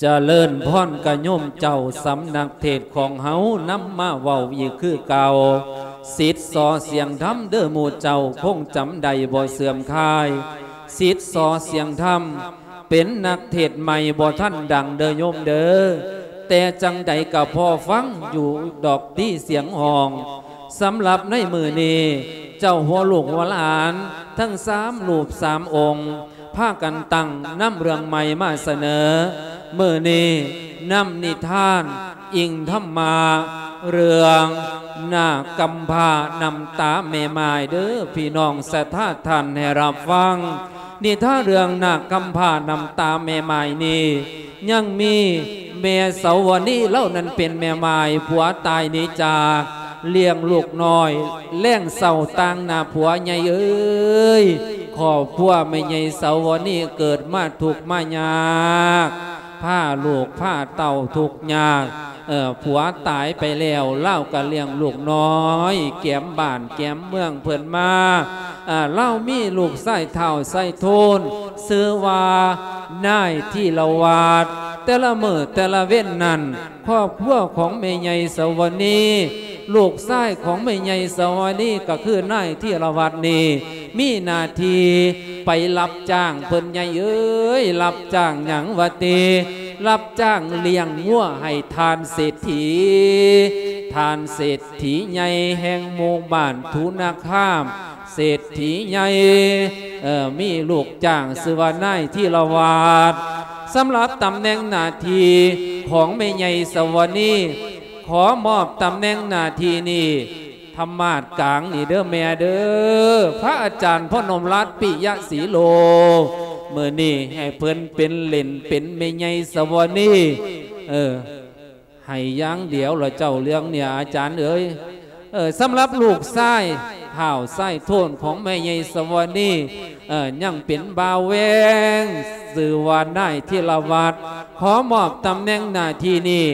ຈະເລີນພອນກະໂຍມເຈົ້າ ສຳນັກເທດຂອງເຮົານຳມາເວົ້າອີກຄືເກົ່າ. ສິດສໍ່ສຽງທຳເດີໝູ່ເຈົ້າ ຄົງຈຳໄດ້ບໍ່ເສື່ອມຄາຍ. ສິດສໍ່ສຽງທຳ ເປັນນັກເທດໃໝ່ ບໍ່ທັນດັງເດີໂຍມເດີ, ແຕ່ຈັ່ງໃດກະພໍຟັງຢູ່ດອກຕິ ສຽງຮ້ອງ. ສຳລັບໃນມື້ນີ້ ເຈົ້າຫົວລູກຫົວຫຼານທັງສາມຮູບສາມອົງ ພາກັນຕັ້ງນຳເລື່ອງໃໝ່ມາສະເໜີ. ມື້ນີ້ນຳນິທານອີງທຳມະ ເລື່ອງນາກກຳພ້ານ້ຳຕາແມ່ໝ້າຍເດີ ພີ່ນ້ອງສັດທາທ່ານໃຫ້ຮັບຟັງ. ນິທານເລື່ອງນາກກຳພ້ານ້ຳຕາແມ່ໝ້າຍນີ້ ຍັງມີແມ່ເສົາວະນີ ລາວນັ້ນເປັນແມ່ໝ້າຍ ຜົວຕາຍໜີຈາກ ລ້ຽງລູກນ້ອຍແລງເຊົ້າຕ່າງໜ້າຜົວໃຫຍ່ເອີຍ. ຄອບຄົວແມ່ໃຫຍ່ເສົາວະນີເກີດມາທຸກມາຍາກ ພາລູກພາເຕົ້າທຸກຍາກ. ເອີ ຜົວຕາຍໄປແລ້ວ ລາວກະລ້ຽງລູກນ້ອຍ ແກມບ້ານແກມເມືອງເພິ່ນມາ. ເອີ ລາວມີລູກຊາຍທ້າວໄຊໂທນ ຊື່ວ່ານາຍທີລະວັດ. ແຕ່ລະມື້ແຕ່ລະເວັນນັ້ນ ຄອບຄົວຂອງແມ່ໃຫຍ່ເສົາວະນີ ລູກຊາຍຂອງແມ່ໃຫຍ່ເສົາວະນີ ກະຄືນາຍທີລະວັດນີ້ ມີໜ້າທີ່ໄປຮັບຈ້າງ ເພິ່ນໃຫຍ່ເອີຍ ຮັບຈ້າງຫຍັງວະຕິ? ຮັບຈ້າງລ້ຽງງົວໃຫ້ທ່ານເສດຖີ ທ່ານເສດຖີໃຫຍ່ແຫ່ງໝູ່ບ້ານທຸນາຄາມ ເສດຖີໃຫຍ່ ເອີ ມີລູກຈ້າງຊື່ວ່ານາຍທີລະວັດ. ສຳລັບຕຳແໜ່ງໜ້າທີ່ຂອງແມ່ໃຫຍ່ເສົາວະນີ ຂໍມອບຕຳແໜ່ງໜ້າທີ່ນີ້ ທຳມາດກາງນີ້ເດີແມ່ເດີ ພະອາຈານພະນົມລັດ ປິຍະສີໂລ. ມື້ນີ້ໃຫ້ເພິ່ນເປັນເຫຼັ້ນເປັນແມ່ໃຫຍ່ເສົາວະນີ ເອີ ໃຫ້ຢ່າງດຽວລະເຈົ້າເລື່ອງນີ້ອາຈານເອີຍ. ເອີ ສຳລັບລູກຊາຍທ້າວໄຊໂທນຂອງແມ່ໃຫຍ່ເສົາວະນີ ເອີ ຍັງເປັນບ່າວແວງ ຊື່ວ່ານາຍທີລະວັດ ຂໍມອບຕຳແໜ່ງໜ້າທີ່ນີ້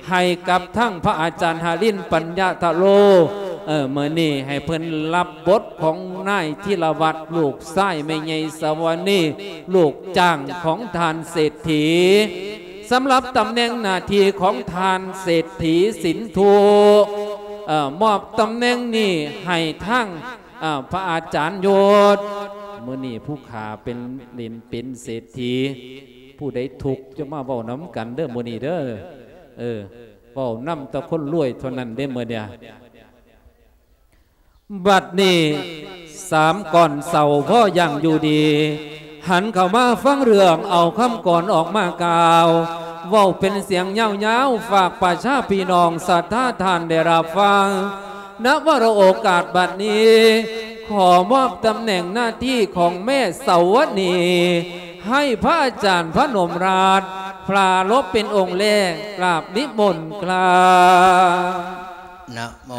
ໃຫ້ກັບທາງພະອາຈານຫະລິນ ປັນຍະທະໂລ. ເອີ ມື້ນີ້ໃຫ້ເພິ່ນຮັບບົດຂອງນາຍທີລະວັດ ລູກຊາຍແມ່ໃຫຍ່ເສົາວະນີ ລູກຈ້າງຂອງທ່ານເສດຖີ. ສຳລັບຕຳແໜ່ງໜ້າທີ່ຂອງທ່ານເສດຖີສິນທຸ ເອີ ມອບຕຳແໜ່ງນີ້ໃຫ້ທາງ ເອີ ພະອາຈານໂຍດ. ມື້ນີ້ຜູ້ຂ້າເປັນເຫຼັ້ນເປັນເສດຖີ ຜູ້ໃດທຸກຈະມາເວົ້ານຳກັນເດີມື້ນີ້ເດີ. ເອີ ເວົ້ານຳແຕ່ຄົນລວຍເທົ່ານັ້ນເດ້ມື້ນີ້. ບັດນີ້ສາມກ່ອນເຊົາພໍຢ່າງຢູ່ດີ ຫັນເຂົ້າມາຟັງເລື່ອງ ເອົາຄຳກອນອອກມາກ່າວ ເວົ້າເປັນສຽງຍາວໆ ຝາກປະຊາພີ່ນ້ອງສັດທາທ່ານໄດ້ຮັບຟັງ. ນະວະໂລະໂອກາດບັດນີ້ ຂໍມອບຕຳແໜ່ງໜ້າທີ່ຂອງແມ່ເສົາວະນີ ໃຫ້ພະອາຈານພະນົມລັດ ປາລົບເປັນອົງແລກ ກາບນິມົນຄຣາບ. ນະໂມ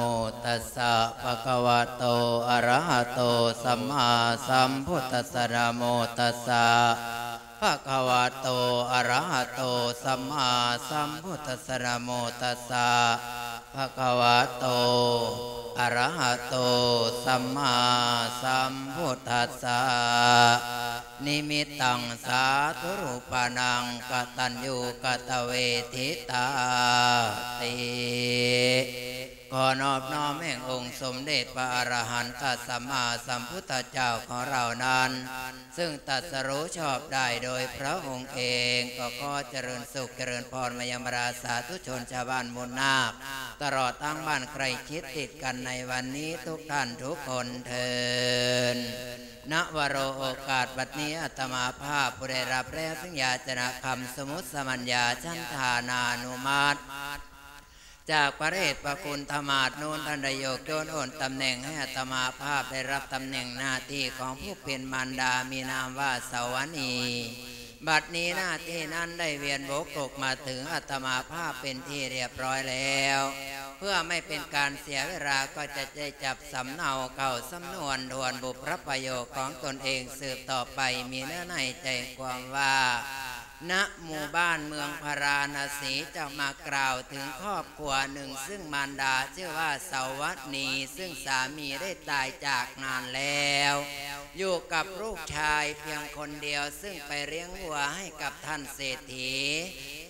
ຕັດສະ ພະຄະວະໂຕ ອະລະຫະໂຕ ສຳມາສຳພຸດທັດສະ ນະໂມຕັດສະ ພະຄະວະໂຕ ອະລະຫະໂຕ ສຳມາສຳພຸດທັດສະ ນະໂມຕັດສະ ພະຄະວະໂຕ ອະລະຫະໂຕ ສຳມາສຳພຸດທັດສະ. ນິມິດຕັງ ສາທຸຮູປານັງ ກະຕັນຍູກະຕະເວທິຕາຕິ. ຂໍນອບນ້ອມແຫ່ງອົງສົມເດັດພະອະລະຫັນຕະສຳມາສຳພຸດທະເຈົ້າຂອງເຮົານັ້ນ ຊຶ່ງຕັດສະຮູ້ຊອບໄດ້ໂດຍພະອົງເອງ ກໍຂໍຈະເລີນສຸກຈະເລີນພອນມາຍັງບັນດາສາທຸຊົນຊາວບ້ານມູນນາກ ຕະຫຼອດທັງບ້ານໃກ້ຊິດຕິດກັນໃນວັນນີ້ທຸກທ່ານທຸກຄົນເທີ້ນ. ນະວະໂລະໂອກາດບັດນີ້ ອາດຕະມາພາບຜູ້ໄດ້ຮັບແລ້ວຊຶ່ງຢາຈະນະຄຳສະໝຸດສະບັນຍາ ສັນທານານຸມັດ ຈາກພະເດດພະຄຸນທະມາດໂນນ ທ່ານໄດ້ໂຍກໂຍນໂອນຕຳແໜ່ງໃຫ້ອາດຕະມາພາບໄດ້ຮັບຕຳແໜ່ງໜ້າທີ່ຂອງຜູ້ເປັນມານດາ ມີນາມວ່າເສົາວະນີ. ບັດນີ້ໜ້າທີ່ນັ້ນໄດ້ວຽນບົກກົກມາເຖິງອາດຕະມາພາບເປັນທີ່ລຽບຮ້ອຍແລ້ວ. ເພື່ອໄມ່ເປັນການເສຍເວລາ ກໍຈະໄດ້ຈັບສຳເນົາເຂົ້າສຳນວນທວນບຸບພະປະໂຫຍກຂອງຕົນເອງສືບຕໍ່ໄປ ມີເນື້ອໃນໃຈຄວາມວ່າ ນະໝູ່ບ້ານເມືອງພາລານະສີ ຈະມາກ່າວເຖິງຄອບຄົວໜຶ່ງ ຊຶ່ງມານດາຊື່ວ່າເສົາວະນີ ຊຶ່ງສາມີໄດ້ຕາຍຈາກນານແລ້ວ ຢູ່ກັບລູກຊາຍພຽງຄົນດຽວ ຊຶ່ງໄປລ້ຽງວັວໃຫ້ກັບທ່ານເສດຖີ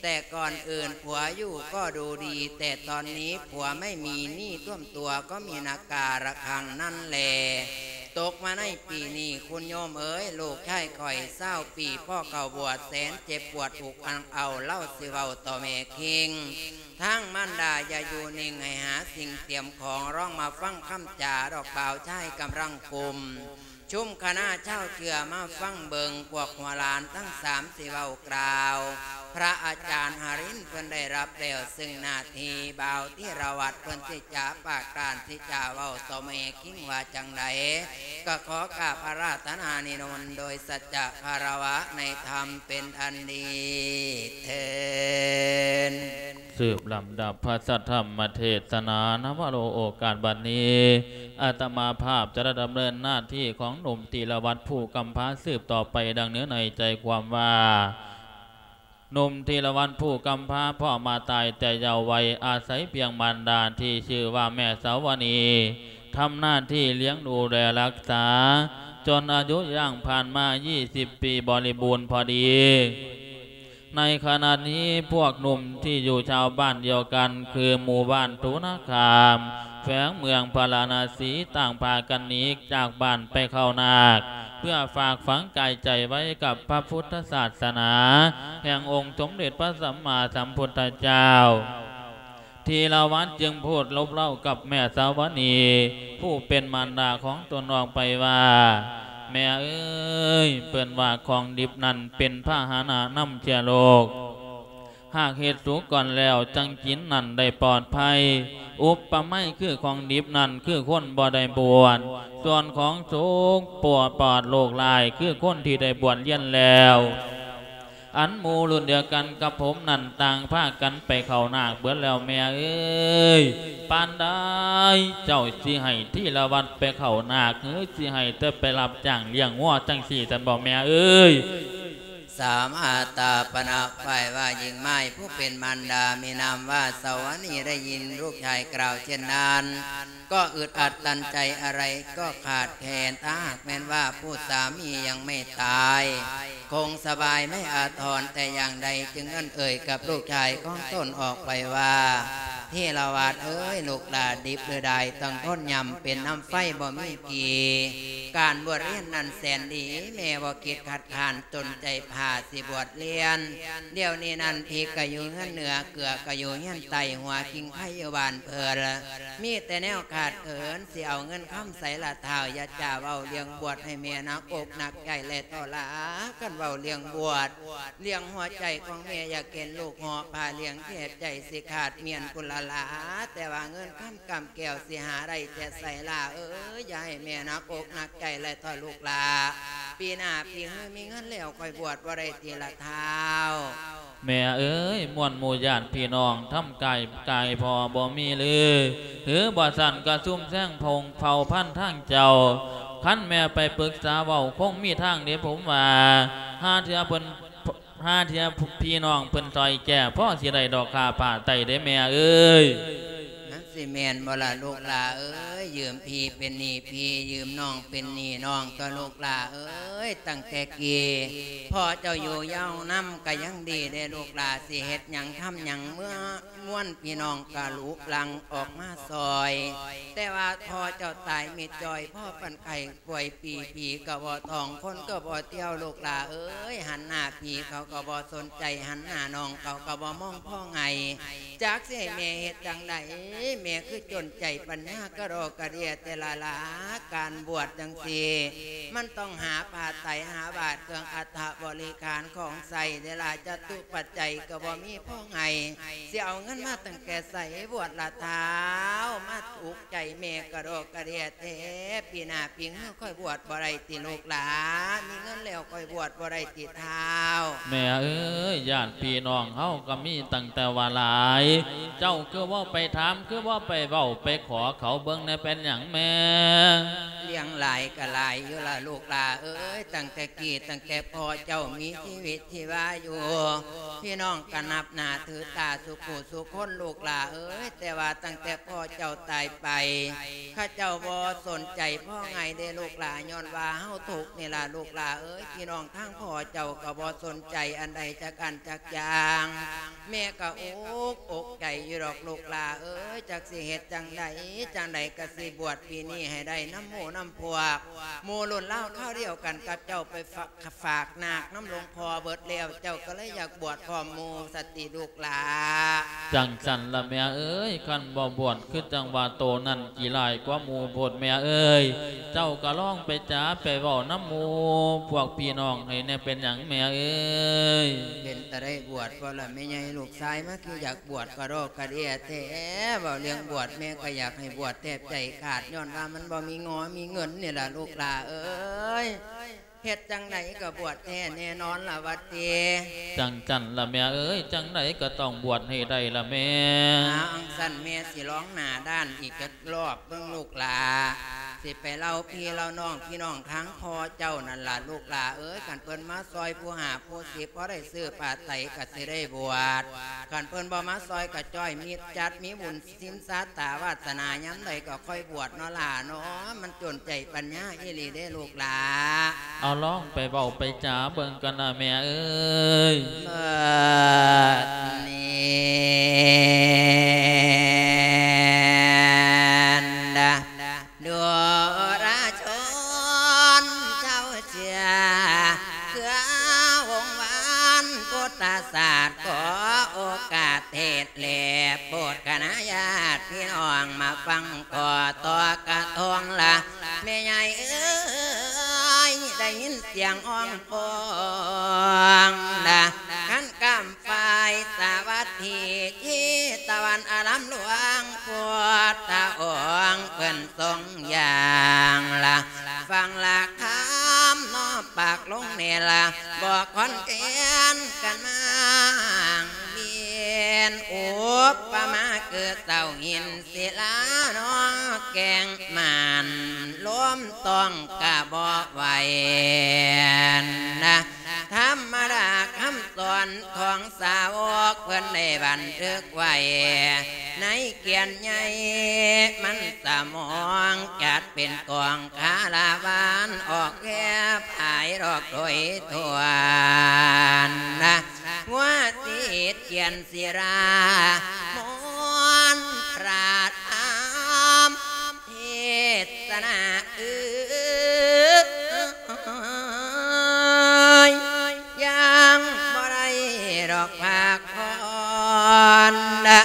แต่ก่อนอื่นผัวอยู่ก็ดูดี แต่ตอนนี้ผัวไม่มีหนี้ท่วมตัวก็มีนาการะคังนั่นแหละ ตกมาในปีนี้คุณโยมเอ๋ย ลูกชายข้อยซาวปี พ่อเข้าบวชแสนเจ็บปวด ถูกอังเอา เล่าสิเว้าต่อแม่คิง ทางมารดาอย่าอยู่นิ่ง ให้หาสิ่งเตรียมของ ร้องมาฟังคำจา ดอกบ่าวชายกำลังกลุ่ม ชุมคณะชาวเจือมาฟังเบิ่ง พวกหัวหลานทั้งสามสิเว้ากล่าว พระอาจารย์หรินทร์เพิ่นได้รับแล้วซึ่งหน้าที่ บ่าวธีรวัตรเพิ่นสิจะปากกล้านสิจะเว้าต่อแม่คิงว่าจั่งใด ก็ขอกราบอาราธนานิมนต์โดยสัจจะคารวะในธรรมเป็นอันดีเทอญ สืบลำดับพระสัทธรรมเทศนา นวโร โอกาสบัดนี้ อาตมาภาพจะได้ดำเนินหน้าที่ของหนุ่มธีรวัตรผู้กำพร้าสืบต่อไปดังเนื้อในใจความว่า หนุ่มธีรวัตรผู้กำพร้าพ่อมาตายแต่เยาว์วัย อาศัยเพียงมารดาที่ชื่อว่าแม่สาวนี ทำหน้าที่เลี้ยงดูแลรักษา จนอายุย่างผ่านมายี่สิบปีบริบูรณ์พอดี ในขณะนี้พวกหนุ่มที่อยู่ชาวบ้านเดียวกัน คือหมู่บ้านทุนคาม แขวงเมืองพาราณสี ต่างพากันหนีจากบ้านไปเข้านาค เพื่อฝากฝังกายใจไว้กับพระพุทธศาสนา แห่งองค์สมเด็จพระสัมมาสัมพุทธเจ้า ธีรวัตรจึงพูดลบเล้ากับแม่สาวนี ผู้เป็นมารดาของตนออกไปว่า แม่เอ๋ย เปิ้นว่าของดิบนั่นเป็นพาหะนะนำเชื้อโรค หากเฮ็ดสุกก่อนแล้วจั่งกินนั่นได้ปลอดภัย อุปไมยคือของดิบนั่นคือคนบ่ได้บวช ส่วนของสุกปลอด ปลอดโรคร้ายคือคนที่ได้บวชเรียนแล้ว อันหมู่รุ่นเดียวกันกับผมนั่นต่างพากันไปเข้านาคเบิดแล้วแม่เอ๋ย ปานใดเจ้าสิให้ธีรวัตรไปเข้านาค หรือสิให้แต่ไปรับจ้างเลี้ยงงัวจั่งซี้ซั่นบ่แม่เอ๋ย สามอาตาปณะฝ่ายว่าหญิงไม้ผู้เป็นมารดามีนามว่าสาวนีได้ยินลูกชายกล่าวเช่นนั้น ก็อึดอัดตันใจอะไรก็ขาดแคลน ถ้าหากแม้นว่าผู้สามียังไม่ตาย คงสบายไม่อาทรแต่อย่างใด จึงเอื้อนเอ่ยกับลูกชายของตนออกไปว่า ธีรวัตรเอ๋ย ลูกหล่าดิบหรือได้ต้องทนยำเป็นน้ำไฟบ่มีกี่ การบวชเรียนนั้นแสนดี แม่บ่คิดคัดค้าน ตนใจพาสิบวชเรียน เดี๋ยวนี้นั้นพริกก็อยู่เฮือนเหนือ เกลือก็อยู่เฮือนใต้ หัวคิงไคอยู่บ้านเพิ่น มีแต่แนวขาดเขิน สิเอาเงินคำใสละท้าว อย่าจ้าเว้าเรื่องบวชให้แม่หนักอกหนักใจแลท้อหล่า คันเว้าเรื่องบวช เรื่องหัวใจของแม่อยากเห็นลูกเหาะผ้าเหลืองแทบใจสิขาดเมียนพุ้นละหล่า แต่ว่าเงินคำกำแก้วสิหาได้แต่ใสหล่าเอ๋ย อย่าให้แม่หนักอกหนักใจแลท้อลูกหล่า ปีหน้าปีหื้อมีเงินแล้วค่อยบวชบ่ได้ติละท้าว แม่เอ๋ย มวลหมู่ญาติพี่น้องทำกายกายพ่อบ่มีหรือ หรือบ่ซั้นก็ซุ่มแซงพงเผ่าพันธุ์ทางเจ้า คันแม่ไปปรึกษาเว้าคงมีทางเด้ผมว่า หาเทื่อเพิ่น หาเทื่อพี่น้องเพิ่นซอยแก้ พอสิได้ดอกค่าผ้าไตรเด้แม่เอ๋ย มันสิแม่นบ่ล่ะลูกหล่าเอ๋ย ยืมพี่เป็นหนี้พี่ ยืมน้องเป็นหนี้น้อง ก็ลูกหล่าเอ๋ย ตั้งแต่กี้พ่อเจ้าอยู่ยาวนำก็ยังดีเด้ลูกหล่า สิเฮ็ดหยังทำหยังเมื่อมวลพี่น้องก็ลุกหลั่งออกมาซอย แต่ว่าพ่อเจ้าตายมิดจ่อย พ่อปานไข้ป่วยปี ผีก็บ่ท้อง คนก็บ่เที่ยว ลูกหล่าเอ๋ย หันหน้าพี่เขาก็บ่สนใจ หันหน้าน้องเขาก็บ่มองพ้องไห้ จักสิให้แม่เฮ็ดจั่งใด แม่คือจนใจปัญญากะดอกกะเดียแต่ละหล่า การบวชจั่งซี้ มันต้องหาผ้าไตร หาบาตร เครื่องอัฐบริขารของใช้เด้ล่ะ จตุปัจจัยก็บ่มีพ้องไห้ สิเอาเงินมาตั้งแต่ไส บวชละท้าว มาอุกใจแม่กะดอกกะเดียแท้ ปีหน้าปีหื้อค่อยบวชบ่ได้ติลูกหล่า มีเงินแล้วค่อยบวชบ่ได้ติท้าว แม่เอ๋ย ญาติพี่น้องเฮาก็มีตั้งแต่ว่าหลาย เจ้าคือบ่ไปถาม คือบ่ไปเว้าไปขอเขาเบิ่งแหน่ เป็นหยังแม่ เลี้ยงหลายก็หลายอยู่ล่ะลูกหล่าเอ๋ย ตั้งแต่กี้ตั้งแต่พ่อเจ้ามีชีวิตชีวาอยู่ พี่น้องก็นับหน้าถือตาสุผู้สุคนลูกหล่าเอ๋ย แต่ว่าตั้งแต่พ่อเจ้าตายไป เขาเจ้าบ่สนใจพ้องไห้เด้ลูกหล่า ย้อนว่าเฮาทุกข์นี่ล่ะลูกหล่าเอ๋ย พี่น้องทางพ่อเจ้าก็บ่สนใจอันใดจัก ກັນຈັກຢ່າງ. ແມ່ກໍອົກອົກໃຈຢູ່ດອກລູກຫຼ້າເອີຍ ຈັກຊິເຮັດຈັ່ງໃດ ຈັ່ງໃດກໍຊິບວດປີນີ້ໃຫ້ໄດ້ນຳໝູ່ນຳພວກ. ໝູ່ລຸ້ນລາວຄາວດຽວກັນກັບເຈົ້າໄປຝາກ ຝາກນາກນຳຫຼວງພໍ່ເບິດແລ້ວ ເຈົ້າກໍເລີຍຢາກບວດພ້ອມໝູ່ຊັ້ນຕິລູກຫຼ້າ? ຈັ່ງຊັ້ນລະແມ່ເອີຍ ຄັນບໍ່ບວດຄືຈັ່ງວ່າໂຕນັ້ນຂີ້ຮ້າຍກວ່າໝູ່ໂພດແມ່ເອີຍ. ເຈົ້າກໍລອງໄປຈາໄປເວົ້ານຳໝູ່ພວກພີ່ນ້ອງໃຫ້ແດ່ ເປັນຫຍັງແມ່ເອີຍ? ເປັນຕາໄດ້ບວດບໍ່ລະແມ່ໃຫຍ່? ລູກຊາຍມາຄືຢາກບວດກະດອກກະເດຍແທ້. ເວົ້າເລື່ອງບວດແມ່ກໍຢາກໃຫ້ບວດແທບໃຈຂາດ ຍ້ອນວ່າມັນບໍ່ມີງໍມີເງິນນີ້ລະລູກຫຼ້າເອີຍ. ເຮັດຈັ່ງໃດກໍບວດແທ້ແນ່ນອນລະວ່າຕິ? ຈັ່ງຊັ້ນລະແມ່ເອີຍ ຈັ່ງໃດກໍຕ້ອງບວດໃຫ້ໄດ້ລະແມ່. ອາ ອັງຊັ້ນແມ່ຊິລອງໜ້າດ້ານອີກຈັກລອບເບິ່ງລູກຫຼ້າ ຊິໄປເລົ່າພີ່ເລົ່ານ້ອງ ພີ່ນ້ອງທາງພໍ່ເຈົ້ານັ້ນລະລູກຫຼ້າເອີຍ. ຄັນເພິ່ນມາຊ່ອຍຜູ້ຫ້າຜູ້ສິບ ພໍໄດ້ຊື້ຜ້າໄຕກໍຊິໄດ້ບວດ. ຄັນເພິ່ນບໍ່ມາຊ່ອຍກໍຈ້ອຍມິດຈັດ ມີບຸນ ສິນຊາຕາວາດສະໜາຍາມໃດກໍຄ່ອຍບວດເນາະຫຼ້າເນາະ. ມັນຈົນໃຈປັນຍາອີ່ຫຼີເດ້ລູກຫຼ້າ. ເອົາລອງໄປເວົ້າໄປຈາເບິ່ງກັນນະແມ່ເອີຍ. ບັດນີ້ດາ ດູລະຊົນເຈົ້າເຊື່ອ ເພື່ອວົງວານພຸດທະສາດ ຂໍໂອກາດເທດ ແລະ ໂປດຄະນະຍາດພີ່ນ້ອງມາຟັງ ຂໍຕໍ່ກະທົງລະແມ່ໃຫຍ່ເອີຍ. ໄດ້ຍິນສຽງຮ້ອງໂພງລະ ຄັນກຳຝ້າຍສາວັດຖີ ທີ່ຕາວັນອາລາມຫຼວງ ພຸດທະອົງເພິ່ນຊົງຢ່າງລະ ຟັງລະຄຳນ້ອມປາກລົງແນ່ລະ ບໍ່ຄອນແຄນກັນມາວຽນ ອຸປະມາຄືເສົາຫີນ ສິລານອກແກ່ງໝານ ລົມຕ້ອງກະບໍ່ໄຫວນະ. ທຳມະດາຄຳສອນຂອງສາວົກ ເພິ່ນໄດ້ບັນທຶກໄວ້ໃນກ່ຽນໃຫຍ່ ມັນສະໝອງຈັດເປັນກອງຄາລາວານ ອອກແຜ່ພາຍດອກໂດຍທົ່ວນະ ຫົວສີດກ່ຽນ ສິລາມອນພະທຳເທດສະນາເອີຍ ຍັງບໍ່ໄດ້ດອກພັກຜ່ອນນະ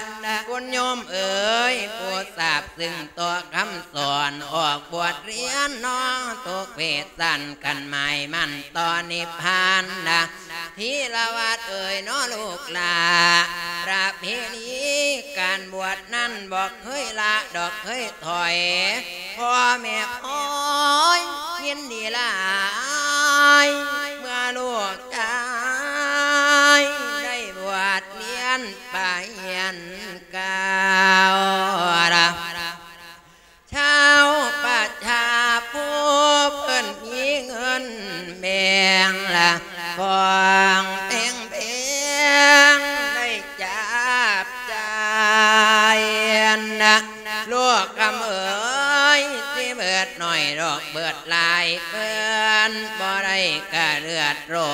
ຄຸນໂຍມເອີຍ ຜູ້ຊາບ ຊຶ່ງຕໍ່ຄຳສອນ ອອກບວດຮຽນເນາະ ທຸກເພດຊັ້ນ ຄັນໝາຍໝັ້ນຕໍ່ນິບພານນະ ທີລະວັດເອີຍເນາະລູກຫຼ້າ. ປະເພນີການບວດນັ້ນ ບໍ່ເຄີຍລະດອກເຄີຍຖອຍ ພໍ່ແມ່ຄອຍຍິນດີຫຼາຍ ເມື່ອລູກຊາຍໄດ້ບວດຮຽນໄປຮຽນ ກ່າວລະ ຊາວປະຊາຜູ້ເພິ່ນມີເງິນແບ່ງລະ ຂອງແພງໆ ໄດ້ຈັບຈ່າຍນະ ລູກຄຳເອີຍ ຊິເບີດໜ້ອຍດອກເບີດຫຼາຍ ເພິ່ນບໍ່ໄດ້ກະເດືອດຮ້ອ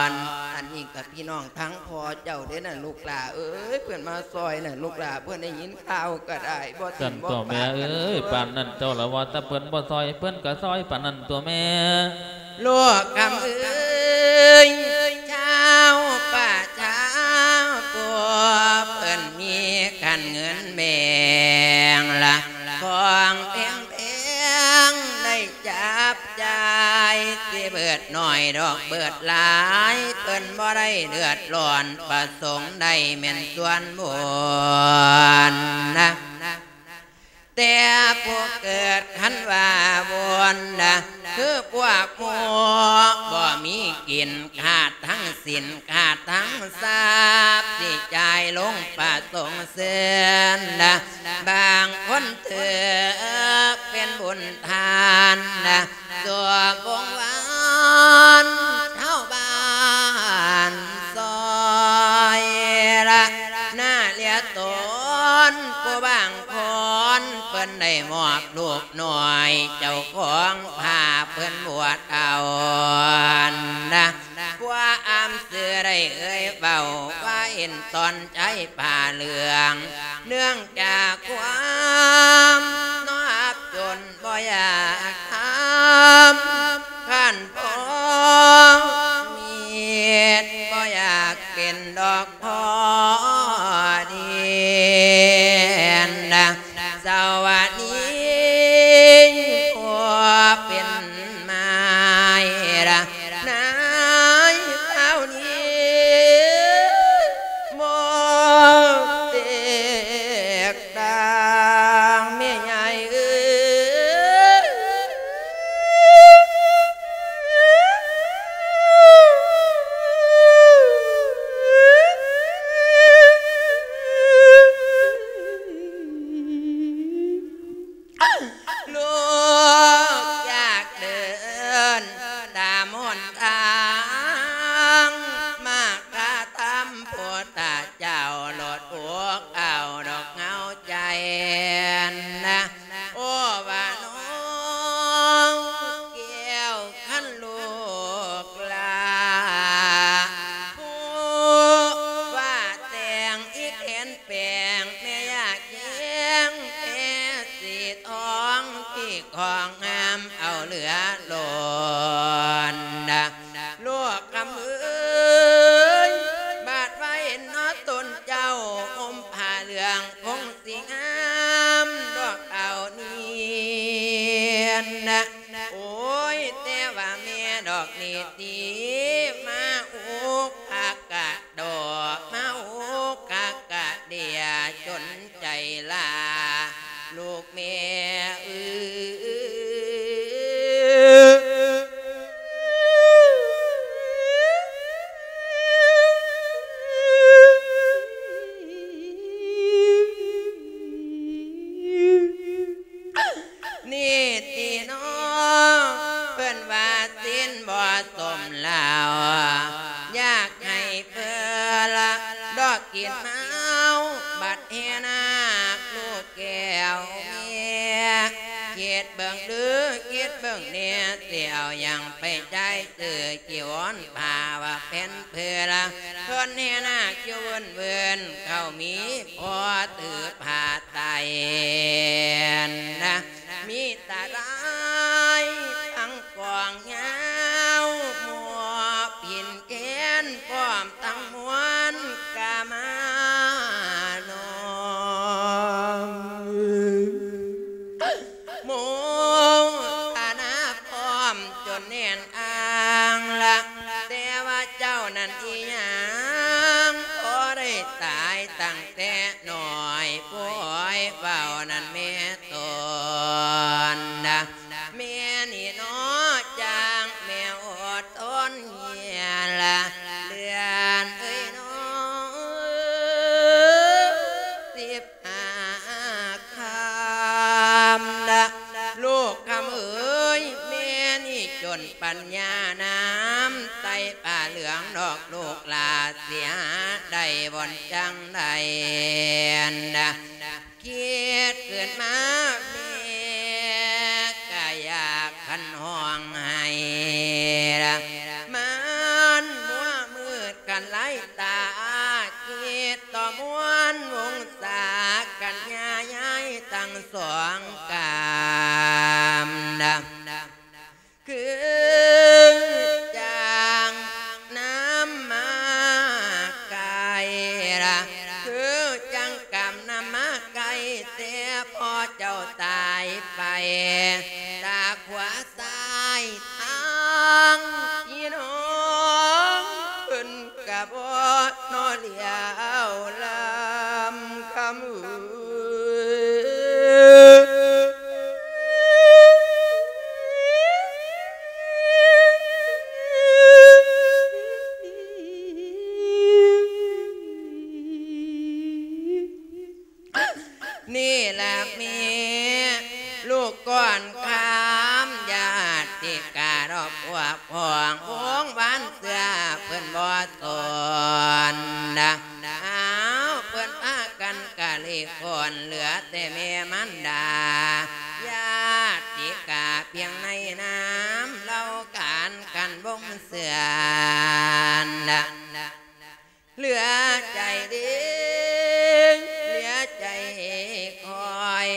ນ. ອັນນີ້ກະ ພີ່ນ້ອງທາງພໍ່ເຈົ້າເດ້ນະ ລູກຫຼ້າເອີຍ ເພິ່ນມາຊ່ອຍນະ ລູກຫຼ້າ ເພິ່ນໄດ້ຍິນຂ່າວກໍໄດ້ ບໍ່ຖິ້ມບໍ່ປາກັນຕົວະແມ່ເອີຍ. ປານນັ້ນຕົວະລະ ວ່າແຕ່ເພິ່ນບໍ່ຊ່ອຍ ເພິ່ນກໍຊ່ອຍປານນັ້ນຕົວະແມ່. ລູກຄຳເອີຍ ຊາວປະຊາຜູ້ເພິ່ນມີຂັນເງິນແບ່ງລະ ຂອງແພງ ແພງໄດ້ຈັບຈ່າຍ ຊິເບີດໜ້ອຍດອກເບີດຫຼາຍ ເພິ່ນບໍ່ໄດ້ເດືອດຮ້ອນ ປະສົງໄດ້ແມ່ນສ່ວນບຸນນະ ແຕ່ຜູ້ເກີດຄັນວ່າວຸນນະ ຄືພວກໝູ່ບໍ່ມີກິນ ຂາດທັງສິນ ຂາດທັງຊັບ ຊິຈ່າຍລົງປະສົງເຊີນນະ ບາງຄົນຖືກເປັນບຸນທານນະ ສວມວົງວານຊາວບ້ານຊ່ອຍລະ ໜ້າເລຍຕົນຜູ້ບາງຄົນ ເພິ່ນໄດ້ມອບລູກນ້ອຍ ເຈົ້າຂອງພາເພິ່ນບວດເອົານະ ກວ່າອາ ຊື່ໄດ້ເອີຍເວົ້າວ່າເຫັນຕອນໃຈຜ້າເຫຼືອງ ເນື່ອງຈາກຄວາມນອບຈົນບໍ່ຢາກທຳ ຄັນພໍມີເຮັດບໍ່ຢາກເປັນດອກພໍດີນະ ສະຫວັດດີ ໂອ ເປັນມາຍລະນາຍເຫຼົ່ານີ້ ໝົດແຕກຕ່າງແມ່ໃຫຍ່ເອີຍ ລູກຢາກເດີນຕາມຫົນທາງ ມາກະທຳພຸດທະເຈົ້າ ໂລດອົກເອົາດອກເຫງົາໃຈນະ ໂອ ວ່ານ້ອງແກ້ວ ຄັນລູກຫຼ້າ ຜູ້ວ່າແຕ່ງອີແຂນ ແປງແມ່ຢາກແຍງແມ່ສີທອງ ທີ່ຂອງງາມເອົາເຫຼືອລົ້ນນະ ລູກຄຳເອີຍ ບາດວ່າເຫັນເນາະຕົນເຈົ້າ ຫົ່ມຜ້າເຫຼືອງຄົງຊິງາມດອກເອົານີ້ນະ ໂອ້ຍ ແຕ່ວ່າແມ່ດອກນີ້ຕິ ມາອຸກຄະກະ ດອກມາໂອກະກະເດຍຈົນໃຈລາ ລູກແມ່ເອີຍ ນີ້ຕິນ້ອງ ເພິ່ນວ່າສິນບໍ່ສົມແລ້ວ ຢາກໃຫ້ເພິ່ນລະດອກກິນເມົາ ບັດແຫ່ນາກລູກແກ້ວແມ່ ຄິດເບິ່ງເດີ ຄິດເບິ່ງແດ່ ຊິເອົາຫຍັງໄປຈ່າຍຊື້ຈີວອນຜ້າວ່າແຜ່ນເພິ່ນລະ ເພິ່ນແຫ່ນາກຢູ່ເວີນໆ ເຂົາມີພໍຖືຜ້າໄຕນະ ມີຕາລາຍທັງກອງຍາວ ໝວກຜິນແຂນພ້ອມທັງມ້ວນກະມານອມ ໂມທະນາພ້ອມຈົນແໜ້ນອ່າງລະ ແຕ່ວ່າເຈົ້ານັ້ນອີຫຍັງ ພໍໄດ້ຕາຍຕັ້ງແຕ່ນ້ອຍ ຜູ້ອ້ອຍເວົ້ານັ້ນແມ່ ຕົນນະ ແມ່ນີ້ເນາະ ຈ້າງແມ່ອົດທົນເຮຍລະ ເດືອນເອີຍນ້ອງ ສິບຫ້າຄ່ຳລະ ລູກຄຳເອີຍ ແມ່ນີ້ຈົນປັນຍານຳ ໃສ່ຜ້າເຫຼືອງດອກລູກຫຼ້າ ຊິຫາໄດ້ບ່ອນຈັ່ງໃດນະ ຄິດຂຶ້ນມາແມ່ກະຢາກພັນຮ້ອງໄຫ້ລະ ມັນມົວມືດກັນຫຼາຍຕາ ຄິດຕໍ່ມວນວົງສາກັນຍາຍາຍທັງສອງກາມນະ ຄືຈັ່ງນຳມາໄກລະ ຄືຈັ່ງກຳນຳມາໄກ ແຕ່ພໍ່ເຈົ້າຕາຍໄປ ຕາຂວາຊ້າຍທາງພີ່ນ້ອງເພິ່ນ ກະບໍ່ນອນຫຼຽວລຳຄຳເອີຍ ນີ້ລະແມ່ ລູກກ່ອນຄຳ ຍາດຕິກາດອກພວກ ຂອງວົງວານເຊື່ອເພິ່ນບໍ່ສົນນະ ອ້າວ ເພິ່ນພາກັນກະລິຄົນ ເຫຼືອແຕ່ແມ່ມານດາ ຍາດຕິກາພຽງໃນນາມເຫຼົ່າການ ຄັນບໍ່ ເຊື່ອນ ເຫຼືອໃຈເດ້ ເຫຼືອໃຈຄອຍ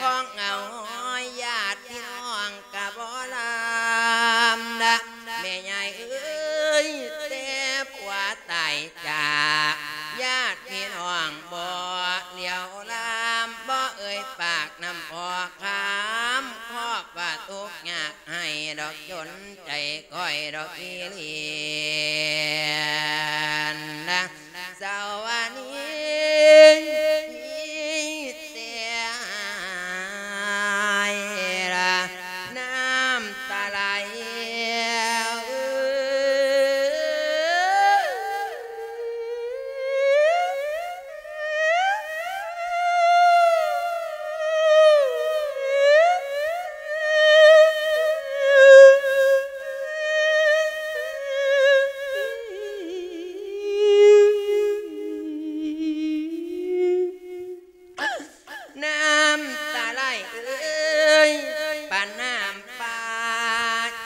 ຂອງເອົາຍາດພີ່ນ້ອງກະບໍ່ລຳ ແມ່ຍາຍເອີຍ ແຕ່ຜົວຕາຍຈາກ ຍາດພີ່ນ້ອງບໍ່ຫຼຽວລາມ ບໍ່ເອີ່ຍປາກນຳພໍ່ຄຳ ຄອບວ່າທຸກຍາກ ໃຫ້ດອກຈົນໃຈຂ້ອຍດອກອີ່ຫຼີນນະ ສາວວານີ ມີແຕ່ນ້ຳຕາໄຫຼ. ນ້ຳຕາໄຫຼເອີຍ ປານນ້ຳປາ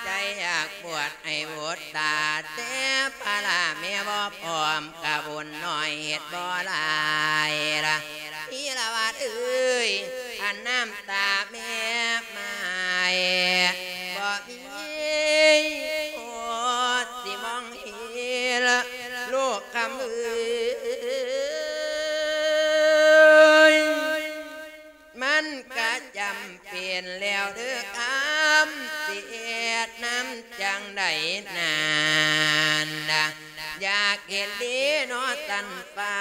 ໃຈຢາກບວດໃຫ້ບຸດຕາ ແຕ່ພາລະແມ່ບໍ່ພ້ອມ ກະບຸນໜ້ອຍເຮັດບໍ່ຫຼາຍລະ ທີລະວັດເອີຍ ອັນນ້ຳຕາແມ່ມາຍ ບໍ່ມີໂອດຊິມອງເຫັນ ລູກຄຳເອີຍ ມັນກະຈຳເປັນແລ້ວເດີຄຳ ຊິເຮັດນຳຈັ່ງໃດນັ້ນນະ ຢາກເຫັນດີເນາະສັນຟ້າ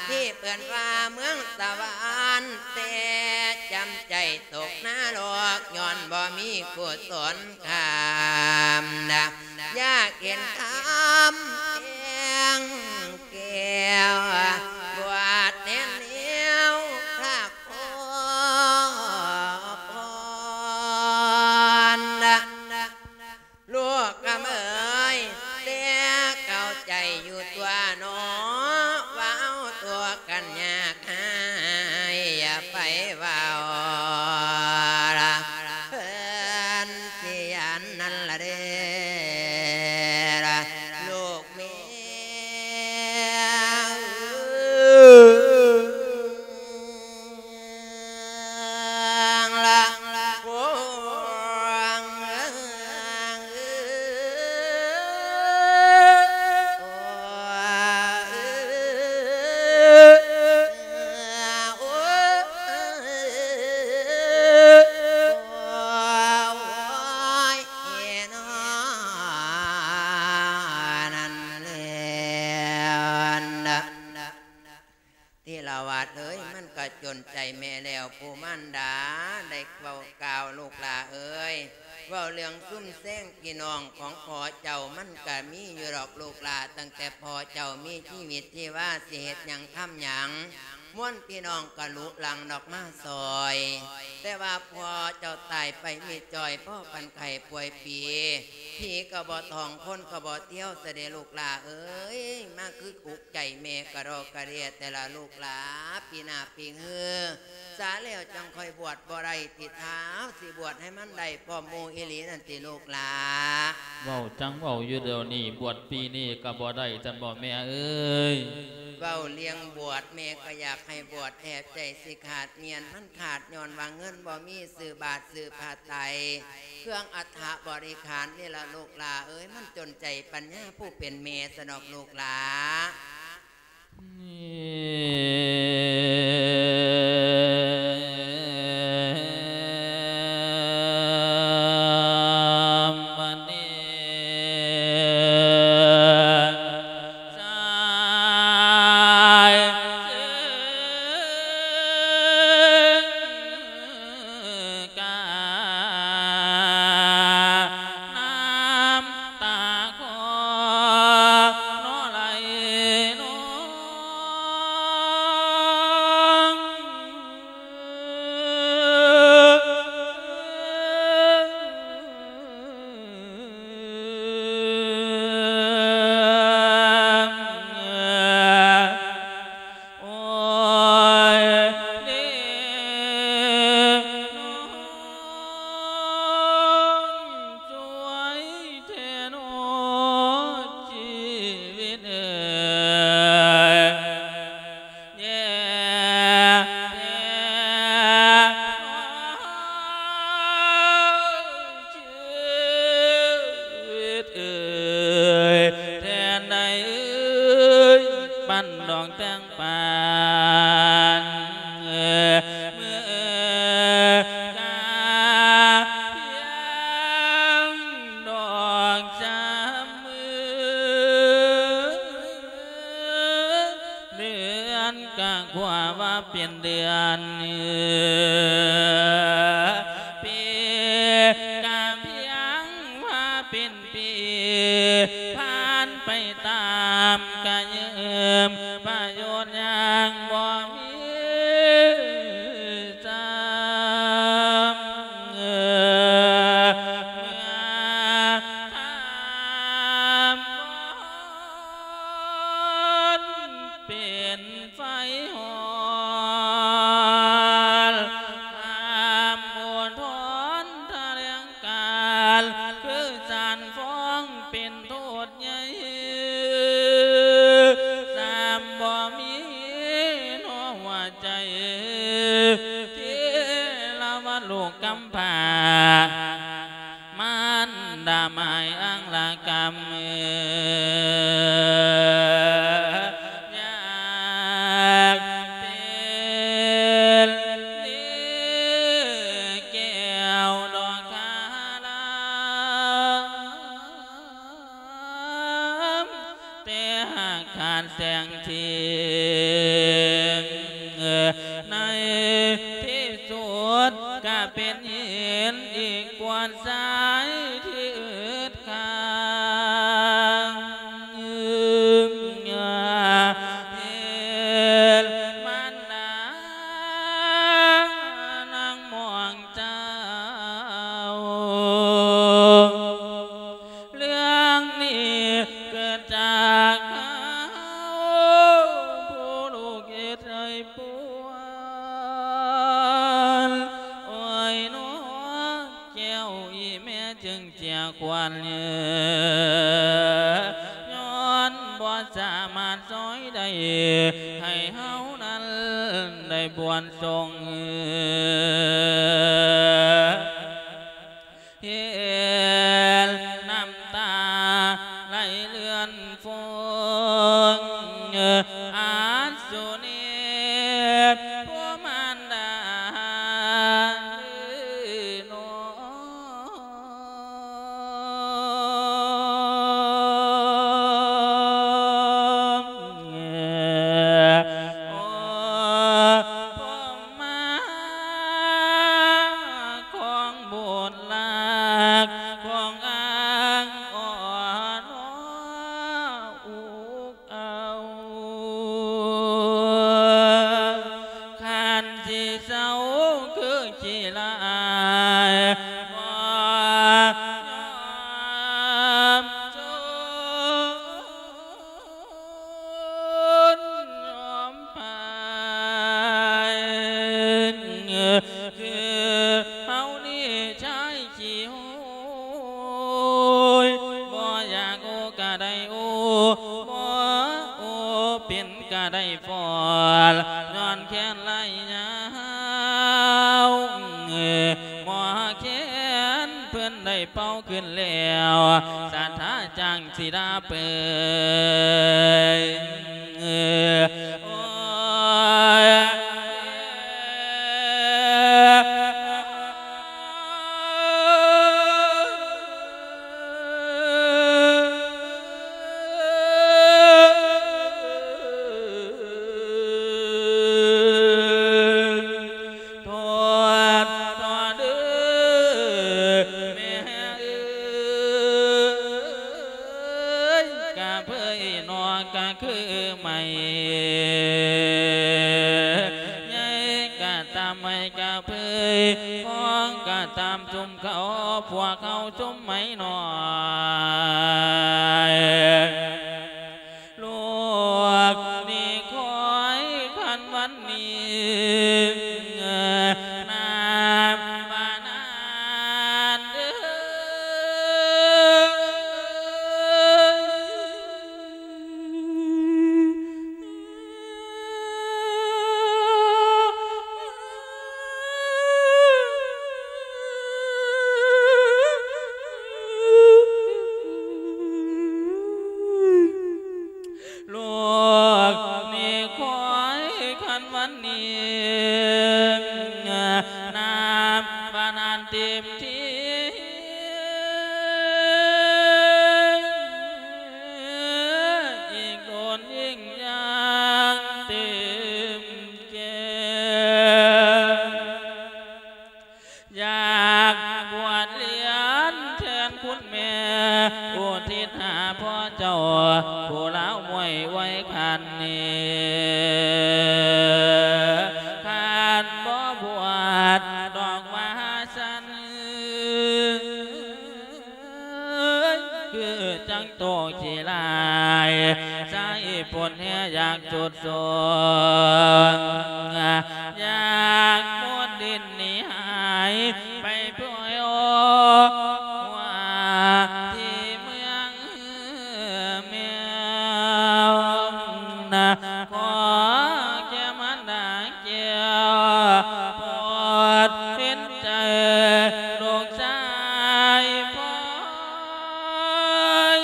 ທີ່ເອີ້ນວ່າເມືອງສະຫວັນ ແຕ່ຈຳໃຈຕົກນະລົກ ຍ້ອນບໍ່ມີກຸສົນຄຳນະ ຢາກເຫັນຄຳແພງແກ້ວ ບວດແທນແນວພະ ພອນ ລູກຄຳເອີຍ ແຕ່ເຂົ້າໃຈຢູ່ຕົວະເນາະ ວ່າເຮົາຕົວະກັນຍາກຫາຍ ຢ່າໄປເວົ້າລະ ເພິ່ນຊິຢ້ານນັ້ນລະເດ້ ລູກ ທີລະວັດເອີຍ ມັນກະຈົນໃຈແມ່ແລ້ວ ຜູ້ມານດາໄດ້ເວົ້າກ່າວ ລູກຫຼ້າເອີຍ ເວົ້າເລື່ອງຊຸມແຊງພີ່ນ້ອງຂອງພໍ່ເຈົ້າ ມັນກະມີຢູ່ດອກລູກຫຼ້າ ຕັ້ງແຕ່ພໍ່ເຈົ້າມີຊີວິດຊີວາ ຊິເຮັດຫຍັງທຳຫຍັງ ມວນພີ່ນ້ອງກະລຸຫຼັງດອກມາຊ່ອຍ ແຕ່ວ່າພໍ່ເຈົ້າຕາຍໄປມິດຈ້ອຍ ພໍ້ປັນໄຂ້ປ່ວຍປີ ຜີກະບໍ່ທ່ອງ ຄົນກະບໍ່ທ່ຽວ ຊະເດລູກຫຼ້າເອີຍ ມາຄືອຸກໃຈແມ່ກະດອກກະເດຍແຕ່ລະລູກຫຼ້າ ປີໜ້າປີເຮືອ ສາແລ້ວຈັ່ງຄ່ອຍບວດບໍ່ໄດ້ຕິ ທ້າວຊິບວດໃຫ້ມັນໄດ້ພ້ອມໝູ່ອີ່ຫຼີນັ້ນຕິລູກຫຼ້າ. ເວົ້າຈັ່ງເວົ້າຢູ່ດຽວນີ້ ບວດປີນີ້ກະບໍ່ໄດ້ຊັ້ນບໍແມ່ເອີຍ? ເວົ້າເລື່ອງບວດ ແມ່ກະຢາກໃຫ້ບວດແທ້ ໃຈຊິຂາດມ້ຽນ ມັນຂາດຍ້ອນວ່າເງິນບໍ່ມີ ຊື້ບາດຊື້ຜ້າໄຕ ເຄື່ອງອັດຖະບໍລິຂານນີ້ລະລູກຫຼ້າເອີຍ ມັນຈົນໃຈປັນຍາຜູ້ເປັນແມ່ຊັ້ນດອກລູກຫຼ້າ. ໃດເອີຍ ປັນດອກແຕງປານ ເມື່ອກາພຽງດອກສາມມື້ ເດືອນກະຂົວວ່າເປັນເດືອນ ປີກະພຽງວ່າເປັນ ປີຜ່ານໄປຕາມກະຢືມ ປະໂຫຍດຫຍັງບໍ່ມີຊ້ຳ ເມື່ອຂ້າມມອນເປັນ ໄຟຮ້ອນ ຫ້າມອຸທອນຖະແຫຼງການ ຄືສານຟ້ອງເປັນໂທດໃຫຍ່ ຊ້ຳບໍ່ມີໃນຫົວໃຈ ທີລະວັນລູກກຳພ້າ ມານດາໝາຍອັງລະກຳ ຢາກເປັນແກ້ວດອກຄາລາມ ແຕ່ຫາກຂາດແສງເທີງ ໃນທີ່ສຸດກະເປັນຫີນອີກກວ່າຊາຍທີ່ອຶດຂ້າງ ເຫັນມານດານາງມອງເຈົ້າ ເລື່ອງນີ້ເກີດຈາກເຮົາ ຜູ້ລູກເຮັດໃຫ້ປວນ ໂອ້ຍເນາະ ແກ້ວອີ່ແມ່ຈຶ່ງເສຍຂວັນ ຍ້ອນບໍ່ສາມາດຊ່ອຍໄດ້ ໃຫ້ເຮົານັ້ນໄດ້ບວນສົ່ງ ເຫັນນ້ຳຕາໄຫຼເລື່ອນຟົງ ອາດສຸນີດ ຜູ້ມານດາເອີຍນ້ອງ ໂອ້ ມາຂອງບຸດລັກ ຂອງອ້າງອ່ອນອຸກເອົາ ຄັນຊິເຊົາຄືຂີ້ລາຍ ບໍ່ຍອມຊົນ ຍອມພາຍ ຄືເຮົານີ້ຊາຍຂີ້ໂຫຍ ບໍ່ຢາກໂອ້ກະໄດ້ໂອ້ ບໍ່ໂອ້ເປັນກະໄດ້ຟ້ອນ ຍ້ອນແຄ້ນໄຫຼຍາວ ໝໍແຄນເພິ່ນໄດ້ເປົ່າຂຶ້ນແລ້ວ ສາທາຈ້າງ ສີດາເປີຍ ໂອ້ຍ ໂທດ ໂທດເດີແມ່ເອີຍ ກະເຜີຍນອກກະຄືໄມ້ ໃຫຍ່ກະຕາມໄມ້ກະເຜີຍ ຂອງກະຕາມຊຸມເຂົາ ພວກເຮົາຊຸມໄມ້ນ້ອຍ ລູກນີ້ຄອຍຄັນວັນນີ້ ນານວ່ານານເອີຍ. ລູກນີ້ຄອຍຄັນວັນນີ້ ນາມວ່ານານເຕັມທີ ອີກດົນຍິ່ງຢ່າງເຕັມແກ່ ຢາກບວດລຽນແທນຄຸນແມ່ ອຸທິດຫາພໍ່ເຈົ້າ ຜູ້ລາວມວຍໄວຄັນນີ້ ຄັນບໍ່ບວດດອກວ່າຊັ້ນ ຄືຈັ່ງໂຕຂີ້ລ້າຍ ໃຊ້ຜົນແຮຢາກສຸດໂສງ ຢາກໝົດດິນໜີຫາຍ ໄປປ່ວຍໂອ ວ່າທີ່ເມືອງແມວນະ ຂໍແກ່ມານດາແກ້ວ ໂປດເຫັນໃຈລູກຊາຍພອຍ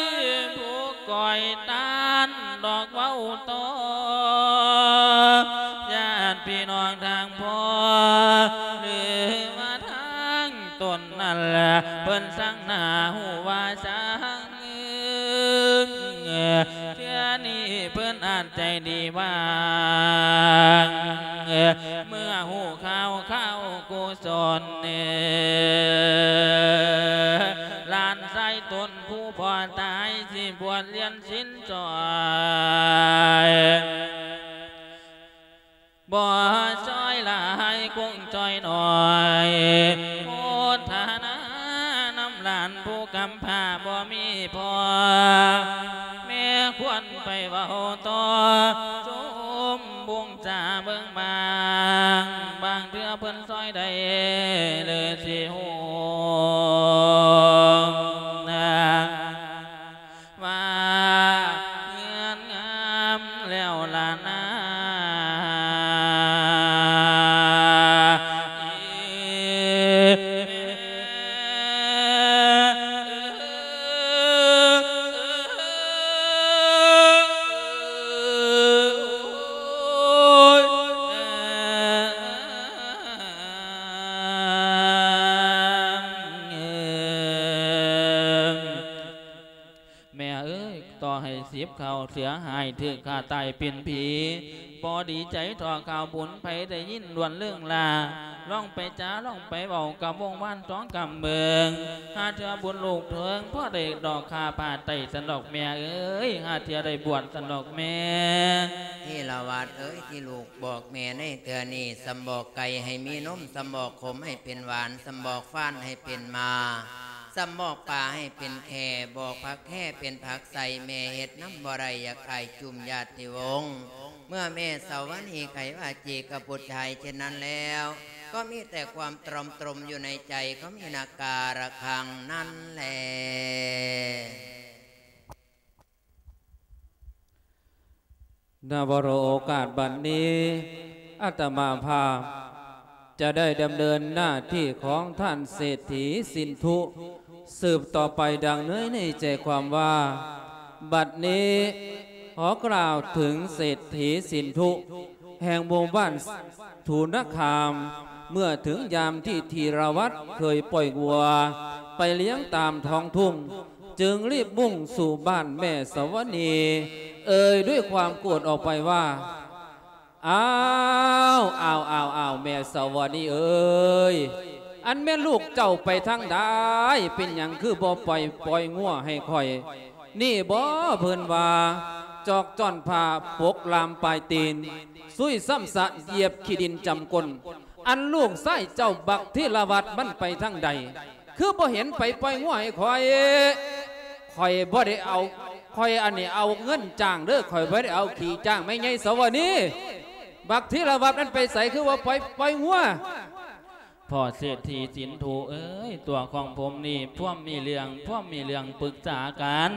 ຜູ້ ກອຍຕານດອກເວົ້າຕໍ່ ຍາດພີ່ນ້ອງທາງພໍ່ ຫຼືວ່າທາງຕົນນັ້ນແຫຼະ ເພິ່ນສັງໜ້າຮູ້ວ່າສັງ ເທື່ອນີ້ເພິ່ນອາດໃຈດີວ່າງ ເມື່ອຮູ້ຂ່າວຂ່າວກຸສົນ ຫຼານຊາຍຕົນ ຜູ້ພໍ່ຕາຍ ຊິບວດລຽນສິນຊ່ອຍ ບໍ່ຊ່ອຍຫຼາຍ ຄົງຊ່ອຍໜ້ອຍ ໂມທະນານຳຫຼານຜູ້ກຳພ້າ ບໍ່ມີພໍ່ແມ່ ຄວນໄປເວົ້າຕໍ່ ຊົມບຸງ ຈາເບິ່ງບາງ ບາງເທື່ອເພິ່ນຊ່ອຍໄດ້ ຫຼືຊິຮູ້ນາ ວ່າເຮືອນງາມແລ້ວລະນາ. ແມ່ເອີຍ ຕໍ່ໃຫ້ສິບເຂົ້າເສືອຫາຍ ຖືກຂ້າຕາຍເປັນຜີ ບໍ່ດີໃຈທໍ່ຂ່າວບຸນ ໃຜໄດ້ຍິນລ້ວນເລີງລາ ລອງໄປຈາ ລອງໄປເວົ້າກັບວົງວານທອງຄຳເບິ່ງ ຫາເທື່ອບຸນລູກເຖິງ ພໍໄດ້ດອກຄ່າຜ້າໄຕ້ຊັ້ນດອກແມ່ເອີຍ ຫາເທື່ອໄດ້ບວດຊັ້ນດອກແມ່. ທີລະວັດເອີຍ ທີ່ລູກບອກແມ່ໃນເທື່ອນີ້ ສຳບອກໄກ່ໃຫ້ມີນົມ ສຳບອກຂົມໃຫ້ເປັນຫວານ ສຳບອກຟານໃຫ້ເປັນໝາ ສຳບອກປາໃຫ້ເປັນແຂ້ ບອກຜັກແຂ້ເປັນຜັກໃສ່ ແມ່ເຮັດນຳບໍ່ໄດ້ ຢາກອາຍຈຸມຍາດຕິວົງ ເມື່ອແມ່ສາວະນີໄຂວາຈີກັບບຸດຊາຍເຊັ່ນນັ້ນແລ້ວ ກໍມີແຕ່ຄວາມຕຣອມຕຣົມຢູ່ໃນໃຈຂອງອີນາກາລະຄັງນັ້ນແລ. ນະວະໂລ ໂອກາດບັດນີ້ ອາດຕະມາພາບຈະໄດ້ດຳເນີນໜ້າທີ່ຂອງທ່ານເສດຖີສິນທຸ ສືບຕໍ່ໄປດັ່ງເນີຍໃນໃຈຄວາມວ່າ ບັດນີ້ຂໍກ່າວເຖິງເສດຖີສິນທຸ ແຫ່ງໝູ່ບ້ານ ທຸນະຄາມ ເມື່ອເຖິງຍາມທີ່ທີລະວັດເຄີຍປ່ອຍງົວໄປລ້ຽງຕາມທ້ອງທຸ່ງ ຈຶ່ງລີບມຸ່ງສູ່ບ້ານແມ່ສະຫວະນີ ເອີ່ຍດ້ວຍຄວາມໂກດອອກໄປວ່າ ອ້າວ ອ້າວ ອ້າວ ອ້າວ ແມ່ສະຫວະນີເອີຍ ອັນແມ່ນລູກເຈົ້າໄປທາງໃດ? ເປັນຫຍັງຄືບໍ່ປ່ອຍ ປ່ອຍງົວໃຫ້ຂ້ອຍ? ນີ້ບໍ ເພິ່ນວ່າ ຈອກຈ້ອນຜ້າປົກລາມປາຍຕີນ ຊຸຍຊ້ຳຊະຢຽບຂີ້ດິນຈຳກົ້ນ ອັນລູກຊາຍເຈົ້າບັກທີລະວັດມັນໄປທາງໃດ ຄືບໍ່ເຫັນໄປປ່ອຍງົວໃຫ້ຂ້ອຍ? ຂ້ອຍບໍ່ໄດ້ເອົາ ຂ້ອຍອັນນີ້ເອົາເງິນຈ້າງເດີ ຂ້ອຍບໍ່ໄດ້ເອົາຂີ້ຈ້າງ ແມ່ໃຫຍ່ສະຫວະນີ ບັກທີລະວັດມັນໄປໃສ ຄືວ່າໄປປ່ອຍງົວ? ພໍ່ເສດຖີສິນທຸເອີຍ ຕົວຂອງຜົມນີ້ພວມມີເລື່ອງ ພວມມີເລື່ອງປຶກສາກັນ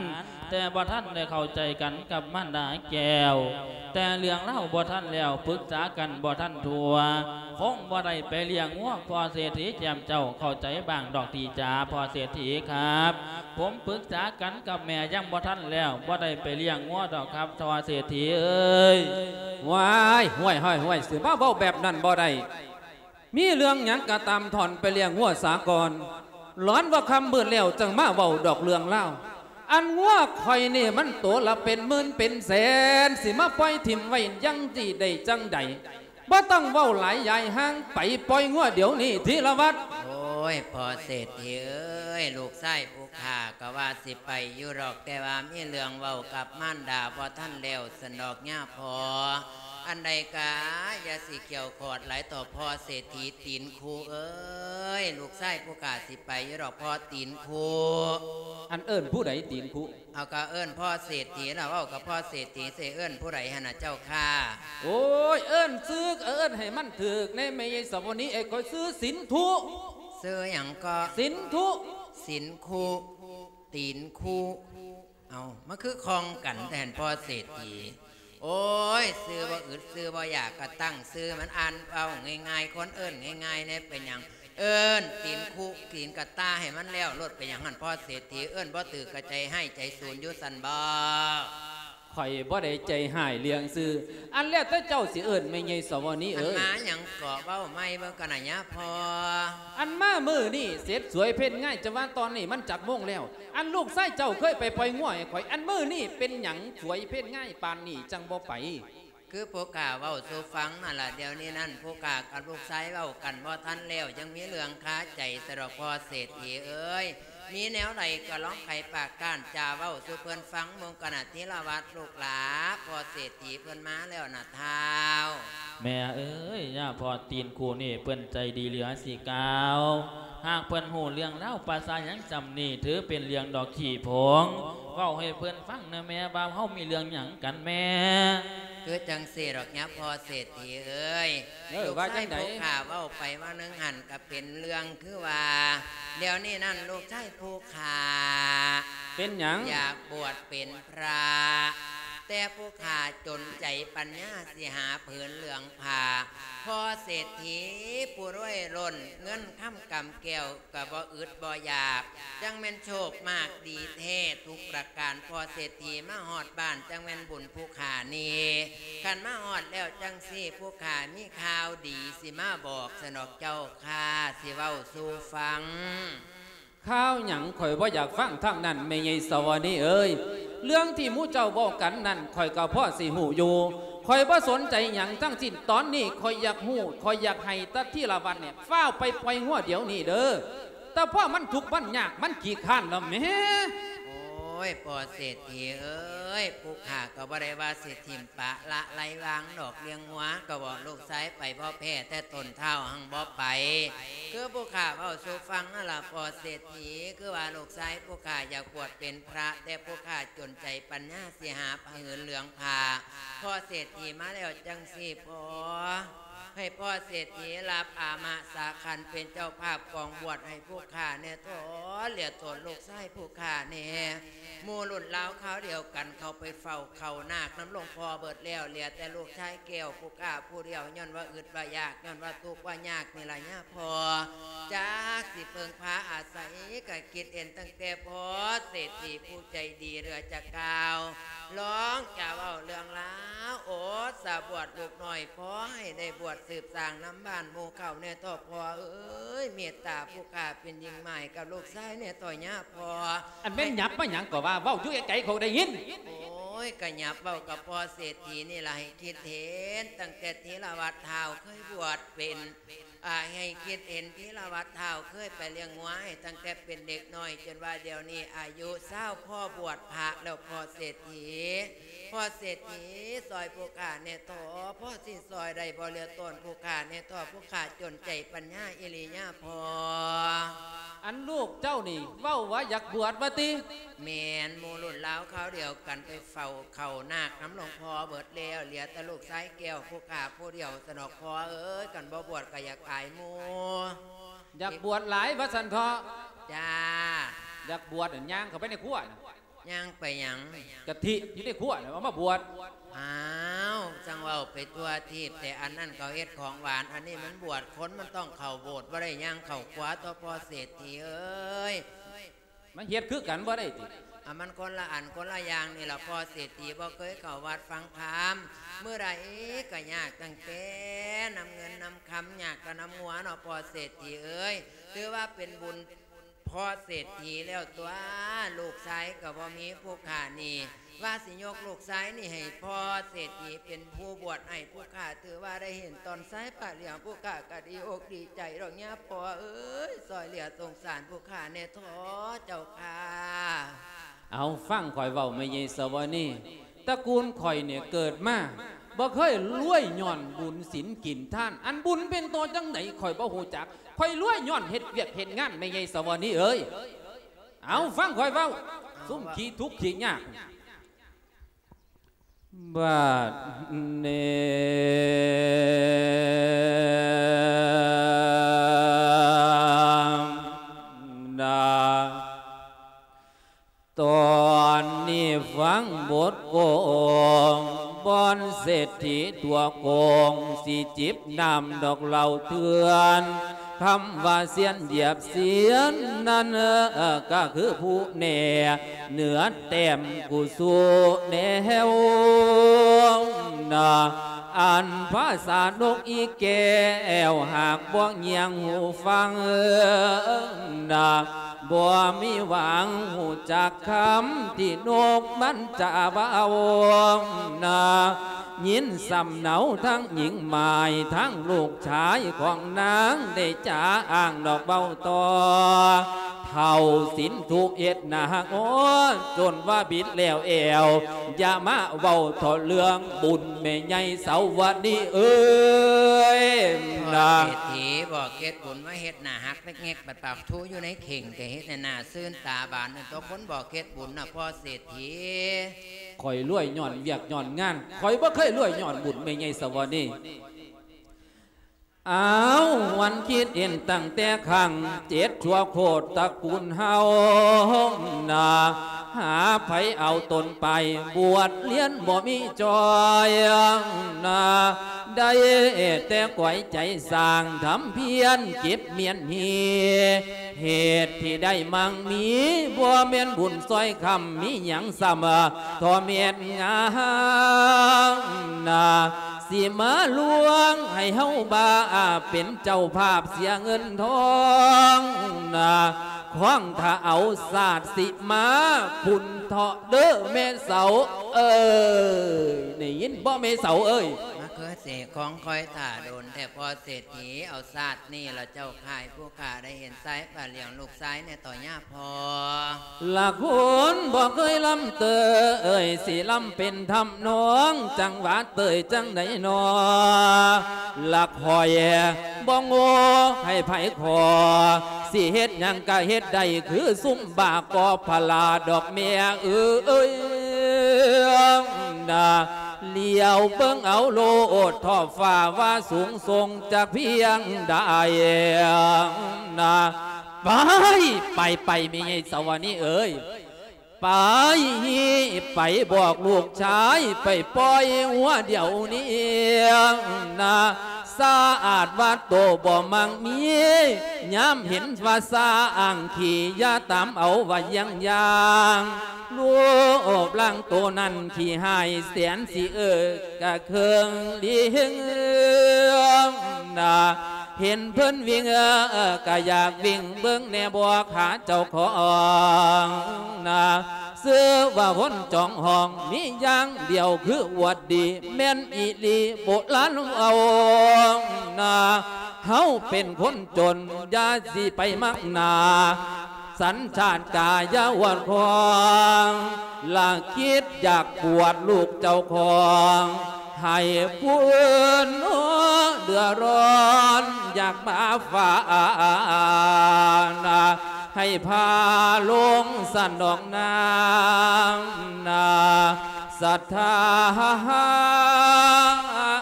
ແຕ່ບໍ່ທັນໄດ້ເຂົ້າໃຈກັນກັບມານດາແກ້ວ ແຕ່ເລື່ອງລາວບໍ່ທັນແລ້ວ ປຶກສາກັນບໍ່ທັນທົ່ວ ຄົງບໍ່ໄດ້ໄປລ້ຽງງົວພໍ່ເສດຖີແຈ່ມເຈົ້າ ເຂົ້າໃຈບ້າງດອກຕິຈາພໍ່ເສດຖີຄັບ ຜົມປຶກສາກັນກັບແມ່ຍັງບໍ່ທັນແລ້ວ ບໍ່ໄດ້ໄປລ້ຽງງົວດອກຄັບພໍ່ເສດຖີເອີຍ. ວ້າຍ ຫ້ວຍ ຫ້ວຍ ຫ້ວຍ ຊິມາເວົ້າແບບນັ້ນບໍ່ໄດ້ ມີເລື່ອງຫຍັງກະຕາມ ທ່ອນໄປລ້ຽງງົວສາກ່ອນ ຫຼອນວ່າຄ່ຳມືດແລ້ວຈັ່ງມາເວົ້າດອກເລື່ອງລາວ ອັນງົວຂ້ອຍນີ້ມັນໂຕລະເປັນໝື່ນເປັນແສນ ຊິມາປ່ອຍຖິ້ມໄວ້ຢ່າງນີ້ໄດ້ຈັ່ງໃດ ບໍ່ຕ້ອງເວົ້າຫຼາຍ ຍ້າຍຫ່າງໄປ ປ່ອຍງົວດຽວນີ້ ທີລະວັດ. ໂອ້ຍ ພໍ່ເສດຖີເອີຍ ລູກຊາຍຜູ້ຂ້າກະວ່າຊິໄປຢູ່ດອກ ແຕ່ວ່າມີເລື່ອງເວົ້າກັບມານດາບໍ່ທັນແລ້ວຊັ້ນດອກຍາພໍ່ ອັນໃດກະຢ່າຊິກ່ຽວຂອດຫຼາຍຕໍ່ພໍ່ເສດຖີຕີນຄຸເອີຍ ລູກຊາຍຜູ້ຂ້າຊິໄປຢູ່ດອກພໍ່ຕີນຄຸ. ອັນເອີ້ນຜູ້ໃດຕີນຄຸ? ເອົາ ກະເອີ້ນພໍ່ເສດຖີລະ ເວົ້າກັບພໍ່ເສດຖີ ຊິເອີ້ນຜູ້ໃດຫັ້ນນະເຈົ້າຂ້າ? ໂອ້ຍ ເອີ້ນຊື່ ເອີ້ນໃຫ້ມັນຖືກແດ່ແມ່ໃຫຍ່ສະວະນີເອີຍ ຂ້ອຍຊື່ສິນທຸ. ຊື່ຫຍັງເກາະ? ສິນທຸ. ສິນຄຸ ຕີນຄຸ ເອົາ ມັນຄືຄ່ອງກັນແທ້ພໍ່ເສດຖີ. ໂອ້ຍ ຊື່ບໍ່ອຶດຊື່ບໍ່ຢາກກະຕັ້ງຊື່ມັນ ອ່ານເວົ້າງ່າຍໆ ຄົນເອີ້ນງ່າຍໆແດ່ ເປັນຫຍັງ ເອີ້ນຕີນຄຸຕີນກະຕ່າໃຫ້ມັນແລ້ວໂລດ ເປັນຫຍັງຫັ້ນພໍ່ເສດຖີ ເອີ້ນບໍ່ຖືກກະໃຈຮ້າຍໃຈສູນຢູ່ຊັ້ນບໍ? ຂ້ອຍບໍ່ໄດ້ໃຈຮ້າຍເລື່ອງຊື່ ອັນແລ້ວແຕ່ເຈົ້າຊິເອີ້ນແມ່ໃຫຍ່ສະວະນີເອີຍ. ອັນມາຫຍັງເກາະ ເວົ້າໃໝ່ເບິ່ງກະນະຍາພໍ່. ອັນມາມື້ນີ້ເສັດສວຍເພັນງາຍ ຈະວ່າຕອນນີ້ມັນຈັກໂມງແລ້ວ ອັນລູກຊາຍເຈົ້າເຄີຍໄປປ່ອຍງົວໃຫ້ຂ້ອຍ ອັນມື້ນີ້ເປັນຫຍັງສວຍເພັນງາຍປານນີ້ຈັ່ງບໍ່ໄປ? ຄືຜູ້ຂ້າເວົ້າສູ່ຟັງຫັ້ນລະ ດຽວນີ້ນັ້ນຜູ້ຂ້າກັບລູກຊາຍເວົ້າກັນບໍ່ທັນແລ້ວ ຍັງມີເລື່ອງຄາໃຈຊະດອກພໍ່ເສດຖີເອີຍ ມີແນວໃດກະລອງໄຂປາກກ້ານຈາເວົ້າສູ່ເພິ່ນຟັງເບິ່ງກະນະທີລະວັດລູກຫຼາ ພໍ່ເສດຖີເພິ່ນມາແລ້ວນະທ້າວ. ແມ່ເອີຍ ຍາພໍ່ຕີນຄູນີ້ເພິ່ນໃຈດີເຫຼືອຊິກ່າວ ຫາກເພິ່ນຮູ້ເລື່ອງລາວປາສາຫຍັງຊ່ຳນີ້ ຖືເປັນເລື່ອງດອກຂີ້ຜົງ ເວົ້າໃຫ້ເພິ່ນຟັງແນ່ແມ່ ວ່າເຮົາມີເລື່ອງຫຍັງກັນແມ່? ຄືຈັ່ງຊີ້ດອກຍາພໍ່ເສດຖີເອີຍ ເອີ ລູກຊາຍຜູ້ຂ້າເວົ້າໄປວ່າໜຶ່ງຫັ້ນກະເປັນເລື່ອງຄືວ່າ ດຽວນີ້ນັ້ນລູກຊາຍຜູ້ຂ້າ ເປັນຫຍັງ? ຢາກບວດເປັນພຣະ ແຕ່ຜູ້ຂ້າຈົນໃຈປັນຍາຊິຫາຜືນເຫຼືອງຜ້າ ພໍ່ເສດຖີຜູ້ລວຍລົ້ນ ເງິນຄຳກຳແກ້ວກະບໍ່ອຶດບໍ່ຢາກ ຈັ່ງແມ່ນໂຊກມາກດີແທ້ທຸກປະການ ພໍ່ເສດຖີມາຮອດບ້ານ ຈັ່ງແມ່ນບຸນຜູ້ຂ້ານີ້ ຄັນມາຮອດແລ້ວຈັ່ງຊີ້ ຜູ້ຂ້າມີຂ່າວດີຊິມາບອກຊະດອກເຈົ້າຂ້າ ຊິເວົ້າສູ່ຟັງ. ຂ່າວຫຍັງ? ຂ້ອຍບໍ່ຢາກຟັງທາງນັ້ນ ແມ່ໃຫຍ່ສະຫວານີເອີຍ ເລື່ອງທີ່ໝູ່ເຈົ້າເວົ້າກັນນັ້ນ ຂ້ອຍກະພໍຊິຮູ້ຢູ່ ຂ້ອຍບໍ່ສົນໃຈຫຍັງທັງສິ້ນ ຕອນນີ້ຂ້ອຍຢາກຮູ້ ຂ້ອຍຢາກໃຫ້ຕາທີລະວັດນີ້ ຟ້າວໄປປ່ອຍງົວດຽວນີ້ເດີ ແຕ່ພໍມັນທຸກມັນຍາກ ມັນຂີ້ຄ້ານແລ້ວແໝ. ໂອ້ຍ ພໍ່ເສດຖີເອີຍ ຜູ້ຂ້າກະບໍ່ໄດ້ວ່າຊິຖິ້ມປະລະໄລວາງດອກ ລ້ຽງງົວກະບອກລູກຊາຍໄປ ບໍ່ແພ້ແຕ່ຕົ້ນທ້າວຫັ້ນບໍ່ໄປ ຄືຜູ້ຂ້າເວົ້າສູ່ຟັງຫັ້ນລະ ພໍ່ເສດຖີ ຄືວ່າລູກຊາຍຜູ້ຂ້າຢາກບວດເປັນພຣະ ແຕ່ຜູ້ຂ້າຈົນໃຈປັນຍາຊິຫາຜືນເຫຼືອງຜ້າ ພໍ່ເສດຖີມາແລ້ວຈັ່ງຊີ້ ພໍ່ ໃຫ້ພໍ່ເສດຖີຮັບອາມະສາຂັນເປັນເຈົ້າພາບກອງບວດໃຫ້ຜູ້ຂ້າແນ່ເທາະ ເຫຼືອຕົນລູກຊາຍຜູ້ຂ້າແນ່ ໝູ່ລຸ້ນລາວຄາວດຽວກັນເຂົ້າໄປເຝົ້າເຂົ້ານາກນຳຫຼວງພໍ່ເບິດແລ້ວ ເຫຼືອແຕ່ລູກຊາຍແກ້ວຜູ້ຂ້າຜູ້ດຽວ ຍ້ອນວ່າອຶດວ່າຢາກ ຍ້ອນວ່າທຸກວ່າຍາກນີ້ລະຍາພໍ່ ຈັກຊິເພິ່ງພາອາໄສ ກະຄິດເຫັນຕັ້ງແຕ່ພໍ່ເສດຖີຜູ້ໃຈດີເຫຼືອຈະກ່າວ ລອງຈະເວົ້າເລື່ອງລາວ ໂອດສະບວດລູກນ້ອຍ ຂໍໃຫ້ໄດ້ບວດສືບສ້າງນຳບ້ານໝູ່ເຂົາແນ່ເທາະ ພໍ່ເອີຍ ເມດຕາຜູ້ຂ້າເປັນຍິ່ງໝາຍກັບລູກຊາຍແນ່ເທາະຍາພໍ່. ອັນແມ່ນຫຍັບມາຫຍັງກະວ່າ ເວົ້າຢູ່ໄກໆ ຂ້ອຍໄດ້ຍິນ. ໂອ້ຍ ກະຫຍັບເວົ້າກັບພໍ່ເສດຖີນີ້ລະ ໃຫ້ຄິດເຫັນຕັ້ງແຕ່ທີລະວັດທ້າວເຄີຍບວດເປັນ ອາ ໃຫ້ຄິດເຫັນທີລະວັດທ້າວເຄີຍໄປລ້ຽງງົວໃຫ້ຕັ້ງແຕ່ເປັນເດັກນ້ອຍ ຈົນວ່າດຽວນີ້ອາຍຸຊາວພໍບວດພະແລ້ວ ພໍ່ເສດຖີ ພໍ່ເສດຖີ ຊ່ອຍຜູ້ຂ້າແນ່ເທາະ ພໍຊິຊ່ອຍໄດ້ບໍ່ ເຫຼືອຕົນຜູ້ຂ້າແນ່ເທາະ ຜູ້ຂ້າຈົນໃຈປັນຍາອີ່ຫຼີຍາພໍ່. ອັນລູກເຈົ້ານີ້ເວົ້າວ່າຢາກບວດວ່າຕິ? ແມ່ນ ໝູ່ລຸ້ນລາວຄາວດຽວກັນໄປເຝົ້າເຂົ້ານາກນຳຫຼວງພໍ່ເບິດແລ້ວ ເຫຼືອແຕ່ລູກຊາຍແກ້ວຜູ້ຂ້າຜູ້ດຽວຊະດອກ ພໍ່ເອີຍ ຄັນບໍ່ບວດກະຢາກອາຍໝູ່. ຢາກບວດຫຼາຍວ່າຊັ້ນເຖາະ. ຈ້າ. ຢາກບວດນັ້ນ ຍ່າງເຂົ້າໄປໃນຄົວນະ. ຍ່າງໄປຫຍັງ? ກະທິຢູ່ໃນຄົວນະ ເອົາມາບວດ. ອ້າວ ຈັ່ງເວົ້າໄປທົ່ວທີບແທ້ ອັນນັ້ນເຂົາເຮັດຂອງຫວານ ອັນນີ້ມັນບວດຄົນ ມັນຕ້ອງເຂົ້າໂບດ ບໍ່ໄດ້ຍ່າງເຂົ້າຄົວຕົວະພໍ່ເສດຖີເອີຍ. ມັນເຮັດຄືກັນບໍ່ໄດ້ຕິ? ອາ ມັນຄົນລະອັນຄົນລະຢ່າງນີ້ລະພໍ່ເສດຖີ ບໍ່ເຄີຍເຂົ້າວັດຟັງທຳ ມື້ໃດກະຍາກຕັ້ງແຕ່ນຳເງິນນຳຄຳ ຍາກກະນຳງົວເນາະພໍ່ເສດຖີເອີຍ. ຖືວ່າເປັນບຸນພໍ່ເສດຖີແລ້ວຕົວະ ລູກຊາຍກະບໍ່ມີຜູ້ຂ້ານີ້ ວ່າຊິຍົກລູກຊາຍນີ້ໃຫ້ພໍ່ເສດຖີເປັນຜູ້ບວດໃຫ້ຜູ້ຂ້າ ຖືວ່າໄດ້ເຫັນຕອນຊາຍພະຫຼຽງ ຜູ້ຂ້າກະດີອົກດີໃຈດອກຍາພໍ່ເອີຍ ຊ່ອຍເຫຼືອສົງສານຜູ້ຂ້າແດ່ເຖາະເຈົ້າຂ້າ. ເອົາ ຟັງຂ້ອຍເວົ້າແມ່ໃຫຍ່ສະຫວະນີ ຕະກູນຂ້ອຍນີ້ເກີດມາ ບໍ່ເຄີຍລວຍຍ້ອນບຸນສິນກິນທານ ອັນບຸນເປັນໂຕຈັ່ງໃດຂ້ອຍບໍ່ຮູ້ຈັກ ຂ້ອຍລວຍຍ້ອນເຮັດວຽກເຮັດງານແມ່ໃຫຍ່ສະຫວະນີເອີຍ. ເອົາ ຟັງຂ້ອຍເວົ້າ ເອົາ ຊຸມ ເວົ້າ ຂີ້ທຸກຂີ້ຍາກ ບາດນີ້ນະ ຕອນນີ້ຟັງບົດໂກງ ບ່ອນເສດຖີຕົວໂກງ ຊິຈິບນ້ຳດອກເຫຼົ້າເຖື່ອນ ຄຳວ່າຊຽນຢຽບຊຽນນັ້ນ ກະຄືຜູ້ແນ ເໜືອແຕ້ມກູສູ່ແນວນາ ອັນພາສານົກອີແກ້ວ ຫາກບໍ່ຍຽງຫູຟັງນາ ບໍ່ມີຫວັງຮູ້ຈັກຄຳທີ່ນົກມັນຈະເວົ້ານາ ຍິນສຳເນົາທັງຍິງໝາຍ ທັງລູກຊາຍຂອງນາງໄດ້ຈາອ້າງດອກເວົ້າຕໍ່ ເຖົ້າສິນທຸເຮັດໜ້າຮັກ ໂອ້ ຈົນວ່າບິດແລ້ວແອວ ຢ່າມາເວົ້າເຖາະເລື່ອງບຸນແມ່ໃຫຍ່ສາວະນີເອີຍນະ. ພໍ່ເສດຖີ ບອກເຮັດບຸນມາເຮັດໜ້າຮັກແງກໆ ບັດປາກທູຢູ່ໃນເຂ່ງ ກະເຮັດໃຫ້ໜ້າຊື່ນຕາບານ ຕົວຄົນບອກເຮັດບຸນນະ ພໍ່ເສດຖີ. ຂ້ອຍລວຍຍ້ອນວຽກຍ້ອນງານ ຂ້ອຍບໍ່ເຄີຍລວຍຍ້ອນບຸນແມ່ໃຫຍ່ສາວະນີ. ອ້າວ ຫວນຄິດເຫັນຕັ້ງແຕ່ຄັ້ງເຈັດຊົ່ວໂຄດຕະກູນເຮົານາ ຫາໃຜເອົາຕົນໄປບວດຮຽນບໍ່ມີຈອຍນາ ໄດ້ແຕ່ກວຍໃຈສ້າງທຳພຽນເກັບມຽນຮີ ເຫດທີ່ໄດ້ມັ່ງມີ ບໍ່ແມ່ນບຸນຊ່ອຍຄຳ ມີຫຍັງຊ້ຳ ທໍ່ແມ່ນງາມນາ ຊິມາລວງໃຫ້ເຮົາບ້າ ເປັນເຈົ້າພາບເສຍເງິນທອງນາ ຂອງຖ້າເອົາຊາດຊິມາພຸ້ນເທາະເດີແມ່ເສົາເອີຍ ໄດ້ຍິນບໍ່ແມ່ເສົາເອີຍ? ມາເຄືອເສຂອງຂ້ອຍຖ້າດົນແທ້ ພໍ່ເສດຖີ ເອົາຊາດນີ້ລະເຈົ້າຂ້າ ໃຫ້ຜູ້ຂ້າໄດ້ເຫັນຊາຍປາຫຼຽງລູກຊາຍແດ່ເຖາະຍາພໍ່. ລະຄົນບໍ່ເຄີຍລຳເຕີຍ ຊິລຳເປັນທຳນອງ ຈັງຫວະເຕີຍຈັ່ງໃດນໍ ລະຂ້ອຍບໍ່ໂງ່ໃຫ້ໃຜຂໍ ຊິເຮັດຫຍັງກະເຮັດໄດ້ ຄືຊຸມບາກອບພະລາດອກແມ່ເອີຍນາ ຫຼຽວເບິ່ງເອົາໂລດ ທ້ອງຟ້າວ່າສູງສົ່ງຈັກພຽງໃດນາ ໄປ ໄປ ໄປ ແມ່ໃຫຍ່ສາວະນີເອີຍ ໄປ ໄປບອກລູກຊາຍ ໄປປ່ອຍຫົວດຽວນີ້ນາ ສະອາດວ່າໂຕບໍ່ມັກມີ ຍາມເຫັນວ່າຊ້າງຂີ້ ຢ່າຕາມເອົາວ່າຢ່າງຢ່າງ ຮູບຮ່າງໂຕນັ້ນຂີ້ຮ້າຍແສນຊິເອິກກະເຄິ່ງລີເຮັງນາ ເຫັນເພິ່ນວິ່ງກະຢາກວິ່ງເບິ່ງແດ່ບໍ່ຂາເຈົ້າຂອງນາ ຊື່ວ່າຄົນຈອງຫ້ອງມີຢ່າງດຽວຄືອວດດີ ແມ່ນອີ່ຫຼີໂບລານເວົ້ານາ ເຮົາເປັນຄົນຈົນຢ່າຊິໄປມັກໜ້າ ສັນຊາດກາຢ່າອວດຂອງ ລະຄິດຢາກບວດລູກເຈົ້າຂອງ ໃຫ້ຜູ້ອື່ນເດືອດຮ້ອນ ຢາກມາຝາກນາ ໃຫ້ພາລົງສັນດອກນາງນາ ສັດທາ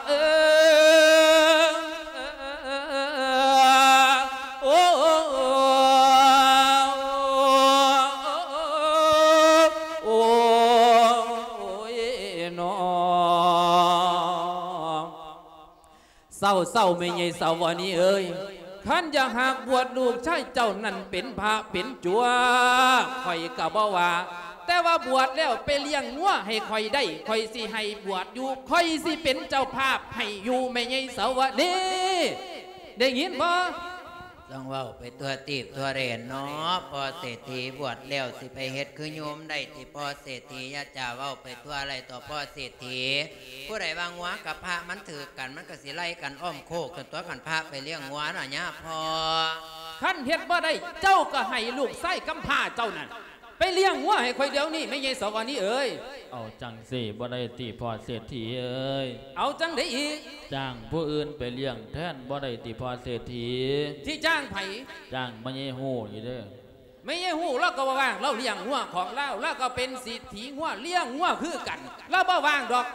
ເອີຍ ໂອ້ ເຊົາໆ ແມ່ໃຫຍ່ສາວະນີເອີຍ, ຄັນຢາກຫາກບວດລູກຊາຍເຈົ້ານັ້ນເປັນພະເປັນຈົວ ຂ້ອຍກໍບໍ່ວ່າ, ແຕ່ວ່າບວດແລ້ວໄປລ້ຽງງົວໃຫ້ຂ້ອຍໄດ້, ຂ້ອຍຊິໃຫ້ບວດຢູ່, ຂ້ອຍຊິເປັນເຈົ້າພາບໃຫ້ຢູ່ ແມ່ໃຫຍ່ສາວະນີ. ໄດ້ຍິນບໍ່? ຕ້ອງເວົ້າໄປທົ່ວຕີບທົ່ວແດນເນາະ ພໍ່ເສດຖີ. ບວດແລ້ວຊິໄປເຮັດຄືໂຍມໄດ້ຕິ ພໍ່ເສດຖີ? ຢ່າຈະເວົ້າໄປທົ່ວໄຫຼຕໍ່ພໍ່ເສດຖີ. ຜູ້ໃດວ່າງົວກັບພະມັນຖືກກັນ ມັນກໍຊິໄລ່ກັນອ້ອມໂຄກ ຈົນຕົວະກັນພະໄປລ້ຽງງົວນະຍາພໍ່. ຄັນເຮັດບໍ່ໄດ້ ເຈົ້າກໍໃຫ້ລູກຊາຍກຳພ້າເຈົ້ານັ້ນ ໄປລ້ຽງງົວໃຫ້ຂ້ອຍດຽວນີ້ ແມ່ໃຫຍ່ສາວະນີເອີຍ. ເອົາຈັ່ງຊີ້ບໍ່ໄດ້ຕິພໍ່ເສດຖີເອີຍ? ເອົາຈັ່ງໃດອີກ? ຈ້າງຜູ້ອື່ນໄປລ້ຽງແທນບໍ່ໄດ້ຕິພໍ່ເສດຖີ? ຊິຈ້າງໃຜ? ຈ້າງແມ່ໃຫຍ່ຮູ້ນີ້ເດີ. ແມ່ໃຫຍ່ຮູ້ລາວກໍບໍ່ວ່າງ, ລາວລ້ຽງງົວຂອງລາວ, ລາວກໍເປັນເສດຖີງົວ, ລ້ຽງງົວຄືກັນ, ລາວບໍ່ວ່າງດອກ.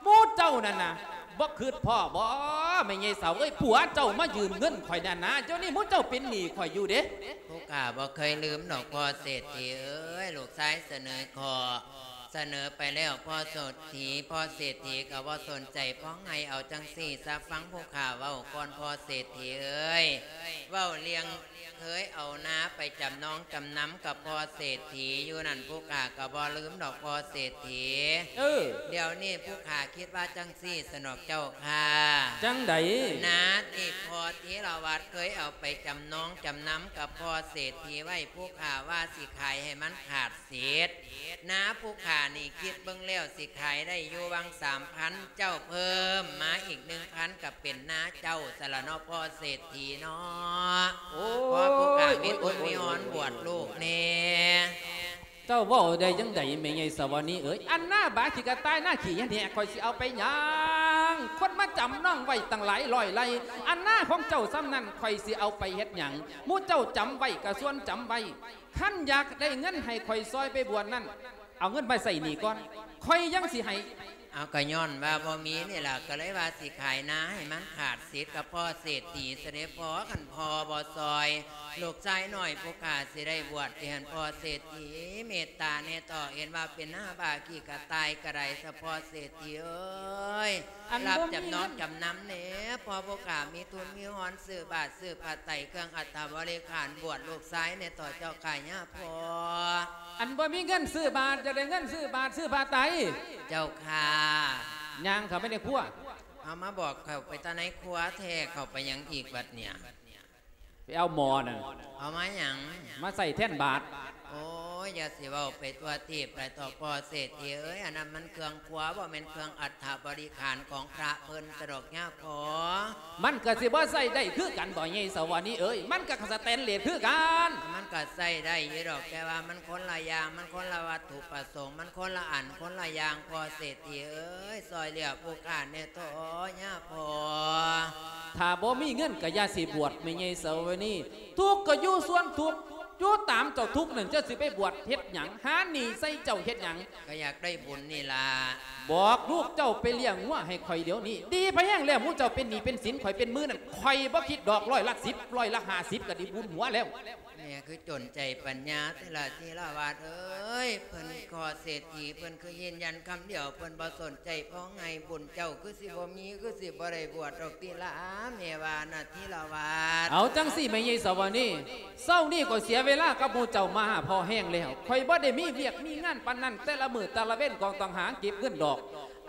ໝູ່ເຈົ້ານັ້ນນະ ບໍ່ຄິດພໍ້ບໍ່ ແມ່ໃຫຍ່ສາວເອີຍ? ຜົວເຈົ້າມາຢືມເງິນຂ້ອຍນັ້ນນະ, ດຽວນີ້ໝູ່ເຈົ້າເປັນໜີ້ຂ້ອຍຢູ່ເດ້. ຜູ້ຂ້າບໍ່ເຄີຍລືມດອກພໍ່ເສດຖີເອີຍ. ລູກຊາຍສະເໜີຂໍ ສະເໜີໄປແລ້ວພໍ່ເສດຖີ, ພໍ່ເສດຖີກໍບໍ່ສົນໃຈ. ຟ້ອງໃຫ້ເອົາຈັ່ງຊີ້ຊະ, ຟັງຜູ້ຂ້າເວົ້າກ່ອນພໍ່ເສດຖີເອີຍ. ເວົ້າເລື່ອງ ເຄີຍເອົານາໄປຈຳນອງຈຳນຳກັບພໍ່ເສດຖີຢູ່ນັ້ນ ຜູ້ຂ້າກໍບໍ່ລືມດອກພໍ່ເສດຖີ. ເອີ ດຽວນີ້ຜູ້ຂ້າຄິດວ່າຈັ່ງຊີ້ສະດອກເຈົ້າຂ້າ. ຈັ່ງໃດ? ນາທີ່ພໍ່ທີລະວັດເຄີຍເອົາໄປຈຳນອງຈຳນຳກັບພໍ່ເສດຖີໄວ້ ຜູ້ຂ້າວ່າຊິຂາຍໃຫ້ມັນຂາດສິດ. ນາຜູ້ຂ້ານີ້ຄິດເບິ່ງແລ້ວຊິຂາຍໄດ້ຢູ່ຫວ່າງສາມພັນ ເຈົ້າເພີ່ມມາອີກໜຶ່ງພັນ ກໍເປັນນາເຈົ້າຊັ້ນລະເນາະ ພໍ່ເສດຖີເນາະ. ໂອ້ຍ ພໍ່ຜູ້ຂ້າມີບຸນມີຮອນບວດລູກແດ່. ເຈົ້າເວົ້າໄດ້ຈັ່ງໃດແມ່ໃຫຍ່ສາວະນີເອີຍ? ອັນນາບາຂີ້ກະຕ່າຍ ນາຂີ້ຫຍັງແທ້ ຂ້ອຍຊິເອົາໄປຫຍັງ? ຄົນມາຈຳນອງໄວ້ຕັ້ງຫຼາຍຮ້ອຍໄລ່ ອັນນາຂອງເຈົ້າສ່ຳນັ້ນ ຂ້ອຍຊິເອົາໄປເຮັດຫຍັງ? ໝູ່ເຈົ້າຈຳໄວ້ກໍຊວນຈຳໄວ້. ຄັນຢາກໄດ້ເງິນໃຫ້ຂ້ອຍຊ່ອຍໄປບວດນັ້ນ ເອົາເງິນໄປໃຊ້ໜີ້ກ່ອນ ຂ້ອຍຍັງຊິໃຫ້. ເອົາ ກໍຍ້ອນວ່າບໍ່ມີນີ້ລະ ກໍເລີຍວ່າຊິຂາຍນາໃຫ້ມັນຂາດສິດກັບພໍ່ເສດຖີຊະເດພໍ່. ຄັນພໍ່ບໍ່ຊ່ອຍ ລູກຊາຍນ້ອຍຜູ້ຂ້າຊິໄດ້ບວດຕິຫັ້ນ ພໍ່ເສດຖີ? ເມດຕາແດ່ເຖາະ ເຫັນວ່າເປັນໜ້າບາຂີ້ກະຕ່າຍກໍໄດ້ຊະ ພໍ່ເສດຖີເອີຍ. ອັນ ຮັບຈຳນອງຈຳນຳແດ່ ພໍ່ຜູ້ຂ້າມີທຶນມີຮອນຊື້ບາດຊື້ຜ້າໄຕ ເຄື່ອງອັດຖະບໍລິຂານບວດລູກຊາຍແດ່ເຖາະເຈົ້າຂ້າຍາພໍ່. ອັນບໍ່ມີເງິນຊື້ບາດ ຢາກໄດ້ເງິນຊື້ບາດຊື້ຜ້າໄຕ ເຈົ້າຂ້າ. ຍ່າງເຂົ້າໄປໃນຄົວ. ເອົາ ມາບອກເຂົ້າໄປແຕ່ໃນຄົວແທ້ ເຂົ້າໄປຫຍັງອີກບັດເນີ້ຍ? ໄປເອົາໝໍ້ນັ້ນ. ເອົາມາຫຍັງ? ມາໃສ່ແທນບາດ. ໂອ້ຍ ຢ່າຊິເວົ້າໄປທົ່ວທີບໄຫຼເຖາະພໍ່ເສດຖີເອີຍ. ອັນນັ້ນມັນເຄື່ອງຄົວ ບໍ່ແມ່ນເຄື່ອງອັດຖະບໍລິຂານຂອງພະເພິ່ນຊະດອກຍາພໍ່. ມັນກໍຊິບໍ່ໃຊ້ໄດ້ຄືກັນບໍ ຍາຍສາວະນີເອີຍ? ມັນກໍສະແຕນເລດຄືກັນ. ມັນກໍໃຊ້ໄດ້ຢູ່ດອກ ແຕ່ວ່າມັນຄົນລະຢ່າງ ມັນຄົນລະວັດຖຸປະສົງ ມັນຄົນລະອັນຄົນລະຢ່າງ ພໍ່ເສດຖີເອີຍ. ຊ່ອຍເຫຼືອຜູ້ຂ້າແດ່ເຖາະຍາພໍ່. ຖ້າບໍ່ມີເງິນກໍຢ່າຊິບວດ ແມ່ໃຫຍ່ສາວະນີ. ທຸກກໍຢູ່ສ່ວນທຸກ ຢູ່ຕາມເຈົ້າທຸກນັ້ນ ເຈົ້າຊິໄປບວດເຮັດຫຍັງ? ຫາໜີ້ໃສ່ເຈົ້າເຮັດຫຍັງ? ກໍຢາກໄດ້ບຸນນີ້ລະ. ບອກລູກເຈົ້າໄປລ້ຽງງົວໃຫ້ຂ້ອຍດຽວນີ້. ດີພໍແຮງແລ້ວ ໝູ່ເຈົ້າເປັນໜີ້ເປັນສິນ ຂ້ອຍເປັນໝື່ນນັ້ນ ຂ້ອຍບໍ່ຄິດດອກ ຮ້ອຍລະສິບ ຮ້ອຍລະຫ້າສິບ ກໍດີບຸນຫົວແລ້ວ. ແມ່ຄືຈົນໃຈປັນຍາແທ້ລະທີລະວັດເອີຍ. ເພິ່ນຂໍເສດຖີ ເພິ່ນຄືຢືນຢັນຄຳດຽວ ເພິ່ນບໍ່ສົນໃຈພ້ອງໃຫ້ບຸນເຈົ້າ ຄືຊິບໍ່ມີ ຄືຊິບໍ່ໄດ້ບວດດອກຕິລະ ແມ່ວ່ານະທີລະວັດ. ເອົາຈັ່ງຊີ້ແມ່ໃຫຍ່ສາວະນີ ເຊົ້ານີ້ກໍເສຍເວລາກັບໝູ່ເຈົ້າມາພໍແຮງແລ້ວ. ຂ້ອຍບໍ່ໄດ້ມີວຽກມີງານປານນັ້ນ ແຕ່ລະມື້ແຕ່ລະເວັນກໍຕ້ອງຫາເກັບເງິນດອກ.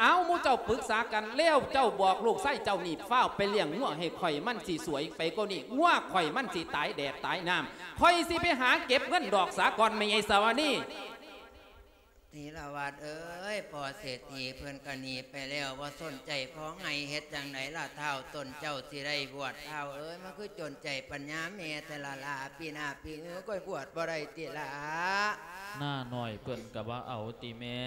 ເອົາ ໝູ່ເຈົ້າປຶກສາກັນແລ້ວ ເຈົ້າບອກລູກຊາຍເຈົ້ານີ້ ຟ້າວໄປລ້ຽງງົວໃຫ້ຂ້ອຍ ມັນຊິສວຍໄປກວ່ານີ້ ງົວຂ້ອຍມັນຊິຕາຍແດດຕາຍນ້ຳ. ຂ້ອຍຊິໄປຫາເກັບເງິນດອກສາກ່ອນ ແມ່ໃຫຍ່ສາວະນີ. ທີລະວັດເອີຍ ພໍ່ເສດຖີເພິ່ນກໍໜີໄປແລ້ວ ບໍ່ສົນໃຈພ້ອງໃຫ້ ເຮັດຈັ່ງໃດລະທ້າວ ຕົນເຈົ້າຊິໄດ້ບວດ ທ້າວເອີຍ. ມັນຄືຈົນໃຈປັນຍາແມ່ແທ້ລະລະ ປີໜ້າປີຫືອ ຂ້ອຍບວດບໍ່ໄດ້ຕິລະ. ນ້ານ້ອຍເພິ່ນກໍບໍ່ເອົາຕິແມ່?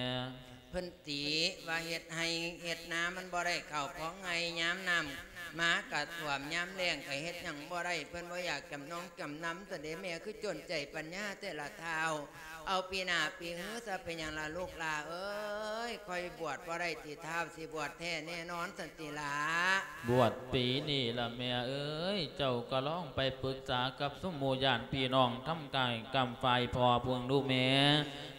ເພິ່ນຕິວ່າເຮັດໄຮ່ເຮັດນາມັນບໍ່ໄດ້ເຂົ້າ ພ້ອງໃຫ້ຍາມນ້ຳມາກະຖ້ວມ ຍາມແລ້ງກະເຮັດຫຍັງບໍ່ໄດ້ ເພິ່ນບໍ່ຢາກຈຳນອງຈຳນຳ. ຕອນນີ້ແມ່ຄືຈົນໃຈປັນຍາແຕ່ລະທ້າວ. ເອົາປີໜ້າປີຫືອຊະ ເປັນຫຍັງລະລູກຫຼ້າເອີຍ? ຂ້ອຍບວດບໍ່ໄດ້ຕິ ທ້າວຊິບວດແທ້ແນ່ນອນຊັ້ນຕິລະ? ບວດປີນີ້ລະແມ່ເອີຍ, ເຈົ້າກໍລອງໄປປຶກສາກັບຊຸມໝູ່ຍາດພີ່ນ້ອງ ທຳກາຍກຳຝ່າຍພໍ່ເພິ່ນດູແມ່.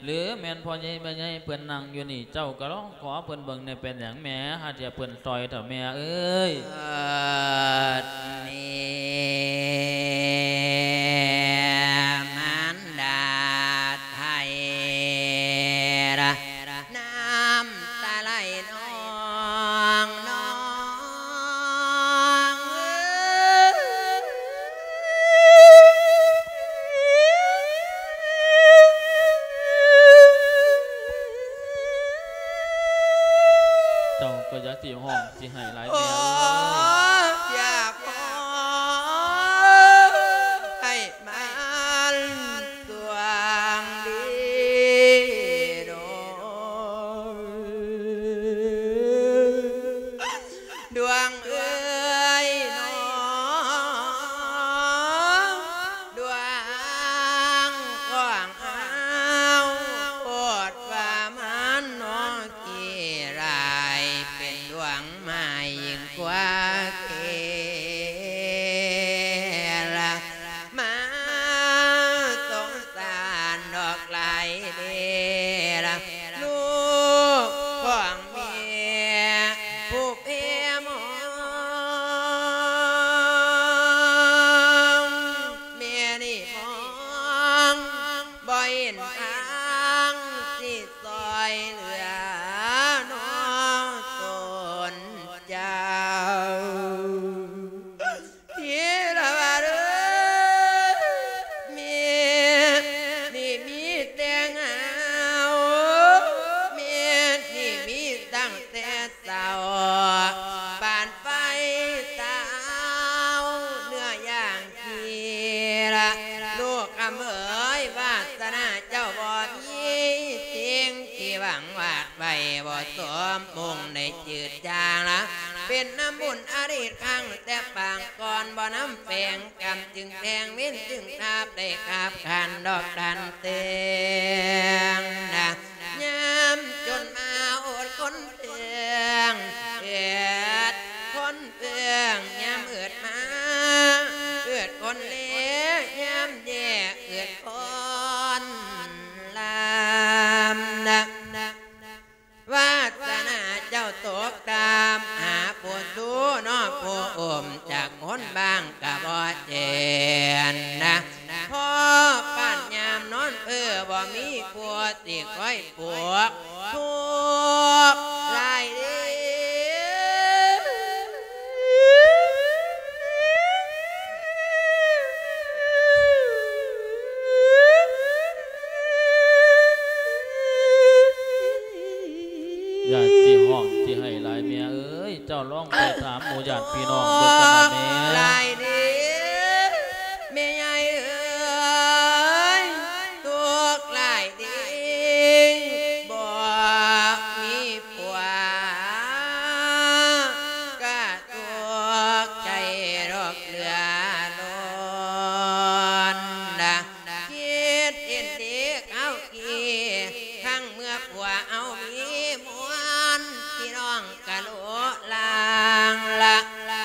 ຫຼືແມ່ນພໍ່ໃຫຍ່ແມ່ໃຫຍ່ເພິ່ນນັ່ງຢູ່ນີ້ ເຈົ້າກໍລອງຂໍເພິ່ນເບິ່ງແດ່ ເປັນຫຍັງແມ່ ຫາເທື່ອເພິ່ນຊ່ອຍເຖົ້າແມ່ເອີຍ. ເອີ ນີ້ມານດາໄທລະ ນ້ຳຕາໄຫຼນອງ ນອງເອີຍ. ເຈົ້າກໍຢ່າຊິຮ້ອງຊິໄຫ້ຫຼາຍແມ່ເອີຍ. ໂອ້ ຢາກຮ້ອງໄຫ້ມັນ ດວງດີນ້ອງ ດວງເອີຍນ້ອງ ດວງຂອງເຮົາ ໂພດວ່າມັນນ້ອງ ທີ່ຫຼາຍເປັນດວງມາຍິ່ງກວ່າເກລະ ມາສົງສານດອກຫຼາຍເດລະ ລູກຂອງແມ່ຜູ້ເພມອງ ແມ່ນີ້ມອງ ບໍ່ເຫັນທາງຊິຊ່ອຍເຫຼືອນ້ອງຕົນເຈົ້າ ທີລະວາດເອີຍ ແມ່ນີ້ມີແຕ່ເຫງົາ ແມ່ນີ້ມີຕັ້ງແຕ່ ເຊົ້າ ປານໄຟເຊົ້າ ເນື້ອຢ່າງທີ່ລະ ລູກຄຳເອີຍ ວາສະໜາເຈົ້າບໍ່ມີ ສິ່ງທີ່ຫວັງວາດໄວ້ບໍ່ສົມມຸງໄດ້ຈືດຈາງລະ ເປັນນຳບຸນອະດີດຄັ້ງແຕ່ປາງກ່ອນ ບໍ່ນຳແປງກຳຈຶ່ງແພງ ເວນຈຶ່ງທາບໄດ້ຄາບຂັນດອກດັນເຕງນະ ຍາມຈົນມາອົດຄົນເອີງ ເອີດຄົນເອີງ ຍາມເອີດມາເອີດຄົນເລ ຍາມແຍ່ເອີດຄົນລຳນະ ວາສະໜາເຈົ້າຕົກຕ່ຳ ຫາຜູ້ຊູເນາະ ຜູ້ອຸ້ມຈັກຄົນບາງກະບໍ່ເຫັນນະ ພໍປານຍາມນອນເພີບໍ່ມີຜູ້ຊິຄອຍ ພວກທຸກຫຼາຍເດ້ ຢ່າຊິຮ້ອງຊິໄຫ້ຫຼາຍແມ່ເອີຍ ເຈົ້າລອງໄປຖາມໝູ່ຍາດພີ່ນ້ອງເບິ່ງກັນນະແມ່ ທຸກຫຼາຍເດ້ ແມ່ໃຫຍ່ເອີຍ ທຸກຫຼາຍເດ້ ບໍ່ມີຜົວ ກະທຸກໃຈດອກເຫຼືອລົ້ນນະ ຄິດເຫັນເດຄາວກີ້ ຄັ້ງເມື່ອຜົວເຮົາມີມວນ ພີ່ນ້ອງກະໂລລາງລະ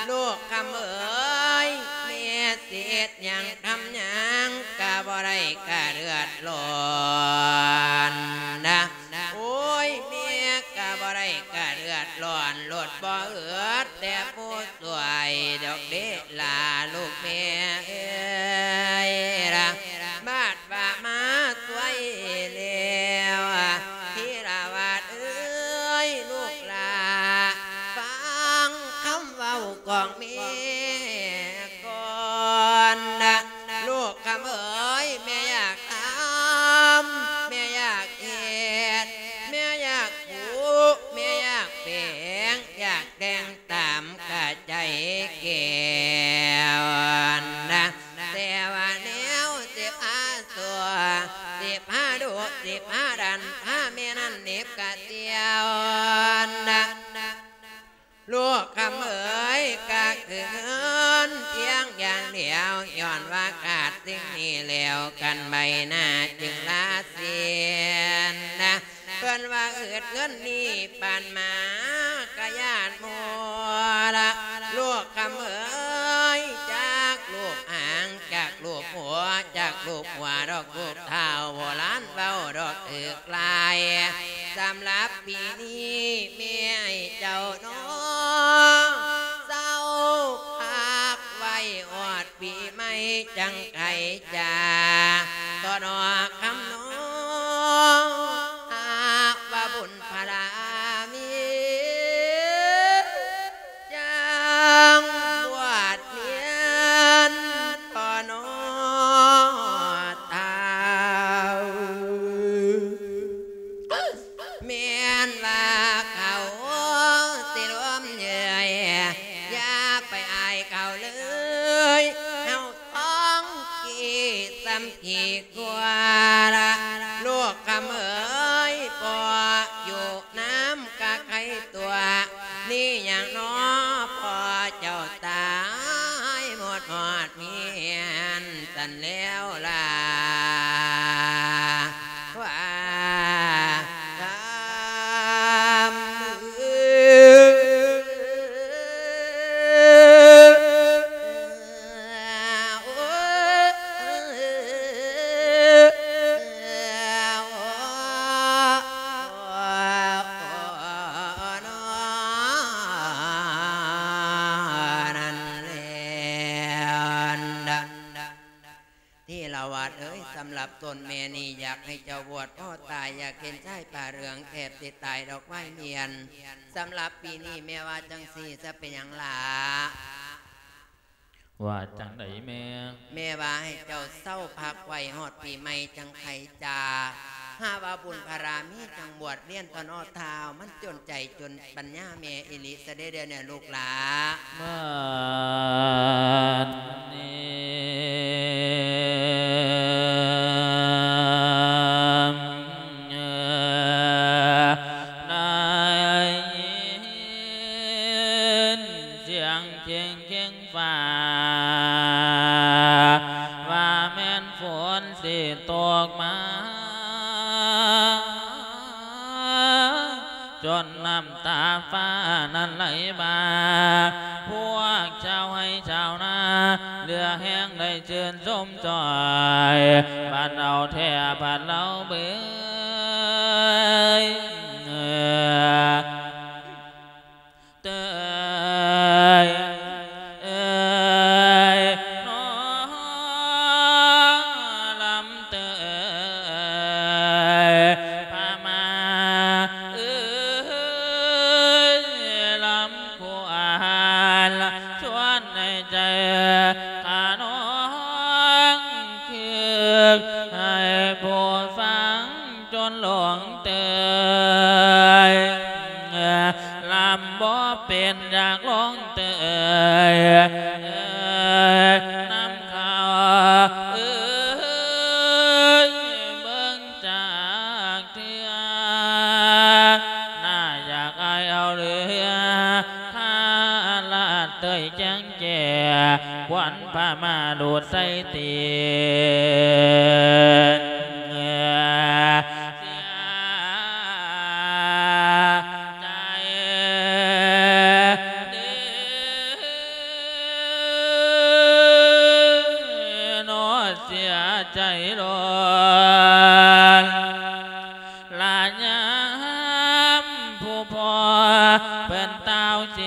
ລູກຄຳເອີຍ ແມ່ຊິເຮັດຫຍັງທຳຫຍັງກະບໍ່ໄດ້ກະເດືອດຮ້ອນນະ ໂອ້ຍ ແມ່ກະບໍ່ໄດ້ກະເດືອດຮ້ອນ ໂລດບໍ່ເອີດແຕ່ຜູ້ຊ່ວຍດອກເດລາລູກແມ່ເອີຍລະ ບາດ ວ່າມາຊ່ວຍແລ້ວ ທີລະວາດເອີຍ ລູກຫຼ້າ ຟັງຄຳເວົ້າຂອງແມ່ກ່ອນນະ ລູກຄຳເອີຍ ແມ່ຢາກທຳ ແມ່ຢາກເຮັດ ແມ່ຢາກຜູກ ແມ່ຢາກແປງ ຢາກແຕ່ງຕາມກະໃຈແກ້ວນະ ແຕ່ວ່າແນວຊິພາຊົ່ວ ຊິພາດຸ ຊິພາດັນ ພາແມ່ນັ້ນໜິບກະສ່ຽວນະ ລູກຄຳເອີຍ ກະຄືເງິນພຽງຢ່າງດຽວ ຍ້ອນວ່າຂາດສິ່ງນີ້ແລ້ວ ກັນໃບໜ້າຈຶ່ງລາສີ ວ່າອຶດເງິນນີ້ປານໝາກະຢ້ານໝູ່ລະ ລູກຄຳເອີຍ ຈັກລູບຫາງ ຈັກລູບຫົວ ຈັກລູບຫົວດອກ ລູກທ້າວໂບລານເວົ້າດອກຖືກຫຼາຍ ສຳລັບປີນີ້ແມ່ໃຫ້ເຈົ້ານ້ອງ ເຊົາພັກໄວ້ຮອດ ປີໃໝ່ຈັ່ງໄຂຈາ ຕໍ່ນອກຄຳນ້ອງ ຫາກວ່າບຸນພາລາມີ ຈັ່ງບວດຮຽນຕໍ່ນອກທ້າວ ແມ່ນວ່າເຂົາຊິລວມເຍີ້ຍ ຢ່າໄປອາຍເຂົາເລີຍ ເຮົາທ້ອງກີ່ສ່ຳກີ່ກວ່າລະ ລູກຄຳເອີຍ ພໍ່ຢູ່ນຳກະໄຄຕົວະ ນີ້ຫຍັງນໍພໍ່ເຈົ້າຕາຍໝົດຮອດ ເມນສັນແລ້ວລາ ວ່າຄຳ ທີລະວັດເອີຍ ສຳລັບຕົນແມ່ນີ້ ຢາກໃຫ້ເຈົ້າບວດພໍຕາຍ ຢາກເຫັນຊາຍຜ້າເຫຼືອງ ແທບຊິຕາຍດອກວາຍມຽນ ສຳລັບປີນີ້ແມ່ວ່າຈັ່ງຊີ້ ຈະເປັນຫຍັງຫຼ້າ? ວ່າຈັ່ງໃດແມ່? ແມ່ວ່າໃຫ້ເຈົ້າເຊົາພັກໄວ້ຮອດປີໃໝ່ຈັ່ງໄຂຈາ ຫາວ່າບຸນພາລາມີຈັ່ງບວດຮຽນຕໍ່ເນາະທ້າວ ມັນຈົນໃຈຈົນປັນຍາແມ່ອີ່ຫຼີຊະເດ້ ດຽວນີ້ລູກຫຼ້າ ບາດນີ້ໄດ້ຍິນສຽງເຄງ ເຄງຟ້າ ວ່າແມ່ນຝົນຊິຕົກມາ ຈົນນ້ຳຕາຟ້ານັ້ນໄຫຼມາ ພວກຊາວໄຮ່ຊາວນາ ເຫຼືອແຮງໄດ້ຊື່ນຊົມຊ່ອຍ ບັດເອົາແທ້ບັດເອົາເບີຍ ເຕີຍ ເອີຍ ນ້ອງລຳເຕີຍ ພາມາເອີຍ ລຳຄວນ ຊວນໃນໃຈຂະນ້ອງ ຄຶກໃຫ້ຜູ້ຟັງ ຈົນຫຼົງເຕີຍ ລຳບໍ່ເປັນຢາກຫຼົງເຕີຍ ນຳເຂົາເອີຍ ເບິ່ງຈາກເທື່ອ ໜ້າຢາກອາຍເອົາເຫຼືອ ຄາລາດເຕີຍແຈ້ງ ແກ່ຂວັນພາມາດູດໃສ່ຕີນ ເສຍໃຈເດີເນາະ ເສຍໃຈຫຼາຍ. ລະຍາມຜູ້ພໍ່ເພິ່ນຕ່າວເສ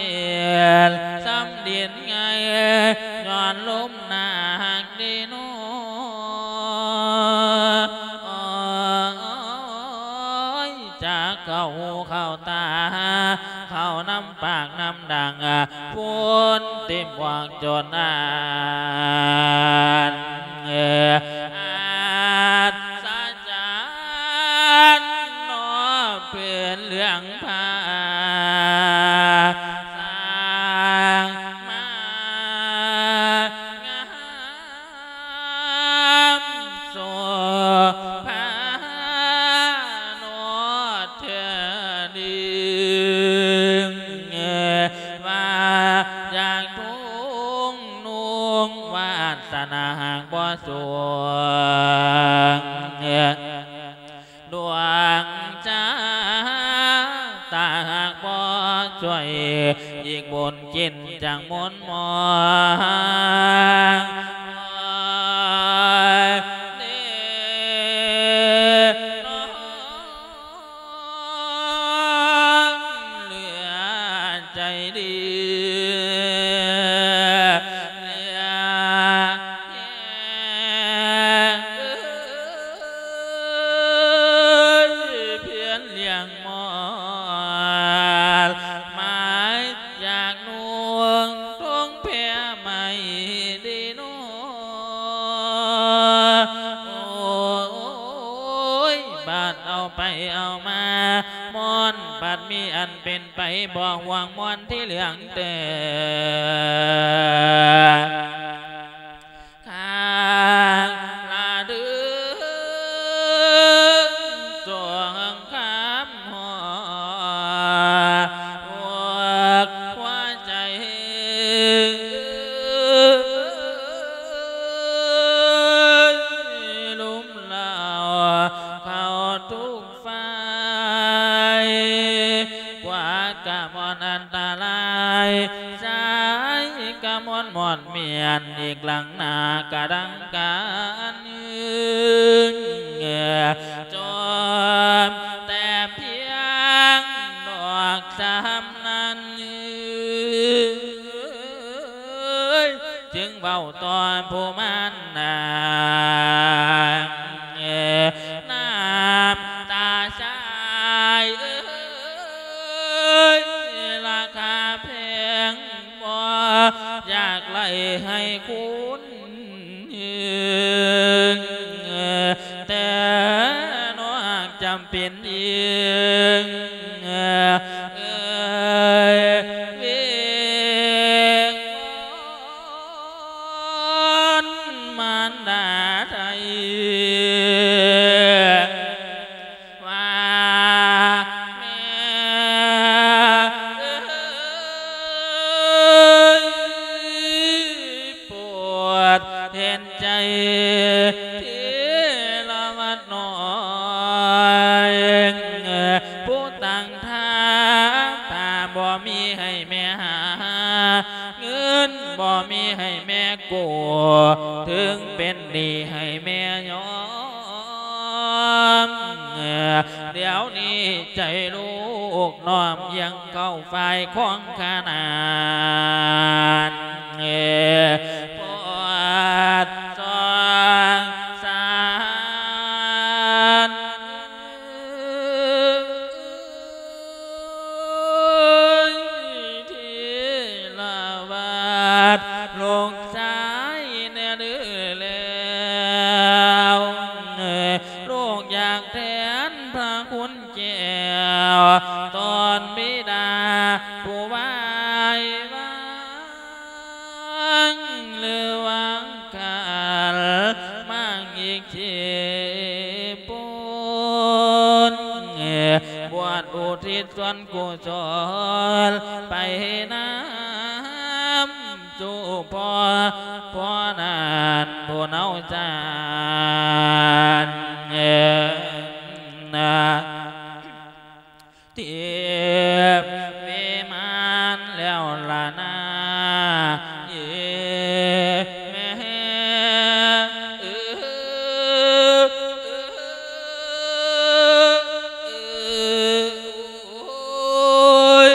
ຍ ສ່ຳດິນໄງ່ ຍ້ອນລົມໜາກດີໜໍ ໂອ້ຍ ຈາກເຂົ້າຫູເຂົ້າຕາ ເຂົ້ານຳປາກນຳດັງ ຝຸ່ນຕິ່ມຫວງຈົນອານ ອັດສະ ຈັນເນາະ ເປັນເລື່ອງພາ ສ້າງມາງາມ ໂສພາເນາະ ເທື່ອໜຶ່ງ ວ່າຢາກທຸ່ງນຸ່ງ ວາດສະໜາຫາກບໍ່ສູງ ອີກບຸນຈິດຈັ່ງມົນມອງເດນອງ ເຫຼືອໃຈດີ ເຫຼືອແຮງ ເອີຍ ພຽນລ້ຽງມອດ ໝາຍຢາກນຸ່ງ ທົ່ງແພໃໝ່ດີນໍ ໂອຍ ບາດເອົາໄປເອົາມາ ມ່ອນ ບັດມີອັນເປັນໄປ ບໍ່ຫວງມ່ອນທີ່ເຫຼືອງເຕີ ຂ້າງລະດຶງ ສວງຄຳຮອດ ຫົວໃຈ ລຸມລາວ ເຂົ້າທຸກ ໄຟ ກວ່າກະມ່ອນອັນຕະລາຍ ຊາຍກະມ່ອນມ່ອນມຽນ ອີກຫຼັງໜ້າກະດັງການ ຈອມແຕ່ພຽງດອກສາມນັ້ນ ຈຶ່ງເວົ້າຕໍ່ຜູ້ມານນາ ນ້ຳຕາຊາຍເອີຍ ລາຄາແພງ ບໍ່ຢາກໄລ່ໃຫ້ຄຸນ ແຕ່ນອກຈຳເປັນອີງ ເອີຍ ວິງວອນມານດາໄທ ວ່າແມ່ເອີຍ ໂປດເຫັນໃຈທີລະວັດນ້ອຍ ຜູ້ຕັ້ງທ່າ ຖ້າບໍ່ມີໃຫ້ແມ່ຫາ ເງິນບໍ່ມີໃຫ້ແມ່ກູ້ ເຖິງເປັນໜີ້ໃຫ້ແມ່ຍອມ ດຽວນີ້ໃຈລູກນ້ອມ ຍັງເຂົ້າຝ່າຍຂອງຂະໜາດ ປອດສອງສານ ທີລະວັດ ລູກຊາຍແນ່ເດີແລ້ວ ລູກຢາກແທນພະຄຸນແກ້ວ ຕອນບິດາຜູ້ວາຍວາງ ຫຼືວາງຄັນ ມາງອີກທີ່ປຸ້ນ ບວດອຸທິດສ່ວນ ກຸສົນໄປນຳສູ່ພໍ່ ພໍ່ນັ້ນຜູ້ເນົ່າຈານ ເອີ ນະ ທິບວິມານແລ້ວລະນາ ເອີ ແມ່ ເອີ ໂອ້ຍ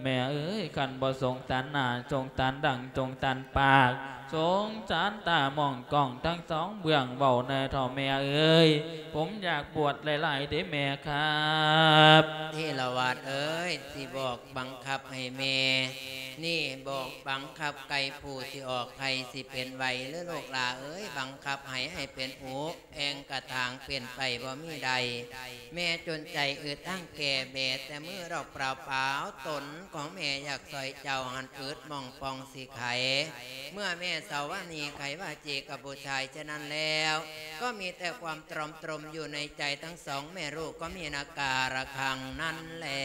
ແມ່ເອີຍ ຄັນບໍ່ສົງສານໜ້າ ສົງສານດັງ ສົງສານປາກ ສົງສານຕາມອງກ້ອງທັງສອງເບື້ອງ ເວົ້າແດ່ເຖົ້າແມ່ເອີຍ ຜົມຢາກບວດຫຼາຍໆເດ້ແມ່ຄັບ. ທີລະວັດເອີຍ ຊິບອກບັງຄັບໃຫ້ແມ່ນີ້ ບອກບັງຄັບໄກ່ຜູ້ຊິອອກໄຂ່ ຊິເປັນໄວເລີ ລູກຫຼ້າເອີຍ ບັງຄັບໃຫ້ ໃຫ້ເປັນອຸ ແອ່ງກະຖາງເປັນໄປບໍ່ມີໃດ ແມ່ຈົນໃຈອຶດທັງແກ່ແບ ແຕ່ມືດອກເປົ່າໆ ຕົນຂອງແມ່ຢາກຊ່ອຍເຈົ້າຫັ້ນອຶດໝ່ອງປ່ອງຊິໄຂ ເມື່ອແມ່ສາວານີໄຂວາຈີກັບຜູ້ຊາຍ ສະນັ້ນແລ້ວ ກໍມີແຕ່ຄວາມຕຣອມຕຣົມຢູ່ໃນໃຈທັງສອງແມ່ລູກ ກໍມີນາກາລະຄັງນັ້ນແຫຼະ.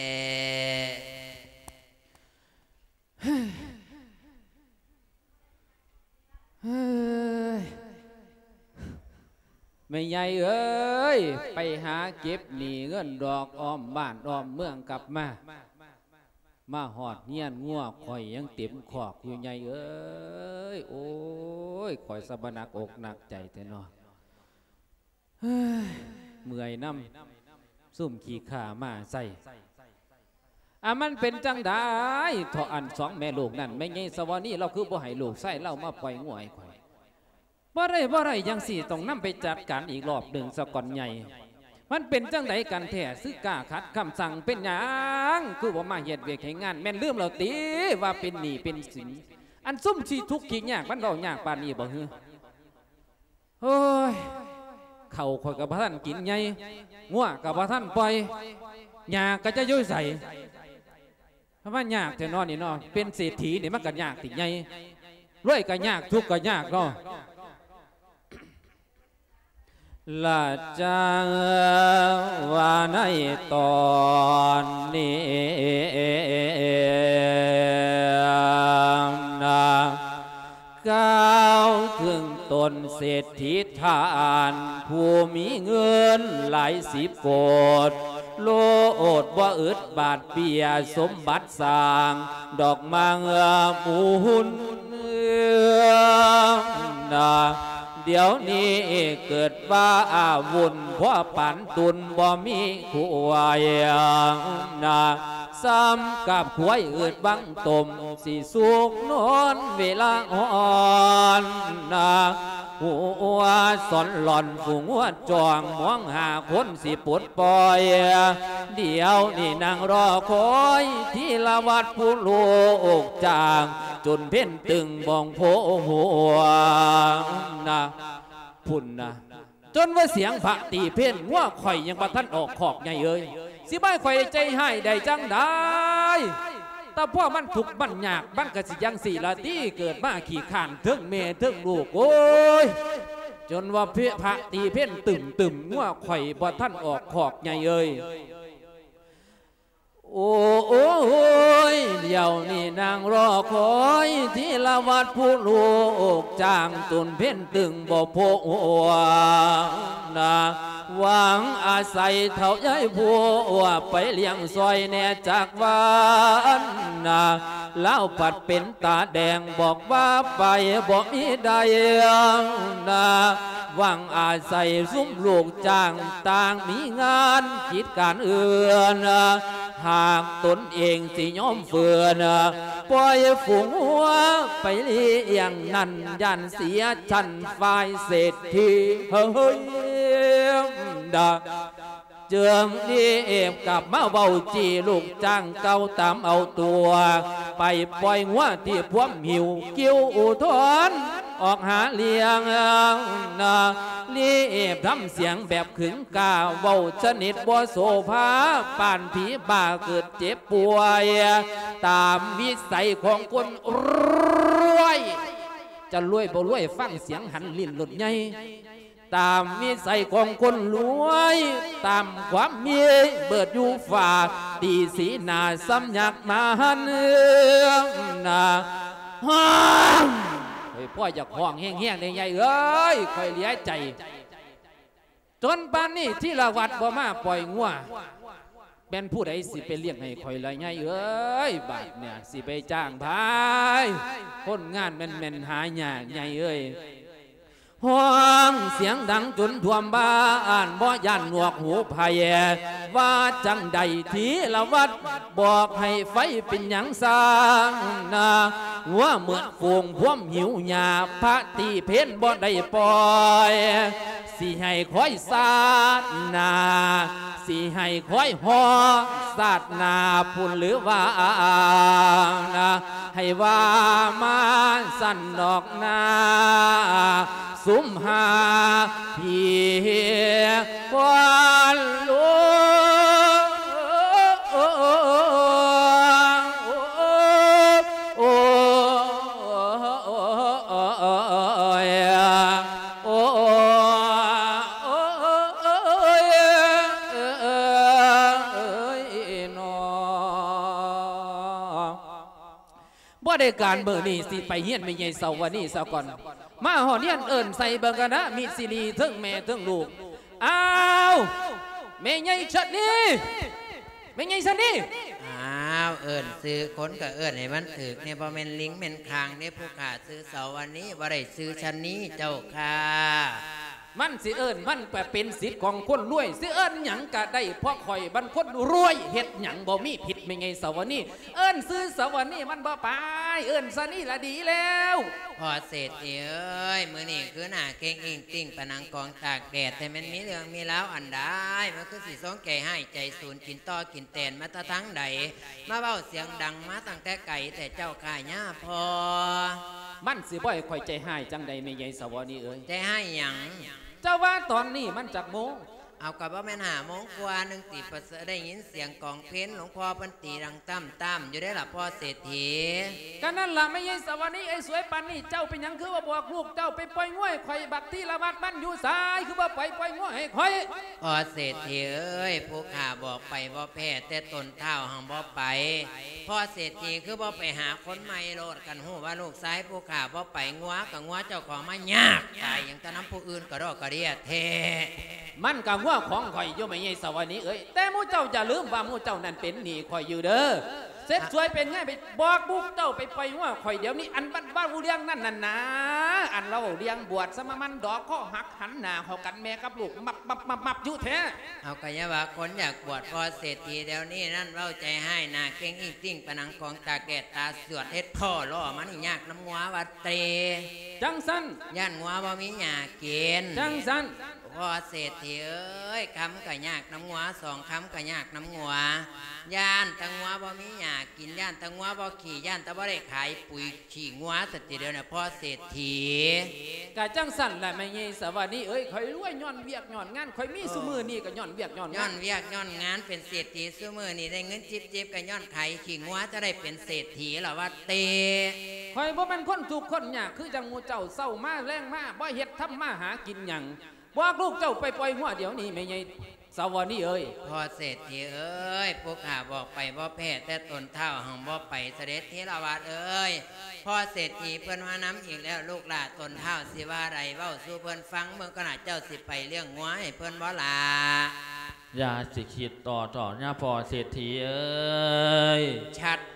ເຮີ້ຍ ເຮີ້ຍ ແມ່ໃຫຍ່ເອີຍ ໄປຫາເກັບໜີ້ເງິນດອກອ້ອມບ້ານອ້ອມເມືອງກັບມາ. ມາຮອດເຮືອນງົວຂ້ອຍຍັງເຕັມຄອກຢູ່ໃຫຍ່ເອີຍ. ໂອ້ຍ ຂ້ອຍສະບະໜັກອົກໜັກໃຈແທ້ເນາະ. ເມື່ອຍນຳຊຸມຂີ້ຂ້າມາໃສ່. ອາ ມັນເປັນຈັ່ງໃດເທາະ ອັນສອງແມ່ລູກນັ້ນ ແມ່ໃຫຍ່ສະຫວານີລາວຄືບໍ່ໃຫ້ລູກຊາຍລາວມາປ່ອຍງົວໃຫ້ຂ້ອຍ? ບໍ່ໄດ້ ບໍ່ໄດ້ຈັ່ງຊີ້ ຕ້ອງນຳໄປຈັດການອີກລອບໜຶ່ງສາກ່ອນໃຫຍ່. ມັນເປັນຈັ່ງໃດກັນແທ້? ຊຶກກ້າຂັດຄຳສັ່ງ ເປັນຫຍັງຄືບໍ່ມາເຮັດວຽກເຮັດງານ? ແມ່ນລືມແລ້ວຕິວ່າເປັນໜີ້ເປັນສິນ? ອັນຊຸມຂີ້ທຸກຂີ້ຍາກ ມັນເວົ້າຍາກປານນີ້ບໍ່ຮື? ໂອ້ຍ ເຂົ້າຂ້ອຍກໍບໍ່ທັນກິນໃຫຍ່ ງົວກໍບໍ່ທັນປ່ອຍ ຫຍ້າກໍຈະຢູ່ໃສ? ມັນຍາກແທ້ເນາະນີ້ເນາະ. ເປັນເສດຖີນີ້ມັນກໍຍາກຕິໃຫຍ່? ລວຍກໍຍາກ ທຸກກໍຍາກເນາະ. ລະຈັງວ່າໃນຕອນນີ້ນະ ກ່າວເຖິງຕົນເສດຖີທ່ານ ຜູ້ມີເງິນຫຼາຍສິບໂກດ ໂລດບໍ່ອຶດບາດເບ້ຍສົມບັດສ້າງດອກມາເຮືອໝູນນະ. ດຽວນີ້ເກີດວ່າອາວຸນ ພໍປານຕຸນບໍ່ມີຄວາຍນະ. ສ່ຳກັບຄວາຍອຶດວັງຕົ້ມ ຊິສຸກນອນເວລາອ່ອນນະ. ຫົວສອນຫຼອນຜູ້ຫົວຈ່ອງ ມອງຫາຄົນຊິປົດປ່ອຍ. ດຽວນີ້ນັ່ງລໍຄອຍ ທີລະວັດຜູ້ລູກຈ້າງ ຈົນເພັນຕຶງບ່ອງໂພຫົວນະ. ພຸ້ນນະ ຈົນວ່າສຽງພະຕີເພັນ ງົວຂ້ອຍຍັງບໍ່ທັນອອກຄອກໃຫຍ່ເອີຍ. ຊິໃຫ້ຂ້ອຍໃຈຮ້າຍໄດ້ຈັ່ງໃດ? ແຕ່ພໍມັນທຸກມັນຍາກ ມັນກໍຊິຈັ່ງຊີ້ລະຕິ ເກີດມາຂີ້ຄ້ານເທິງແມ່ເທິງລູກ. ໂອ້ຍ ຈົນວ່າພະ ພະຕີເພັນຕຶ້ມໆ ງົວຂ້ອຍບໍ່ທັນອອກຄອກໃຫຍ່ເອີຍ. ໂອ້ຍ ດຽວນີ້ນັ່ງລໍຄອຍ ທີລະວັດຜູ້ລູກຈ້າງ ຈົນເພັນຕຶງບໍ່ພົບຫົວນະ. ຫວັງອາໄສເຖົ້າຍາຍຜົວ ໄປລ້ຽງຊ່ອຍແດ່ຈັກວັນນະ. ລາວພັດເປັນຕາແດງ ບອກວ່າໄປບໍ່ມີໄດ້ນະ. ຫວັງອາໄສຊຸມລູກຈ້າງ ຕ່າງມີງານກິດການອື່ນ ຫາກຕົນເອງຊິຍອມເຝືອນ ປ່ອຍຝູງງົວໄປລ້ຽງນັ້ນ ຢ້ານເສຍຊັ້ນຝ່າຍເສດຖີ. ເຮີ້ຍ ດາ ຈຶ່ງໄດ້ກັບມາເວົ້າຈີ່ລູກຈ້າງເກົ່າຕາມເອົາຕົວ ໄປປ່ອຍງົວທີ່ພວມຫິວ ກິ່ວອຸທອນອອກຫາລ້ຽງນະ. ລີບທຳສຽງແບບຂຶງກ້າ ເວົ້າຊະນິດບໍ່ໂສພາ ປານຜີບ້າເກີດເຈັບປ່ວຍ ຕາມວິໄສຂອງຄົນລວຍ. ຈະລວຍບໍ່ລວຍ ຟັງສຽງຫັນຫຼິ້ນໂລດໃຫຍ່. ຕາມວິໄສຂອງຄົນລວຍ ຕາມຄວາມມີເບີດຢູ່ຟ້າ ຕີສີໜ້າສ່ຳຍັກມາຫັນນະ. ຮ້ອງ ຂ້ອຍພໍຢາກຮ້ອງແຮງໆ ເດ້ໃຫຍ່ເອີຍ ຂ້ອຍເຫຼືອໃຈ. ຈົນປານນີ້ທີລະວັດບໍ່ມາປ່ອຍງົວ ແມ່ນຜູ້ໃດຊິໄປລ້ຽງໃຫ້ຂ້ອຍລະໃຫຍ່ເອີຍ? ບາດເນີ້ຍຊິໄປຈ້າງໃຜ? ຄົນງານແມ່ນໆ ຫາຍາກໃຫຍ່ເອີຍ. ຮ້ອງສຽງດັງຈົນທົ່ວມບ້ານ ບໍ່ຢ້ານໜວກຫູໃຜ. ວ່າຈັ່ງໃດທີລະວັດ ບອກໃຫ້ໄຟເປັນຫຍັງຊ່າງນະ? ງົວໝົດຝູງພວມຫິວຫຍ້າ ພະຕີເພັນບໍ່ໄດ້ປ່ອຍ. ຊິໃຫ້ຄອຍຊາດໜ້າ ຊິໃຫ້ຄອຍຮອຊາດໜ້າພຸ້ນ ຫຼືວ່ານະ ໃຫ້ວ່າມາຊັ້ນດອກນາ ຊຸມຫາພີ່ຄວັນຫຼວງ. ໂອ້ ໂອ້ ໂອ້ຍ ໂອ້ຍ ໂອ້ຍ ໂອ້ຍ ເນາະ. ບໍ່ໄດ້ການ ມື້ນີ້ຊິໄປເຮືອນແມ່ໃຫຍ່ເສົາວະນີສາກ່ອນ. ມາຮອດເຮືອນເອີ້ນໃສ່ເບິ່ງກັນນະ ມີຊີລີເທິງແມ່ເທິງລູກ. ອ້າວ ແມ່ໃຫຍ່ຊະນີ ແມ່ໃຫຍ່ຊະນີ. ອ້າວ ເອີ້ນຊື່ຄົນກໍເອີ້ນໃຫ້ມັນຖືກແດ່ ບໍ່ແມ່ນລິງແມ່ນຂ່າງເດ້ຜູ້ຂ້າ. ຊື່ສາວະນີ ບໍ່ໄດ້ຊື່ຊະນີເຈົ້າຂ້າ. ມັນຊິເອີ້ນ ມັນກໍເປັນສິດຂອງຄົນລວຍ ຊິເອີ້ນຫຍັງກໍໄດ້ ເພາະຂ້ອຍມັນຄົນລວຍ ເຮັດຫຍັງບໍ່ມີຜິດ ແມ່ໃຫຍ່ສາວະນີ. ເອີ້ນຊື່ສາວະນີມັນບໍ່ໄປ ເອີ້ນຊະນີລະດີແລ້ວ. ພໍ່ເສດຖີເອີຍ ມື້ນີ້ຄືໜ້າເຄັ່ງອິ້ງຕິ້ງປານໜັງກອງຕາກແດດ ແຕ່ແມ່ນມີເລື່ອງມີລາວອັນໃດ ມັນຄືຊິສົງໃຈຮ້າຍໃຈສູນ ກິນຕໍກິນແຕນມາແຕ່ທາງໃດ ມາເວົ້າສຽງດັງມາຕັ້ງແຕ່ໄກແທ້ເຈົ້າຂ້າຍາພໍ່. ມັນຊິບໍ່ໃຫ້ຂ້ອຍໃຈຮ້າຍຈັ່ງໃດ ແມ່ໃຫຍ່ສາວະນີເອີຍ. ໃຈຮ້າຍຫຍັງ? ເຈົ້າວ່າຕອນນີ້ມັນຈັກໂມງ? ເອົາ ກໍບໍ່ແມ່ນຫ້າໂມງກວ່າໜຶ່ງຕິ ປະເສີດໄດ້ຍິນສຽງກອງເພນ ຫຼວງພໍ່ເພິ່ນຕີດັງຕ່ຳໆຢູ່ເດ້ລະພໍ່ເສດຖີ. ກໍນັ້ນລະແມ່ໃຫຍ່ສາວະນີເອີຍ ສວຍປານນີ້ ເຈົ້າເປັນຫຍັງຄືວ່າບອກລູກເຈົ້າໄປປ່ອຍງົວໃຫ້ຂ້ອຍ ບັກທີລະວັດມັນຢູ່ໃສ ຄືບໍ່ໄປປ່ອຍງົວໃຫ້ຂ້ອຍ? ພໍ່ເສດຖີເອີຍ ຜູ້ຂ້າບອກໄປບໍ່ແພ້ ແຕ່ຕົ້ນທ້າວຫັ້ນບໍ່ໄປ. ພໍ່ເສດຖີຄືບໍ່ໄປຫາຄົນໃໝ່ໂລດ ຄັນຮູ້ວ່າລູກຊາຍຜູ້ຂ້າບໍ່ໄປ ງົວກໍງົວເຈົ້າຂອງມາຍາກຕາຍຫຍັງ ແຕ່ນຳຜູ້ອື່ນກະດອກກະເດຍແທ້. ມັນກະງົວຂອງຂ້ອຍຢູ່ ແມ່ໃຫຍ່ສາວະນີເອີຍ ແຕ່ໝູ່ເຈົ້າຢ່າລືມວ່າໝູ່ເຈົ້ານັ້ນເປັນໜີ້ຂ້ອຍຢູ່ເດີ. ເສັດສວຍເປັນໄງ ໄປບອກລູກເຈົ້າໄປປ່ອຍງົວຂ້ອຍດຽວນີ້ ອັນມັນເວົ້າເລື່ອງນັ້ນນັ້ນນາ ອັນລາວເວົ້າເລື່ອງບວດ ສະມາມັນດອກຄໍຫັກຫັນໜ້າເຂົ້າກັນ ແມ່ກັບລູກມັບໆໆຢູ່ແທ້. ເອົາ ກະຢ່າວ່າຄົນຢາກບວດພໍ່ເສດຖີ ດຽວນີ້ນັ້ນເວົ້າໃຈຮ້າຍ ໜ້າເກັ່ງອິ້ງຕິ້ງປານໜັງກອງຕາກແດດ ຕາສວດເຮັດທໍ່ລໍ້ມານີ້ ຍາກນຳງົວວ່າເຕ. ຈັ່ງຊັ້ນ ຢ້ານງົວບໍ່ມີຫຍ້າກິນ ຈັ່ງຊັ້ນ. ພໍ່ເສດຖີເອີຍ ຄຳກະຍາກນຳງົວ ສອງຄຳກະຍາກນຳງົວ ຢ້ານແຕ່ງົວບໍ່ມີຫຍ້າກິນ ຢ້ານແຕ່ງົວບໍ່ຂີ້ ຢ້ານແຕ່ບໍ່ໄດ້ຂາຍປຸຍ ຂີ້ງົວສະຕິດຽວນີ້ພໍ່ເສດຖີ. ກະຈັ່ງຊັ້ນລະແມ່ໃຫຍ່ສາວະນີເອີຍ ຂ້ອຍລວຍຍ້ອນວຽກຍ້ອນງານ ຂ້ອຍມີ ເອີ ຊຸມື້ນີ້ກະຍ້ອນວຽກຍ້ອນງານ ຍ້ອນວຽກຍ້ອນງານ ເປັນເສດຖີຊຸມື້ນີ້ ໄດ້ເງິນຈິບໆ ກະຍ້ອນຂາຍຂີ້ງົວ ຈະໄດ້ເປັນເສດຖີລະວ່າເຕ. ຂ້ອຍບໍ່ແມ່ນຄົນທຸກຄົນຍາກຄືຈັ່ງໝູ່ເຈົ້າ ເຊົ້າມາແລງມາ ບໍ່ເຮັດທຳມາຫາກິນຫຍັງ. ບອກລູກເຈົ້າໄປປ່ອຍງົວດຽວນີ້ ແມ່ໃຫຍ່ສາວະນີເອີຍ. ພໍ່ເສດຖີເອີຍ ພວກຂ້າບອກໄປບໍ່ແພ້ ແຕ່ຕົ້ນທ້າວຫັ້ນບໍ່ໄປ ສະເດັດເຖລະວາດເອີຍ. ພໍ່ເສດຖີເພິ່ນມານຳອີກແລ້ວ ລູກຫຼ້າຕົ້ນທ້າວຊິວ່າໃດ ເວົ້າສູ່ເພິ່ນຟັງເບິ່ງກ່ອນນະ ເຈົ້າຊິໄປລ້ຽງງົວໃຫ້ເພິ່ນບໍ່ຫຼ້າ? ຢ່າຊິຄິດຕໍ່ເຖາະນະພໍ່ເສດຖີເອີຍ.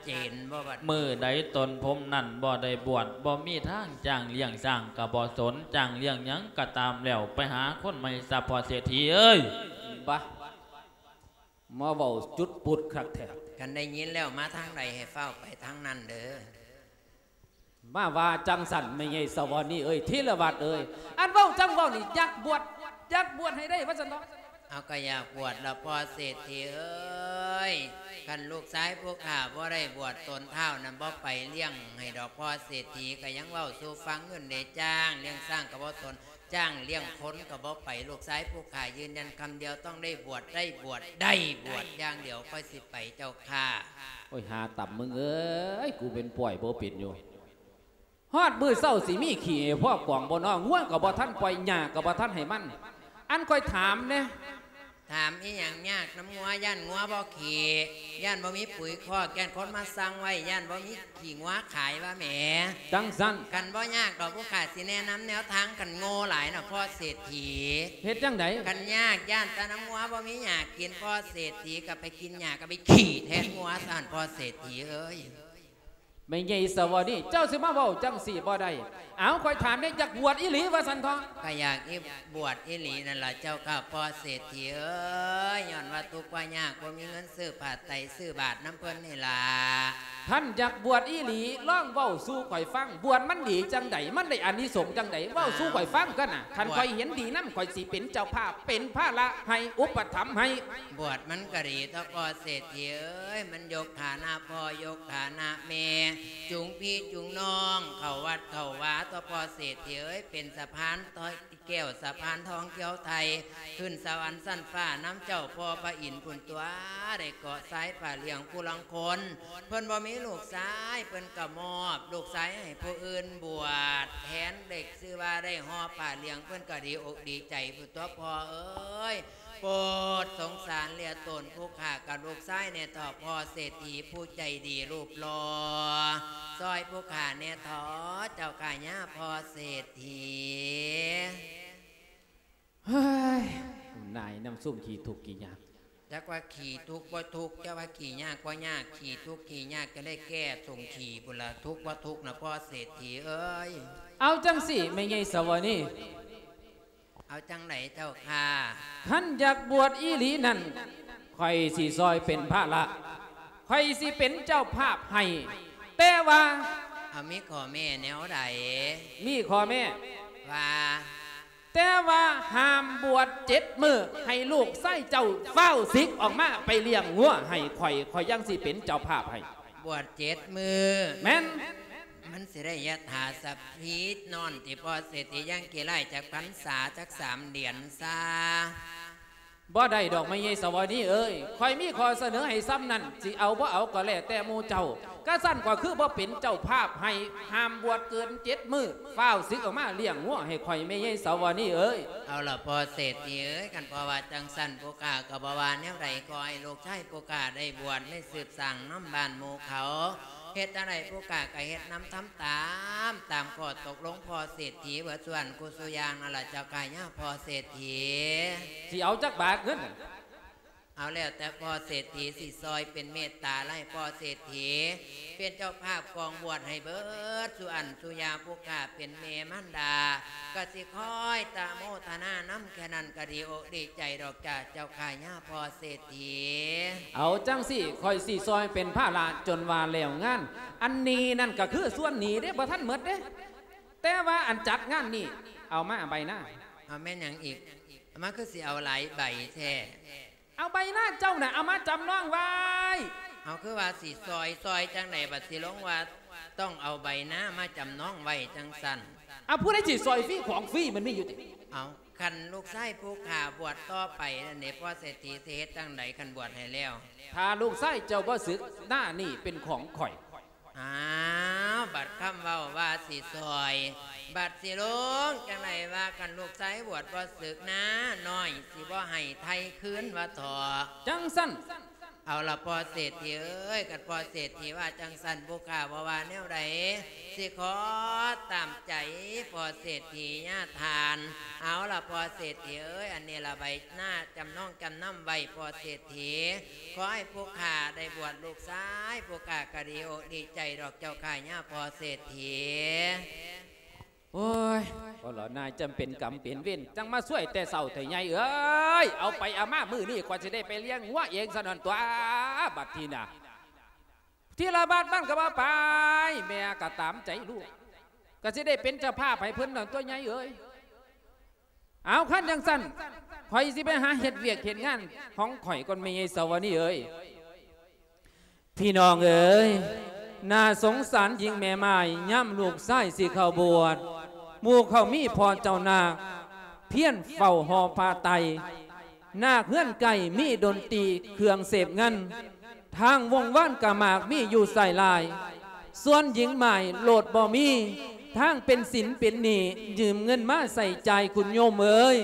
ເຫັນບໍ່ບັດ ມື້ໃດຕົນຜົມນັ້ນບໍ່ໄດ້ບວດ ບໍ່ມີທາງຈ້າງລ້ຽງຊ້າງກໍບໍ່ສົນ ຈ້າງລ້ຽງຫຍັງກໍຕາມແລ້ວ ໄປຫາຄົນໃໝ່ຊະພໍ່ເສດຖີເອີຍ. ບາ ມາເວົ້າຈຸດປຸດຄັກແທ້. ຄັນໄດ້ຍິນແລ້ວມາທາງໃດໃຫ້ຟ້າວໄປທາງນັ້ນເດີ. ມາວ່າຈັ່ງຊັ້ນ ແມ່ໃຫຍ່ສາວະນີເອີຍ ທີລະວັດເອີຍ ອັນເວົ້າຈັ່ງເວົ້ານີ້ ຢາກບວດ ຢາກບວດໃຫ້ໄດ້ວ່າຊັ້ນເນາະ. ເຮົາກໍຢາກບວດລະພໍ່ເສດຖີເອີຍ. ຄັນລູກຊາຍພວກຂ້າບໍ່ໄດ້ບວດ ຕົນທ້າວນັ້ນບໍ່ໄປລ້ຽງໃຫ້ດອກພໍ່ເສດຖີ. ກໍຍັງເວົ້າສູ່ຟັງຢູ່ເດ້ ຈ້າງລ້ຽງຊ້າງກໍບໍ່ສົນ ຈ້າງລ້ຽງຄົນກໍບໍ່ໄປ. ລູກຊາຍພວກຂ້າຢືນຢັນຄຳດຽວ ຕ້ອງໄດ້ບວດ ໄດ້ບວດ ໄດ້ບວດຢ່າງດຽວ ຂ້ອຍຊິໄປເຈົ້າຂ້າ. ໂອ້ຍ ຫາຕ່ຳມຶງເອີຍ ກູເປັນປ່ອຍບໍ່ເປັນຢູ່. ຮອດມື້ເຊົ້າຊິມີຂີ້ໃຫ້ພໍ່ກອງບໍ່ນໍ? ງົວກໍບໍ່ທັນປ່ອຍ ຫຍ້າກໍບໍ່ທັນໃຫ້ມັນ. ອັນຂ້ອຍຖາມແດ່. ຖາມອີ່ຫຍັງຍາກນຳງົວ? ຢ້ານງົວບໍ່ຂີ້ ຢ້ານບໍ່ມີປຸຍຄອກ ຢ້ານຄົນມາສັ່ງໄວ້ ຢ້ານບໍ່ມີຂີ້ງົວຂາຍວ່າແໝ. ຈັ່ງຊັ້ນ ຄັນບໍ່ຍາກດອກ ພວກຂ້າຊິແນະນຳແນວທາງ. ຄັນໂງ່ຫຼາຍນະພໍ່ເສດຖີ. ເຮັດຈັ່ງໃດ? ຄັນຍາກ ຢ້ານແຕ່ນຳງົວບໍ່ມີຫຍ້າກິນ ພໍ່ເສດຖີກໍໄປກິນຫຍ້າ ກໍໄປຂີ້ແທນງົວຊັ້ນ ພໍ່ເສດຖີເອີຍ. ແມ່ໃຫຍ່ສາວະນີ ເຈົ້າຊິມາເວົ້າຈັ່ງຊີ້ບໍ່ໄດ້. ເອົາ ຂ້ອຍຖາມແດ່ ຢາກບວດອີ່ຫຼີວ່າຊັ້ນເຖາະ? ກໍຢາກອີ ບວດອີ່ຫຼີນັ້ນລະເຈົ້າຂ້າ ພໍ່ເສດຖີເອີຍ. ຍ້ອນວ່າທຸກວ່າຍາກ ບໍ່ມີເງິນຊື້ຜ້າໄຕຊື້ບາດນຳເພິ່ນນີ້ລະ. ຄັນຢາກບວດອີ່ຫຼີ ລອງເວົ້າສູ່ຂ້ອຍຟັງ ບວດມັນດີຈັ່ງໃດ? ມັນໄດ້ອານິສົງຈັ່ງໃດ? ເວົ້າສູ່ຂ້ອຍຟັງກ່ອນນະ. ຄັນຂ້ອຍເຫັນດີນຳ ຂ້ອຍຊິເປັນເຈົ້າພາບ ເປັນພາລະໃຫ້ ອຸປະຖຳໃຫ້. ບວດມັນກໍດີຕົວະພໍ່ເສດຖີເອີຍ ມັນຍົກຖານະພໍ່ ຍົກຖານະແມ່ ຈູງພີ່ຈູງນ້ອງເຂົ້າວັດເຂົ້າວາຕົວະພໍ່ເສດຖີເອີຍ ເປັນສະພານຕໍ່ ແກ້ວສະພານທອງຂຽວໄທ ຂຶ້ນສະຫວັນຊັ້ນຟ້ານຳເຈົ້າພໍ່ພະອິນພຸ້ນຕົວະ ໄດ້ເກາະຊາຍຜ້າລ້ຽງຜູ້ລາງຄົນ ເພິ່ນບໍ່ມີລູກຊາຍ ເພິ່ນກໍມອບລູກຊາຍໃຫ້ຜູ້ອື່ນບວດແທນ ເລກຊື່ວ່າໄດ້ຫໍ່ຜ້າລ້ຽງ ເພິ່ນກໍດີອົກດີໃຈພຸ້ນຕົວະພໍ່ເອີຍ. ໂປດສົງສານເຫຼືອຕົນຜູ້ຂ້າກັບລູກຊາຍແດ່ເຖາະ ພໍ່ເສດຖີຜູ້ໃຈດີຮູບຫຼໍ່ ຊ່ອຍຜູ້ຂ້າແດ່ເຖາະເຈົ້າຂ້າຍາພໍ່ເສດຖີ. ເຮີ້ຍ ນາຍນຳຊຸມຂີ້ທຸກຂີ້ຍາກ ຈັກວ່າຂີ້ທຸກບໍ່ທຸກ ຈັກວ່າຂີ້ຍາກບໍ່ຍາກ ຂີ້ທຸກຂີ້ຍາກ ຈະໄດ້ແກ້ສົງຂີ້ພຸ້ນລະ ທຸກບໍ່ທຸກນະພໍ່ເສດຖີເອີຍ. ເອົາຈັ່ງຊີ້ ແມ່ໃຫຍ່ສາວະນີ ເອົາຈັ່ງໃດເຈົ້າຂ້າ? ຄັນຢາກບວດອີ່ຫຼີນັ້ນ ຂ້ອຍຊິຊ່ອຍເປັນພາລະ ຂ້ອຍຊິເປັນເຈົ້າພາບໃຫ້ ແຕ່ວ່າ ເອົາ ມີຂໍ້ແມ້ແນວໃດ? ມີຂໍ້ແມ້ວ່າ ແຕ່ວ່າຫ້າມບວດເຈັດມື້ ໃຫ້ລູກຊາຍເຈົ້າຟ້າວສິກອອກມາໄປລ້ຽງງົວໃຫ້ຂ້ອຍ ຂ້ອຍຍັງຊິເປັນເຈົ້າພາບໃຫ້. ບວດເຈັດມື້? ແມ່ນ. ມັນຊິໄດ້ຍະຖາສະພີນອນຕິພໍ່ເສດຖີ ຍັງຂີ້ຮ້າຍຈັກພັນສາ ຈັກສາມເດືອນຊາ. ບໍ່ໄດ້ດອກແມ່ໃຫຍ່ສາວະນີເອີຍ ຂ້ອຍມີຂໍ້ສະເໜີໃຫ້ຊ່ຳນັ້ນ ຊິເອົາບໍ່ເອົາກໍແລ້ວແຕ່ໝູ່ເຈົ້າ. ກະຊັ້ນຂ້ອຍຄືບໍ່ເປັນເຈົ້າພາບໃຫ້ ຫ້າມບວດເກີນເຈັດມື້ ຟ້າວສິກອອກມາລ້ຽງງົວໃຫ້ຂ້ອຍແມ່ໃຫຍ່ສາວະນີເອີຍ. ເອົາລະພໍ່ເສດຖີເອີຍ ຄັນພໍ່ວ່າຈັ່ງຊັ້ນ ຜູ້ຂ້າກໍບໍ່ວ່າແນວໃດ ຂໍໃຫ້ລູກຊາຍຜູ້ຂ້າໄດ້ບວດ ໄດ້ສືບສ້າງນຳບ້ານໝູ່ເຂົາ. ເຮັດຈັ່ງໃດຜູ້ຂ້າກໍເຮັດນຳ ທຳຕາມ ຕາມຂໍ້ຕົກລົງພໍ່ເສດຖີເບິດ ສ່ວນຄູ່ສູ່ຢ່າງນັ້ນລະເຈົ້າຂ້າຍາພໍ່ເສດຖີ. ຊິເອົາຈັກບາດເງິນ? ເອົາແລ້ວແຕ່ພໍ່ເສດຖີຊິຊ່ອຍເປັນເມດຕາ ໃຫ້ພໍ່ເສດຖີເປັນເຈົ້າພາບກອງບວດໃຫ້ເບິດສູ່ອັນສູ່ຢ່າງ. ຜູ້ຂ້າເປັນແມ່ມານດາ ກໍຊິຄອຍຕະໂມທະນານຳ ແຄ່ນັ້ນກໍດີອົກດີໃຈດອກຈ້າ ເຈົ້າຂ້າຍາພໍ່ເສດຖີ. ເອົາຈັ່ງຊີ້ ຂ້ອຍຊິຊ່ອຍເປັນພາລະຈົນວ່າແລ້ວງານ. ອັນໜີ້ນັ້ນກໍຄືສ່ວນໜີ້ເດ້ ບໍ່ທັນໝົດເດ້. ແຕ່ວ່າອັນຈັດງານນີ້ ເອົາມາໃບນາ. ເອົາແມ່ນຫຍັງອີກ? ເອົາມາຄືຊິເອົາຫຼາຍໃບແທ້. ເອົາໃບນາເຈົ້ານະ ເອົາມາຈຳນອງໄວ້. ເອົາ ຄືວ່າຊິຊ່ອຍ ຊ່ອຍຈັ່ງໃດ ບັດຊິລົງວ່າຕ້ອງເອົາໃບນາມາຈຳນອງໄວ້ຈັ່ງຊັ້ນ. ເອົາ ຜູ້ໃດຊິຊ່ອຍຟຣີຂອງຟຣີມັນມີຢູ່ຕິ? ເອົາ ຄັນລູກຊາຍຜູ້ຂ້າບວດຕໍ່ໄປນັ້ນເດ ພໍ່ເສດຖີຊິເຮັດຈັ່ງໃດ ຄັນບວດໃຫ້ແລ້ວ? ຖ້າລູກຊາຍເຈົ້າບໍ່ສຶກ ນານີ້ເປັນຂອງຂ້ອຍ. ອ້າວ ບັດຄຳເວົ້າວ່າຊິຊ່ອຍ ບັດຊິລົງຈັ່ງໃດວ່າ ຄັນລູກຊາຍບວດບໍ່ສຶກ ນານ້ອຍຊິບໍ່ໃຫ້ໄຖ່ຄືນວ່າເຖາະ. ຈັ່ງຊັ້ນ ເອົາລະພໍ່ເສດຖີເອີຍ ຄັນພໍ່ເສດຖີວ່າຈັ່ງຊັ້ນ ຜູ້ຂ້າບໍ່ວ່າແນວໃດ ຊິຂໍຕາມໃຈພໍ່ເສດຖີຍາທ່ານ. ເອົາລະພໍ່ເສດຖີເອີຍ ອັນນີ້ລະໃບນາຈຳນອງຈຳນຳໄວ້ພໍ່ເສດຖີ. ຂໍໃຫ້ຜູ້ຂ້າໄດ້ບວດລູກຊາຍ ຜູ້ຂ້າກໍດີອົກດີໃຈດອກເຈົ້າຂ້າຍາພໍ່ເສດຖີ. ໂອ້ຍ ບໍ່ລະນາຍ ຈຳເປັນກຳເປັນເວນ ຈັ່ງມາຊ່ວຍແຕ່ເຊົ້າແທ້ໃຫຍ່ເອີຍ. ເອົາໄປເອົາມາ ມື້ນີ້ຂ້ອຍຊິໄດ້ໄປລ້ຽງງົວເອງຊະນັ້ນຕົວະ ບັດທີນະ. ທີລະບາດມັນກໍວ່າໄປ ແມ່ກໍຕາມໃຈລູກ ກໍຊິໄດ້ເປັນເຈົ້າພາບໃຫ້ເພິ່ນນັ້ນຕົວະໃຫຍ່ເອີຍ. ເອົາ ຄັນຈັ່ງຊັ້ນ ຂ້ອຍຊິໄປຫາເຮັດວຽກເຮັດງານຂອງຂ້ອຍກ່ອນ ແມ່ໃຫຍ່ສາວະນີເອີຍ. ພີ່ນ້ອງເອີຍ ໜ້າສົງສານຍິງແມ່ໝ້າຍ ຍາມລູກຊາຍຊິເຂົ້າບວດ ໝູ່ເຂົາມີພໍ່ເຈົ້ານາກ ພຽນເຝົ້າຫໍ່ຜ້າໄຕ ນາກເຮືອນໃກ້ມີດົນຕີເຄື່ອງເສບເງິນ ທາງວົງວານກະໝາກມີຢູ່ໃສ່ຫຼາຍ ສ່ວນຍິງໝ້າຍໂລດບໍ່ມີ ທາງເປັນສິນເປັນໜີ້ ຢືມເງິນມາໃຊ້ຈ່າຍ ຄຸນໂຍມເອີຍ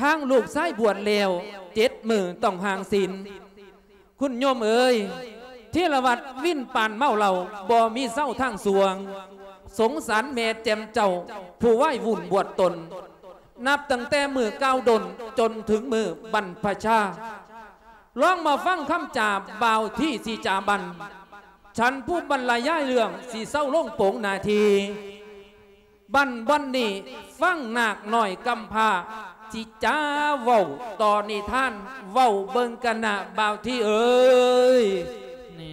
ທາງລູກຊາຍບວດແລ້ວ ເຈັດມື້ຕ້ອງຮ່າງສິນ ຄຸນໂຍມເອີຍ ທີລະວັດວິນປານເມົາເຫຼົ້າ ບໍ່ມີເຊົາທາງສວງ ສົງສານແມ່ແຈ່ມເຈົ້າ ຜູ້ວາຍວຸ່ນບວດຕົນ ນັບຕັ້ງແຕ່ມື້ກ່າວດົນ ຈົນເຖິງມື້ບັນພະຊາ ລອງມາຟັງຄຳຈາບ່າວທີ່ຊິຈາບັນ ສັນຜູ້ບັນລະຍາຍເລື່ອງ ຊິເຊົາລົງໂປງໜ້າທີ່ ບັນບ່ອນນີ້ ຟັງນາກນ້ອຍກຳພ້າ ຊິຈາເວົ້າຕໍ່ນິທານ ເວົ້າເບິ່ງກັນນະບ່າວທີ່ເອີຍ. ນ້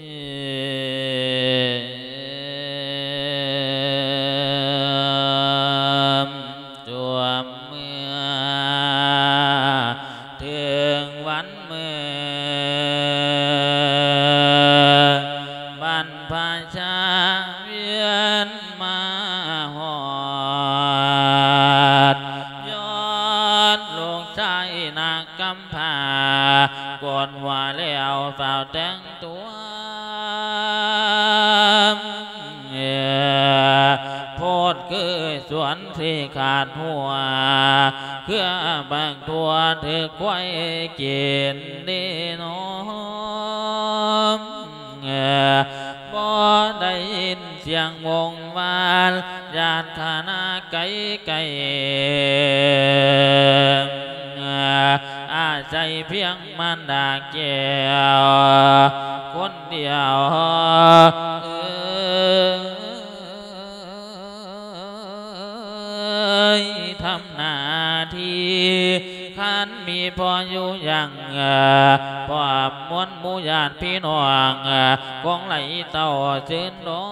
ຳຖ້ວມເມືອ ເຖິງວັນ ມື້ບັນພະຊາວຽນມາຮອດ ຍ້ອນ ຊາຍນາງກຳພ້າ ໂກນຫົວແລ້ວຟ້າວແຕ່ງຕົວ ໂພດຄືສວນທີ່ຂາດຫົວ ເຄືອບັກຖົ່ວຖືກຄວາຍກິນດີໜໍ ບໍ່ໄດ້ຍິນສຽງວົງວານ ຍາດຄະນະໄກໄກ ອາໄສພຽງມານດາແກ້ວຄົນດຽວ ເອີ ຍ ທຳໜ້າທີ່ ຄັນມີພໍ່ຢູ່ຢ່າງ ພ້ອມມວນໝູ່ຍາດພີ່ນ້ອງ ຄົງໄຫຼເຕົ້າຊື່ນດອ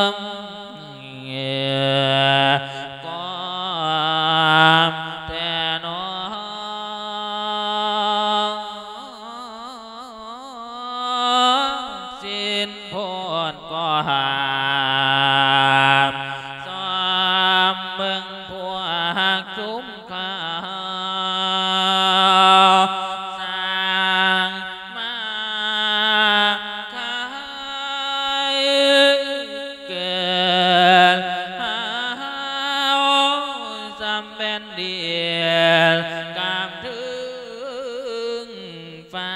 ງ ກອມແທ້ໜໍ. ສິ້ນໂພດກໍຫ້າມ ຊອມເບິ່ງພວກຊຸມເຂົາ ສ້າງມາຂາຍເກີນ ຫາວສ່ຳແຜ່ນດິນ ກາມເຖິງ ຟ້າ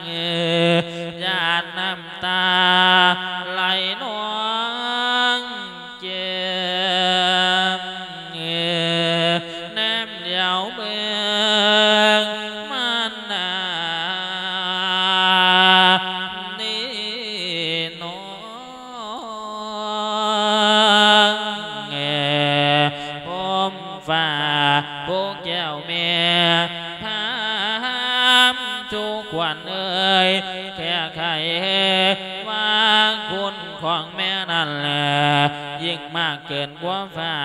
ຫຍາດນ້ຳຕາໄຫຼນອງແກ້ມ ແນມຫຼຽວເບິ່ງມານດານີ້ໜໍ ພົມຟ້າຜູ້ແກ້ວແມ່ ຖາມສູ່ຂວັນເອີຍ ແກ້ໄຂວ່າຄຸນຂອງແມ່ນັ້ນ ຍິ່ງມາກເກີນກວ່າຟ້າ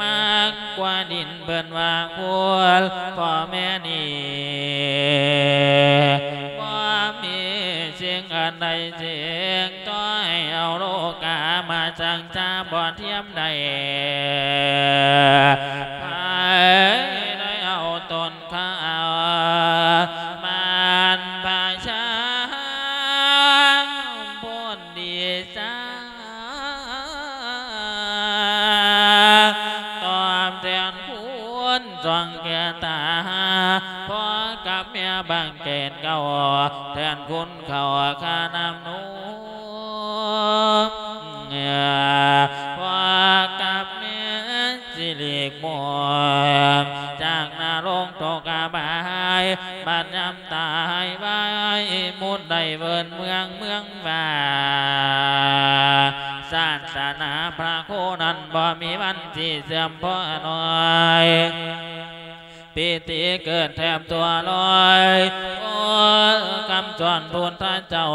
ມາກກວ່າດິນ ເພິ່ນວ່າຄຸນພໍ່ແມ່ນີ້ ບໍ່ມີສິ່ງອັນໃດ ຈຶ່ງຕ້ອຍເອົາໂລກາມາສັງສາບໍ່ທຽມໄດ້ ໃຜໄດ້ເອົາຕົນຂ້າມານພະຊາພຸດດີຊາ ຕອບແທນຄຸນຊ່ອງແກ່ຕາ ພໍ່ກັບແມ່ບັງເກີດເກົ່າ ແທນຄຸນ ເຂົ້າຄານ້ຳນົມ ພວກກັບແມ່ນຊິຫຼີກໝົດ ຈາກນະລົກຕົກອະບາຍ ບັດຍາມຕາຍໄວ ໝຸດໄດ້ເວີນເມືອງເມືອງວ່າ ສາສະໜາພະໂຄນັ້ນ ບໍ່ມີວັນຊິເສື່ອມພໍໜ້ອຍ ປີຕິເກີດແທບຕົວລອຍ ໂອ້ ຄຳສອນພຸດທະເຈົ້າ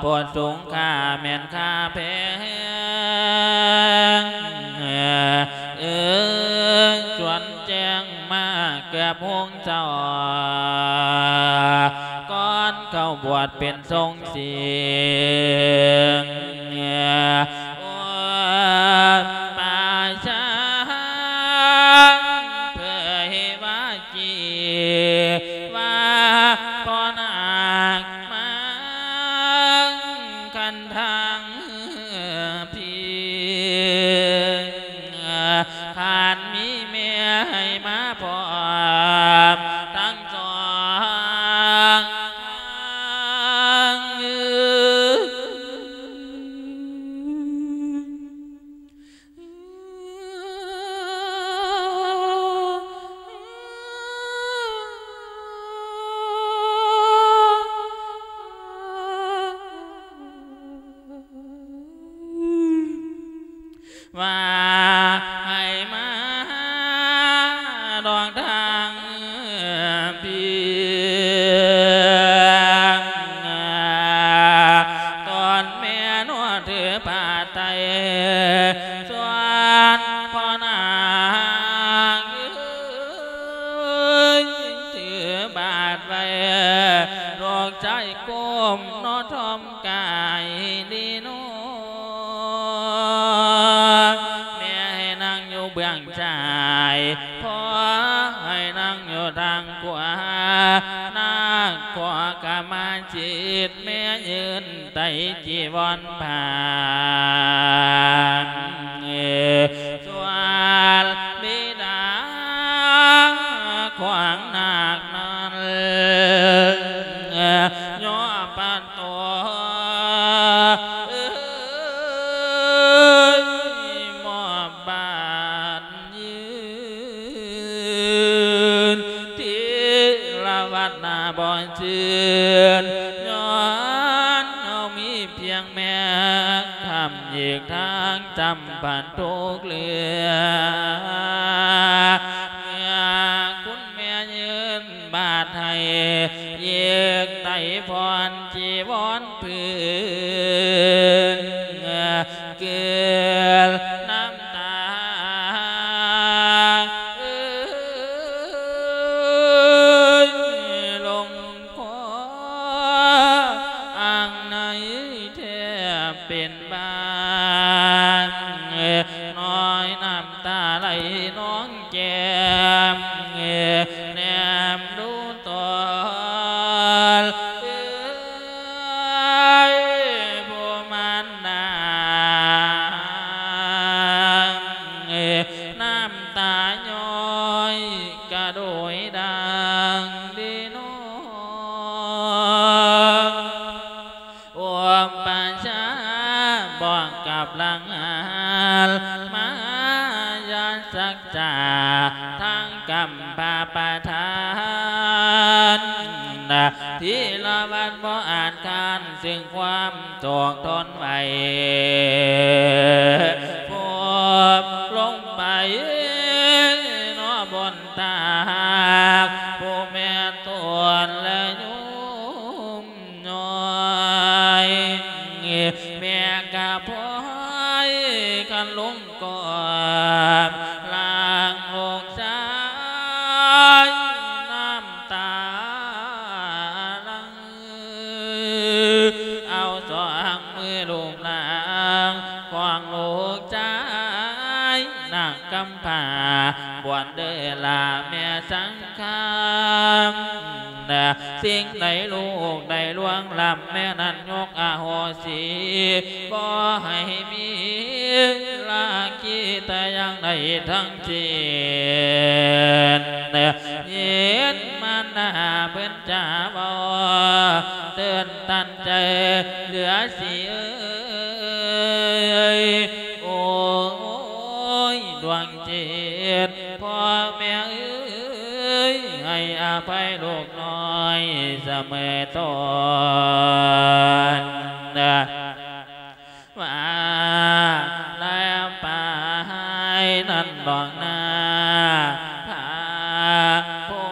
ໂພດສູງຄ່າແມ່ນຄ່າແພງ ເອີ ຊວນແຈ້ງມາເກືອບຫົງເຈົ້າ ກ່ອນເຂົ້າບວດເປັນຊົງ ສິງ ໂອ ປາຊາ ເຜີຍວ່າຈີ່ ວ່າພໍ່ນາງມາງຄັນທາງພີ ຄັນມີແມ່ໃຫ້ມາພ້ອມທັງສອງ ວ່າໃຫ້ມາດອກທາງພີ ຕອນແມ່ນວດຖືພາໄຕ ສ່ວນພໍ່ນາງເອີຍ ຖືບາດໄວ້ ລູກຊາຍກົ້ມນອນທອມກາຍດີນອ ເບື້ອງຊ້າຍ ພໍ່ໃຫ້ນັ່ງຢູ່ທາງຂວາ ນາງຂໍຂະມາສິດ ແມ່ຢືນໄຕຈີວອນຜ່ານ ສ່ວນບິດາຂວາງນາກນັ້ນ ຍໍປະ ໂຕ ເອີຍ ມອບບ້ານຢືນ ທີລະວັດໜ້າບໍ່ຊື່ນ ຍ້ອນເຮົາມີພຽງແມ່ຄ້ຳ ອີກທາງຈຳພັນທຸກເລື່ອງ ເມື່ອຄຸນແມ່ຢືນ ບາດໃຫ້ ເຢກໄຕພອນຈີວອນພື້ນ ເກືອນນ້ຳຕາ ເອີຍ ລົງຄໍ ອ່າງໃນແທບເປັນ ບ້ານ ນ້ອຍນ້ຳຕາໄຫຼນອງແກ້ມ ແນມດູຕອນ ເອີຍ ຜູ້ມານດາ ນ້ຳຕາຍ້ອຍກະໂດຍດັ່ງເດນອ. ອຸປະຊາບອກກັບລັງຫານ ມາຍາສັກຈາ ທາງກຳພະປະທານ ທີລະວັດບໍ່ອາດຄ້ານ ຊຶ່ງຄວາມໂສກທົນໄຫວ ຟົບລົງໄປ ນອບົນຕາກ ຜູ້ແມ່ຕົນແລະໂຍມ ນ້ອຍ ແມ່ກະພອຍຄັນລົງກອດ ລ່າງລູກຊາຍ ນ້ຳຕາຫຼັ່ງ ເອົາສອງມືລູບຮ່າງຂອງລູກຊາຍ ນາງກຳພ້າ ບວນເດີລາແມ່ສັງຄາມ ສິ່ງໃດລູກໄດ້ລ່ວງລ້ຳ ແມ່ນັ້ນຍົກອະໂຫສິ ບໍ່ໃຫ້ມີລາຄີແຕ່ຢ່າງໃດທັງສິ້ນ ຍິນມານດາເພິ່ນຈາເວົ້າ ເຕືອນຕັນໃຈເຫຼືອສິເອີຍ ໂອ້ຍ ດວງຈິດ ພໍ່ແມ່ເອີຍ ໃຫ້ອະໄພລູກນ້ອຍສະເໝີຕົ້ນ ວ່າແລ້ວໄປນັ້ນດອກນາ ພະພົ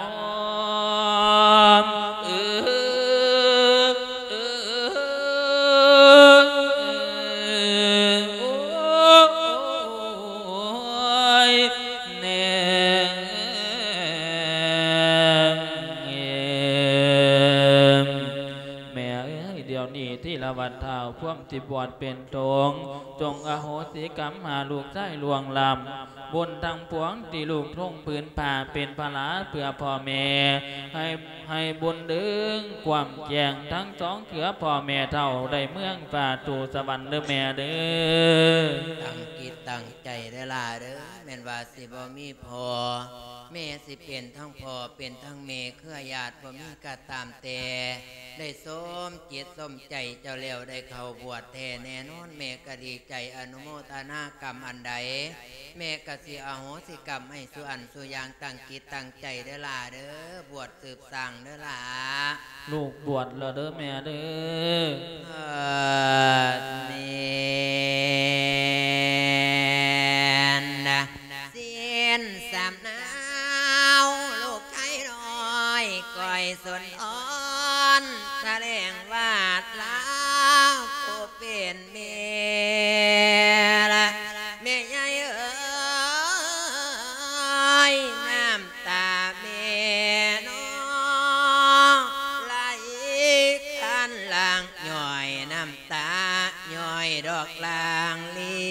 ມເອີຍ ໂອ້ຍ ແມ່ເອີຍ ດຽວນີ້ທີລະວັດທ້າວພວມທີ່ບວດເປັນສົງ ຈົ່ງອະໂຫສິກຳຫາລູກຊາຍລ່ວງລ້ຳ ບຸນທັງປວງທີ່ລູກທົ່ງຜືນຜ້າເປັນພາລະເພື່ອພໍ່ແມ່ ໃຫ້ ໃຫ້ບຸນເດີງກວ້າງແຈ້ງທັງສອງເຄືອ ພໍ່ແມ່ເຖົ້າໄດ້ເມືອງຟ້າສູ່ສະຫວັນເດີແມ່ເດີ. ຕັ້ງຈິດຕັ້ງໃຈເດີຫຼ້າເດີ ແມ່ນວ່າຊິບໍ່ມີພໍ່ ແມ່ຊິເປັນທັງພໍ່ເປັນທັງແມ່ ເຄືອຍາດບໍ່ມີກະຕາມແຕ່ ໄດ້ສົມຈິດສົມໃຈເຈົ້າແລ້ວ ໄດ້ເຂົ້າບວດແທ້ແນ່ນອນ ແມ່ກະດີໃຈ ອະນຸໂມທະນາກຳອັນໃດ ແມ່ກະຊິອະໂຫສິກຳໃຫ້ສູ່ອັນສູ່ຢ່າງ ຕັ້ງຈິດຕັ້ງໃຈເດີຫຼ້າເດີ ບວດສືບສ້າງເດີຫຼ້າ. ລູກບວດແລ້ວເດີແມ່ເດີ. ເອີ ແມ່ນນະ ສິນສຳນາວ ລູກໄທນ້ອຍ ກ້ອຍສົນອອນ ສະແດງວາດລາ ຜູ້ເປັນແມ່ລະ ແມ່ໃຫຍ່ເອີຍ ນ້ຳຕາແມ່ນ້ອງໄຫຼຄັນຫຼັ່ງ ຍ້ອຍນ້ຳຕາ ຍ້ອຍດອກລາງລີ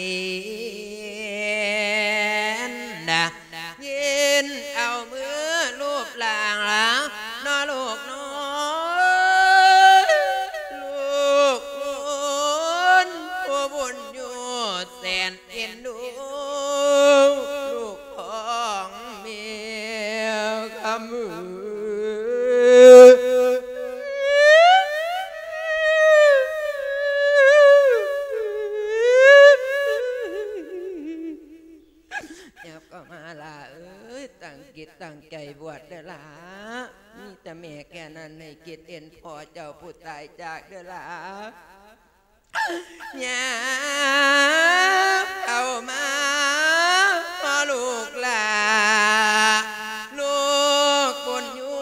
ເອັນດູລູກຂອງແມ່ຄຳເອີຍ. ຫຍັບເຂົ້າມາຫຼ້າເອີຍ, ຕັ້ງຈິດຕັ້ງໃຈບວດເດີຫຼ້າ. ມີແຕ່ແມ່ແຄ່ນັ້ນ ໃຫ້ຄິດເຫັນພໍ່ເຈົ້າຜູ້ຕາຍຈາກເດີຫຼ້າ. ຫຍັບເຂົ້າມາພໍ່ລູກຫຼ້າ, ລູກບຸນຍູ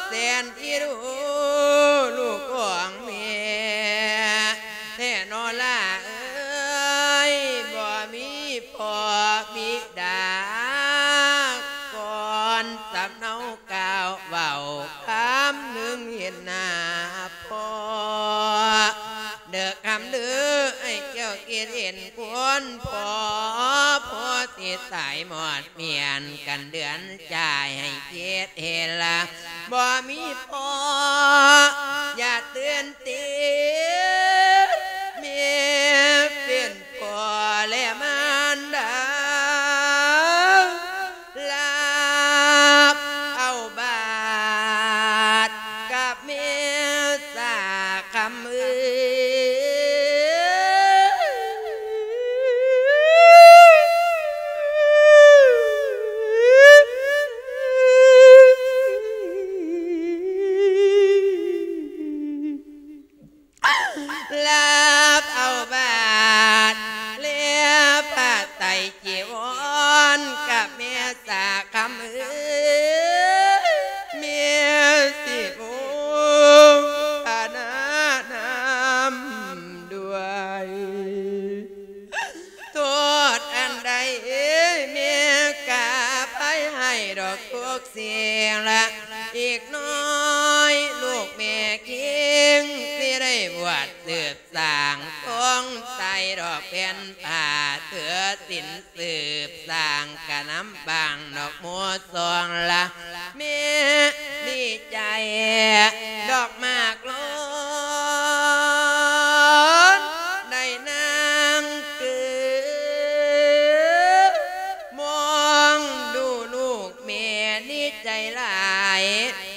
ແສນອີດູ ລູກຂອງແມ່ແທ້ນໍຫຼ້າເອີຍ. ບໍ່ມີພໍ່ບິດາ ກ່ອນສຳເນົາ ກ່າວເວົ້າຄຳໜຶ່ງເຫັນໜ້າພໍ່ເດີຄຳເດີ. ໃຫ້ເຈົ້າຄິດເຫັນຄວນພໍ່ ພໍ່ຊິຕາຍໝອດໝ້ຽນກັນເດືອນຈາຍ. ໃຫ້ຄິດເຫັນລະ ບໍ່ມີພໍ່ຢ່າຕື່ນເຕັ້ນ ແມ່ເປັນພໍ່ແລະມານດາ ລັບເອົາບາດກັບແມ່ສາຄຳເອີຍ. ລັບເອົາບາດ ແລະຜ້າໄຕຈີວອນ ກັບແມ່ສາຄຳເອີຍ ແມ່ຊິໂມທະນານຳດ້ວຍ. ໂທດອັນໃດ ແມ່ກະອະໄພໃຫ້ດອກທຸກສິ່ງລະ. ອີກໜ້ອຍລູກແມ່ຄິງ ຊິໄດ້ບວດສືບສ້າງ ສົງໄສດອກແຜ່ນຜ້າ ຖືສິນສືບສ້າງ ກະນຳບັງດອກໝູ່ສອງລະ. ແມ່ດີໃຈດອກໝາກລ້ອນ ໄດ້ນາງເກີດ ມອງດູລູກແມ່ດີໃຈຫຼາຍ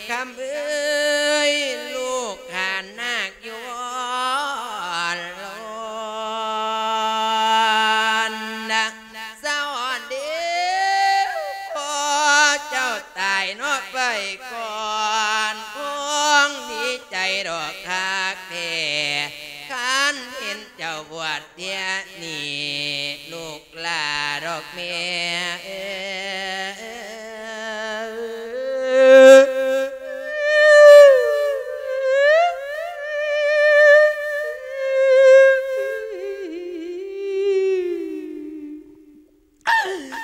ຄຳເອີຍ ລູກຂານນາກຢູ່ວອນລອນນະ. ສະອອນເດ ພໍ່ເຈົ້າຕາຍເນາະໄປກ່ອນ ຄົງດີໃຈດອກຄັກແທ້ ຄັນເຫັນເຈົ້າບວດເທື່ອນີ້ ລູກຫຼ້າດອກແມ່ເອີຍ.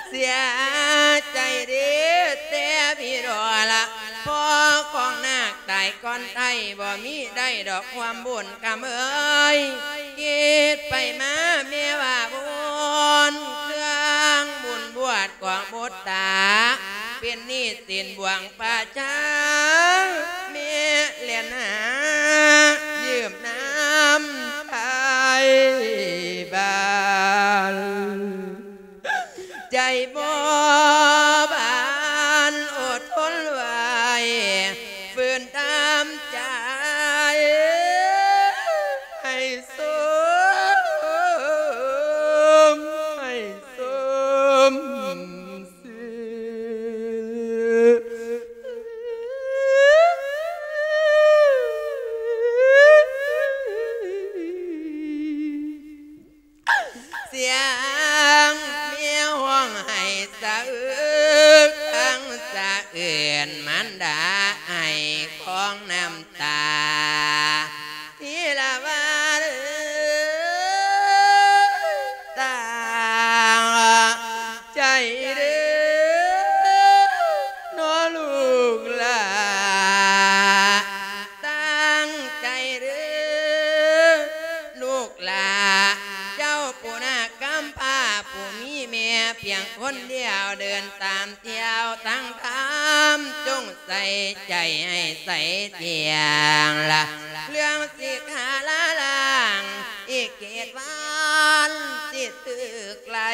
ເສຍໃຈເດ້ ແຕ່ພີ່ດອກລະ ພໍ່ຂອງນາກຕາຍກ່ອນໄທ ບໍ່ມີໄດ້ດອກຄວາມບຸນຄຳເອີຍ. ຄິດໄປມາແມ່ວ່າບຸນ ເຄື່ອງບຸນບວດຂອງບຸດຕາ ເປັນໜີ້ສິນບວງປ່າຊ້າ ແມ່ແລ່ນຫາຢືມນຳໄທບ້ານ. ໃຈບໍ່ບານອົດທົນໄວ້ ຝືນຕາມໃຈ ໃຫ້ສົມ ໃຫ້ສົມຊື່. ສຽງແມວຮ້ອງໄຫ້ສະອຶກ ທັງສະເອື້ອນມານດາ ໄຫ້ຂອງນ້ຳຕາ ທີລະວານເອີຍ ຕາງໃຈເດີ ນໍລູກຫຼ້າ ຕັ້ງໃຈເດີລູກຫຼ້າ ເຈົ້າຜູ້ນາກກຳພ້າ ຜູ້ມີແມ່ພຽງຄົນດຽວ ເດີນຕາມທ່ຽວທາງທຳ ຈົ່ງໃສ່ໃຈໃຫ້ໃສທ່ຽງລະ ເລື່ອງສິກຂາລາລ້າງ ອີກເຈັດວັນ ຖືກໄລ່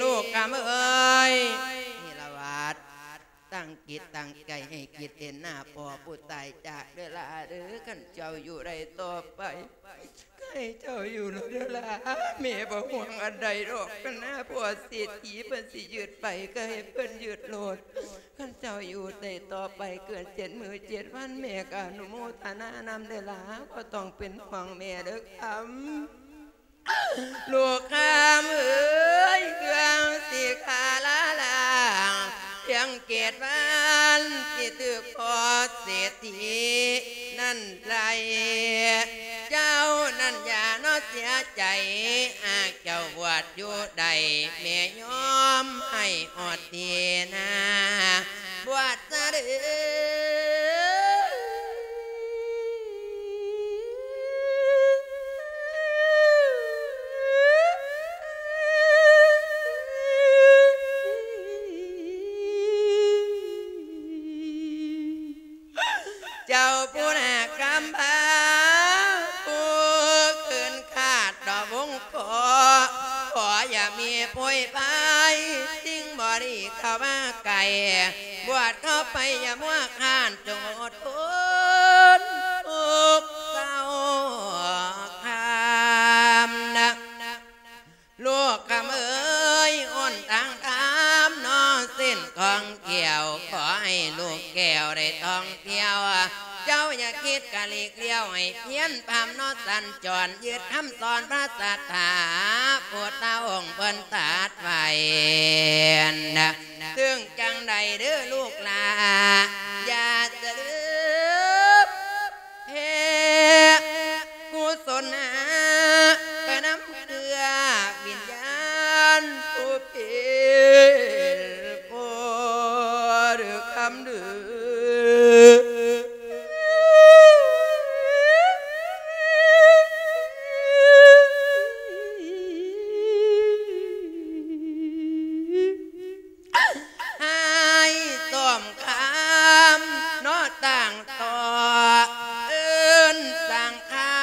ລູກຄຳເອີຍ ນີລະວັດ ຕັ້ງຈິດຕັ້ງໃຈໃຫ້ຄິດເຫັນໜ້າພໍ່ຜູ້ຕາຍຈາກເດີຫຼ້າເດີ. ຄັນເຈົ້າຢູ່ໄດ້ຕໍ່ໄປ ໃຫ້ເຈົ້າຢູ່ໂລດເດີຫຼ້າ ແມ່ບໍ່ຫ່ວງອັນໃດດອກ. ຄັນໜ້າພໍ່ເສດຖີເພິ່ນຊິຍຶດໄປ ກໍໃຫ້ເພິ່ນຍຶດໂລດ. ຄັນເຈົ້າຢູ່ໄດ້ຕໍ່ໄປເກີນເຈັດມື້ເຈັດວັນ ແມ່ກໍອະນຸໂມທະນານຳເດີຫຼ້າ ບໍ່ຕ້ອງເປັນຫ່ວງແມ່ເດີຄຳ. ລູກຄຳເອີຍ ເຄື່ອງສິຂາລາລາງ ພຽງເຈັດວັນ ຊິຖືກພໍ່ເສດຖີນັ້ນໄລ່. ເຈົ້ານັ້ນຢ່າເນາະເສຍໃຈ ຫາກເຈົ້າບວດຢູ່ໄດ້ ແມ່ຍອມໃຫ້ຮອດທີ່ນາ ບວດຊະເດີ. ເຈົ້າຜູ້ໜ້າຄຳພາ ຜູ້ຄືນຄາດດອກວົງ ຂໍ ຂໍຢ່າມີໂພຍພາຍ ສິ່ງບໍ່ດີເຂົ້າມາໃກ້ ບວດເຂົ້າໄປຢ່າມົວຄ້ານ ຈົ່ງອົດທົນທຸກເຊົາຄຳນະ ລູກຄຳເອີຍ. ຫົນທາງທຳເນາະ ເສັ້ນຂອງແກ້ວ ຂໍໃຫ້ລູກແກ້ວໄດ້ທ່ອງທ່ຽວ ເຈົ້າຢ່າຄິດກະຫຼີກລ້ຽວ ໃຫ້ພຽນພຳເນາະສັນຈອນ ຍຶດຄຳສອນພະສັດທາ ພຸດທະອົງເພິ່ນຕັດໄວ້ນະ. ເຖິງຈັ່ງໃດເດີລູກຫຼ້າ ຢ່າສະລືມແຜ່ກຸສົນຫາ ໄປນຳເຄືອວິນຍານຜູ້ເປັນພໍ່ເດີຄຳເດີ. ໃຫ້ສົມຄຳເນາະຕັ້ງຕໍ່ ເອີ້ນສັງຄາ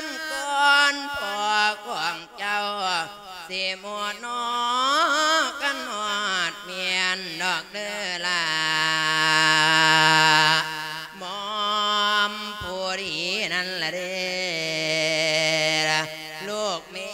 ມກ່ອນພໍ່ຂອງ ເຈົ້າຊິໝົດເນາະ ຄັນຮອດແມ່ນດອກເດີຫຼ້າ ໝອມຜູ້ດີນັ້ນລະເດ້ ລູກແມ່.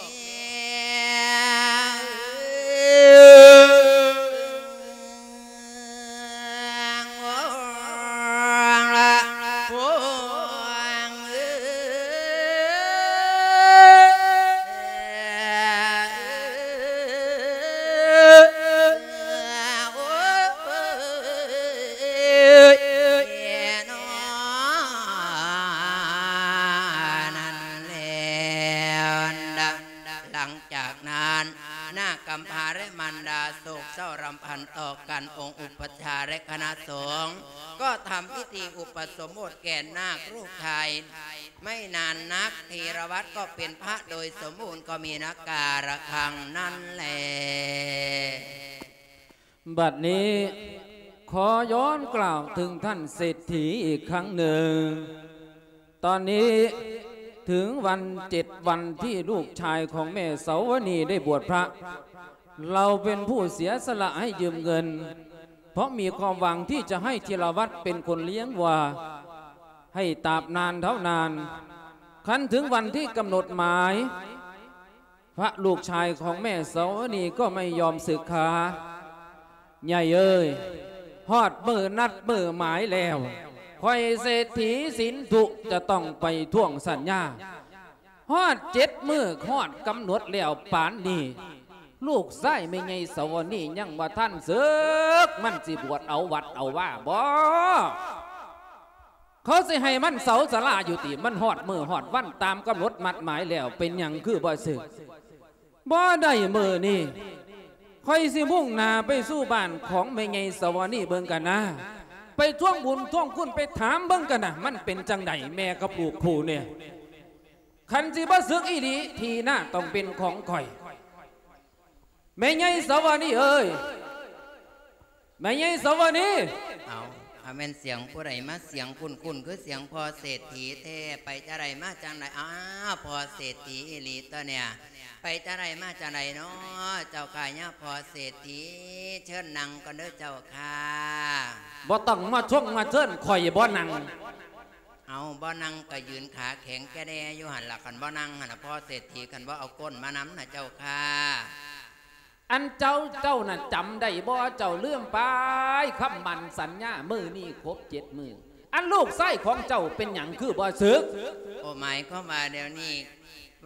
ຫຼັງຈາກນັ້ນ ນາງກຳພ້າ ແລະ ມານດາ ໂສກເສົ້າລຳພັນຕໍ່ກັນ. ອົງອຸປັດຊາ ແລະ ຄະນະສົງກໍທຳພິທີອຸປະສົມບົດແກ່ນາກລູກຊາຍ. ໄມ່ນານນັກ ທີລະວັດກໍເປັນພະໂດຍສົມບູນ ກໍມີນາກກາລະຄັງນັ້ນແລ. ບັດນີ້ຂໍຍ້ອນກ່າວເຖິງທ່ານເສດຖີອີກຄັ້ງໜຶ່ງ. ຕອນນີ້ເຖິງວັນເຈັດວັນທີ່ລູກຊາຍຂອງແມ່ເສົາວະນີໄດ້ບວດພະ, ເຮົາເປັນຜູ້ເສຍສະຫຼະໃຫ້ຢືມເງິນ, ເພາະມີຄວາມຫວັງທີ່ຈະໃຫ້ທີລະວັດເປັນຄົນລ້ຽງວັວໃຫ້ຕາບນານເທົ່ານານ. ຄັນເຖິງວັນທີ່ກຳນົດໝາຍ, ພະລູກຊາຍຂອງແມ່ເສົາວະນີກໍໄມ່ຍອມສຶກສາ. ໃຫຍ່ເອີຍ, ຮອດມື້ນັດມື້ໝາຍແລ້ວ, ຂ້ອຍເສດຖີສິນທຸຈະຕ້ອງໄປທວງສັນຍາ. ຮອດເຈັດມື້ຮອດກຳນົດແລ້ວປານນີ້, ລູກຊາຍແມ່ໃຫຍ່ເສົາວະນີຍັງບໍ່ທັນສຶກ, ມັນຊິບວດເອົາວັດເອົາວາບໍ? ເຂົາຊິໃຫ້ມັນເຊົາສາລາຢູ່ຕິ? ມັນຮອດມື້ຮອດວັນຕາມກຳນົດໝັດໝາຍແລ້ວ, ເປັນຫຍັງຄືບໍ່ສຶກ? ບໍ່ໄດ້, ມື້ນີ້ຂ້ອຍຊິມຸ່ງໜ້າໄປສູ່ບ້ານຂອງແມ່ໃຫຍ່ສາວະນີເບິ່ງກັນນາ, ໄປທວງບຸນທວງຄຸນ, ໄປຖາມເບິ່ງກັນນາ, ມັນເປັນຈັ່ງໃດ ແມ່ກັບລູກຄູ່ນີ້. ຄັນຊິບໍ່ສຶກອີ່ຫຼີ, ທີ່ນາຕ້ອງເປັນຂອງຂ້ອຍ. ແມ່ໃຫຍ່ສາວະນີເອີຍ, ແມ່ໃຫຍ່ສາວະນີ. ເອົາ, ວ່າແມ່ນສຽງຜູ້ໃດມາ ສຽງຄຸ້ນໆ ຄືສຽງພໍ່ເສດຖີແທ້. ໄປຈາໃດມາຈັ່ງໃດ? ອ້າວ ພໍ່ເສດຖີອີ່ຫຼີຕົວະເນຍ. ໄປຈາໃດມາຈາໃດນໍ ເຈົ້າຂ້າຍາພໍ່ເສດຖີ? ເຊີນນັ່ງກ່ອນເດີເຈົ້າຂ້າ. ບໍ່ຕ້ອງມາຊົງມາເຊີນ ຂ້ອຍບໍ່ນັ່ງ. ເອົາ ບໍ່ນັ່ງກະຢືນຂາແຂງແກ່ແດ່ຢູ່ຫັ້ນລະ. ຄັນບໍ່ນັ່ງຫັ້ນນະ ພໍ່ເສດຖີ ຄັນບໍ່ເອົາກົ້ນມານຳນະເຈົ້າຂ້າ. ອັນເຈົ້າ ເຈົ້ານັ້ນຈຳໄດ້ບໍ່? ເຈົ້າລືມໄປຄຳໝັ້ນສັນຍາ ມື້ນີ້ຄົບເຈັດມື້. ອັນລູກຊາຍຂອງເຈົ້າເປັນຫຍັງຄືບໍ່ສຶກ? ໂອ ໝາຍຄວາມວ່າດຽວນີ້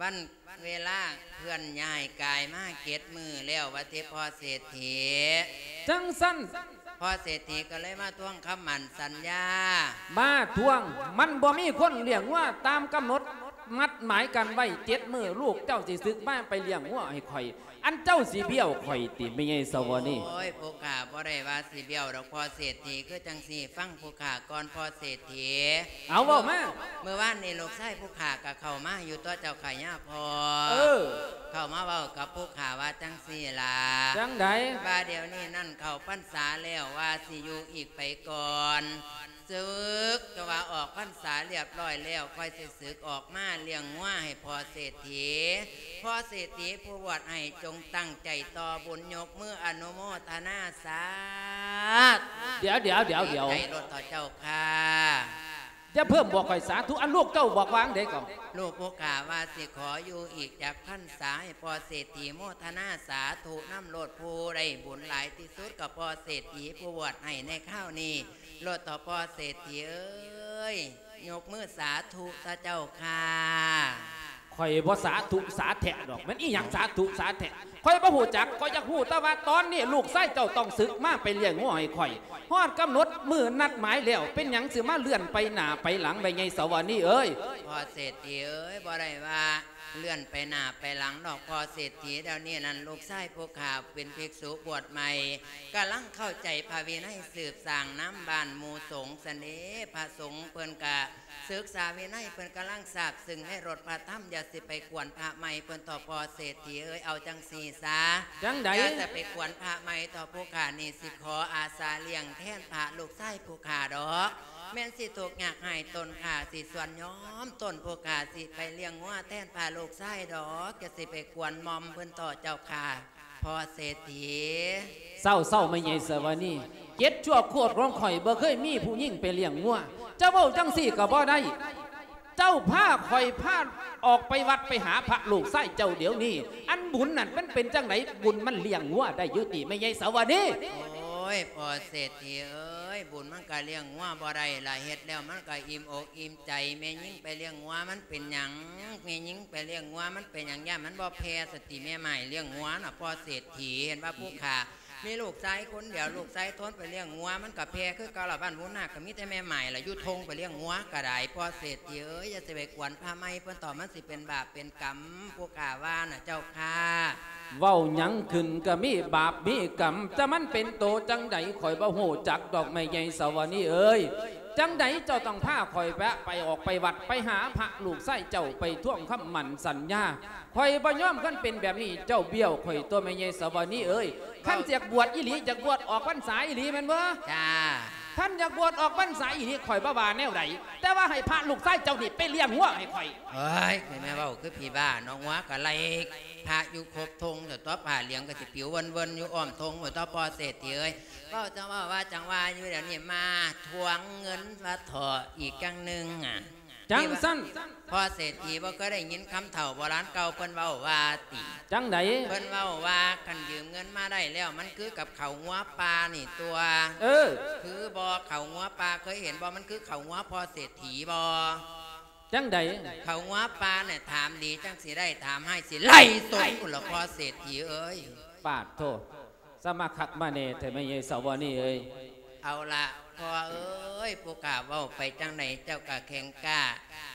ວັນເວລາເຄື່ອນຍ້າຍກາຍມາເຈັດມື້ແລ້ວວ່າຕິ ພໍ່ເສດຖີ? ຈັ່ງຊັ້ນ ພໍ່ເສດຖີກໍເລີຍມາທວງຄຳໝັ້ນສັນຍາ. ມາທວງ? ມັນບໍ່ມີຄົນລ້ຽງງົວຕາມກຳນົດນັດໝາຍກັນໄວ້ເຈັດມື້ ລູກເຈົ້າຊິສຶກມາໄປລ້ຽງງົວໃຫ້ຂ້ອຍ. ອັນເຈົ້າຊິບ້ຽວຂ້ອຍຕິ ແມ່ໃຫຍ່ສະຫວັນນີ? ໂອ້ຍ ຜູ້ຂ້າບໍ່ໄດ້ວ່າຊິບ້ຽວດອກພໍ່ເສດຖີ. ຄືຈັ່ງຊີ້ ຟັງຜູ້ຂ້າກ່ອນພໍ່ເສດຖີ. ເອົາ ເວົ້າມາ. ມື້ວານນີ້ລູກຊາຍຜູ້ຂ້າກໍເຂົ້າມາຢູ່ຕົວະເຈົ້າຂ້າຍາພໍ່. ເອີ ເຂົ້າມາເວົ້າກັບຜູ້ຂ້າວ່າຈັ່ງຊີ້ລະ. ຈັ່ງໃດ? ວ່າດຽວນີ້ນັ້ນເຂົ້າພັນສາແລ້ວ ວ່າຊິຢູ່ອີກໄປກ່ອນ. ສຶກ ແຕ່ວ່າອອກພັນສາລຽບຮ້ອຍແລ້ວ ຂ້ອຍຊິສຶກອອກມາລ້ຽງງົວໃຫ້ພໍ່ເສດຖີ. ພໍ່ເສດຖີຜູ້ບວດໃຫ້ ຈົ່ງຕັ້ງໃຈຕໍ່ບຸນ ຍົກມືອະນຸໂມທະນາສາທຸ. ດຽວ ດຽວ ດຽວ ດຽວ ໃຈໂລດເຖາະເຈົ້າຂ້າ. ຢ່າເພີ່ມບອກຂ້ອຍສາທຸ. ອັນລູກເຈົ້າບອກວ່າຈັ່ງໃດກໍ? ລູກຜູ້ຂ້າວ່າຊິຂໍຢູ່ອີກຈັກພັນສາ ໃຫ້ພໍ່ເສດຖີໂມທະນາສາທຸນຳໂລດ. ຜູ້ໄດ້ບຸນຫຼາຍທີ່ສຸດກໍພໍ່ເສດຖີຜູ້ບວດໃຫ້ໃນຄາວນີ້ໂລດເຖາະພໍ່ເສດຖີເອີຍ. ຍົກມືສາທຸເຖາະເຈົ້າຂ້າ. ຂ້ອຍບໍ່ສາທຸສາແທະດອກ. ແມ່ນອີ່ຫຍັງສາທຸສາແທະ? ຂ້ອຍບໍ່ຮູ້ຈັກ. ຂ້ອຍຢາກຮູ້ແຕ່ວ່າຕອນນີ້ລູກຊາຍເຈົ້າຕ້ອງສຶກມາໄປລ້ຽງງົວໃຫ້ຂ້ອຍ. ຮອດກຳນົດມື້ນັດໝາຍແລ້ວ ເປັນຫຍັງຊິມາເລື່ອນໄປໜ້າໄປຫຼັງ ແມ່ໃຫຍ່ສະຫວັນນີເອີຍ? ພໍ່ເສດຖີເອີຍ ບໍ່ໄດ້ວ່າເລື່ອນໄປໜ້າໄປຫຼັງດອກພໍ່ເສດຖີ. ດຽວນີ້ນັ້ນລູກຊາຍຜູ້ຂ້າເປັນພິກສຸບວດໃໝ່ ກຳລັງເຂົ້າໃຈພະວິໄນ ສືບສ້າງນຳບ້ານໝູ່ສົງຊັ້ນເດ. ພະສົງເພິ່ນກະ ສຶກສາວິໄນ ເພິ່ນກຳລັງຊາບຊຶ້ງໃນລົດພະທຳ. ຢ່າຊິໄປກວນພະໃໝ່ເພິ່ນເຖາະພໍ່ເສດຖີເອີຍ. ເອົາຈັ່ງຊີ້ຊະ. ຈັ່ງໃດ? ຢ່າຈະໄປກວນພະໃໝ່ເຖາະ. ຜູ້ຂ້ານີ້ຊິຂໍອາສາລ້ຽງແທນພະລູກຊາຍຜູ້ຂ້າດອກ. ແມ່ນຊິທຸກຍາກໃຫ້ຕົນຂ້າຊິສ່ວນຍອມຕົນ ຜູ້ຂ້າຊິໄປລ້ຽງງົວແທນພະລູກຊາຍດອກ. ຢ່າຊິໄປກວນໝ່ອມເພິ່ນເຖາະເຈົ້າຂ້າ ພໍ່ເສດຖີ. ເຊົາໆ ແມ່ໃຫຍ່ສະຫວັນນີ. ເຈັດຊົ່ວໂຄດຂອງຂ້ອຍບໍ່ເຄີຍມີຜູ້ຍິງໄປລ້ຽງງົວ. ເຈົ້າເວົ້າຈັ່ງຊີ້ກໍບໍ່ໄດ້. ເຈົ້າພາຂ້ອຍພາອອກໄປວັດໄປຫາພະລູກຊາຍເຈົ້າດຽວນີ້. ອັນບຸນນັ້ນມັນເປັນຈັ່ງໃດ? ບຸນມັນລ້ຽງງົວໄດ້ຢູ່ຕິ ແມ່ໃຫຍ່ສະຫວັນນີ? ໂອ້ຍ ພໍ່ເສດຖີເອີຍ ບຸນມັນກໍລ້ຽງງົວບໍ່ໄດ້ລະ. ເຮັດແລ້ວມັນກໍອີ່ມອົກອີ່ມໃຈ. ແມ່ຍິງໄປລ້ຽງງົວມັນເປັນຫຍັງ? ແມ່ຍິງໄປລ້ຽງງົວມັນເປັນຫຍັງ? ຢ້ານມັນບໍ່ແຜ່ສະຕິ ແມ່ໝ້າຍລ້ຽງງົວນະ ພໍ່ເສດຖີ. ເຫັນວ່າຜູ້ຂ້າ ມີລູກຊາຍຄົນດຽວ ລູກຊາຍທົນໄປລ້ຽງງົວ ມັນກະແຜ່ຄືເກົ່າລະ. ບ້ານຫູນາກະມີແຕ່ແມ່ໝ້າຍລະ ຢູ່ທົ່ງໄປລ້ຽງງົວກະໄດ້. ພໍ່ເສດຖີເອີຍ ຢ່າຊິໄປກວນພະໃໝ່ເພິ່ນເຖາະ ມັນຊິເປັນບາບເປັນກຳ ຜູ້ຂ້າວ່ານະເຈົ້າຂ້າ. ເວົ້າຫຍັງຂຶ້ນກະມີບາບມີກຳ. ຈະມັນເປັນໂຕຈັ່ງໃດ ຂ້ອຍບໍ່ຮູ້ຈັກດອກ ແມ່ໃຫຍ່ສະຫວັນນີເອີຍ. ຈັ່ງໃດເຈົ້າຕ້ອງພາຂ້ອຍແວະໄປ ອອກໄປວັດໄປຫາພະລູກຊາຍເຈົ້າ ໄປທວງຄຳໝັ້ນສັນຍາ. ຂ້ອຍບໍ່ຍອມ. ຄັນເປັນແບບນີ້ເຈົ້າບ້ຽວຂ້ອຍຕົວະ ແມ່ໃຫຍ່ສະຫວັນນີເອີຍ. ຄັນຢາກບວດອີ່ຫຼີ ຢາກບວດອອກພັນສາອີ່ຫຼີແມ່ນບໍ່? ຈ້າ. ຄັນຢາກບວດອອກພັນສາອີ່ຫຼີ ຂ້ອຍບໍ່ວ່າແນວໃດ ແຕ່ວ່າໃຫ້ພະລູກຊາຍເຈົ້ານີ້ໄປລ້ຽງງົວໃຫ້ຂ້ອຍ. ເອີຍ ຂ້ອຍແມ່ເວົ້າຄືຜີບ້າເນາະ. ງົວກະໄລ່ພະຢູ່ຄົບທົ່ງ ແຕ່ຕົວະຜ້າຫຼຽງກະຊິປິວເວີນໆຢູ່ອ້ອມທົ່ງພຸ້ນຕົວະ ພໍ່ເສດຖີເອີຍ. ເວົ້າຈັ່ງເວົ້າວ່າຈັ່ງວ່າຢູ່ ດຽວນີ້ມາທວງເງິນມາເຖາະອີກຈັ່ງໜຶ່ງອະ. ຈັ່ງຊັ້ນ ພໍ່ເສດຖີບໍ່ເຄີຍໄດ້ຍິນຄຳເຖົ້າໂບລານເກົ່າເພິ່ນເວົ້າວ່າຕິ? ຈັ່ງໃດ? ເພິ່ນເວົ້າວ່າ ຄັນຢືມເງິນມາໄດ້ແລ້ວ ມັນຄືກັບເຂົ້າງົວປ່ານີ້ຕົວະ. ເອີ ຄືບໍ່ ເຂົ້າງົວປ່າ ເຄີຍເຫັນບໍ່? ມັນຄືເຂົ້າງົວພໍ່ເສດຖີບໍ່? ຈັ່ງໃດ? ເຂົ້າງົວປ່ານະ ຖາມດີຈັ່ງຊິໄດ້ ຖາມຮ້າຍຊິໄລ່ຕົນພຸ້ນລະ ພໍ່ເສດຖີເອີຍ. ປາດໂທ ສະມາຄັກມາແນ່ແທ້ ແມ່ໃຫຍ່ສາວອນນີ້ເອີຍ. ເອົາລະ ພໍ່ເອີຍ ຜູ້ຂ້າເວົ້າໄປຈັ່ງໃດ ເຈົ້າກະແຂງກ້າ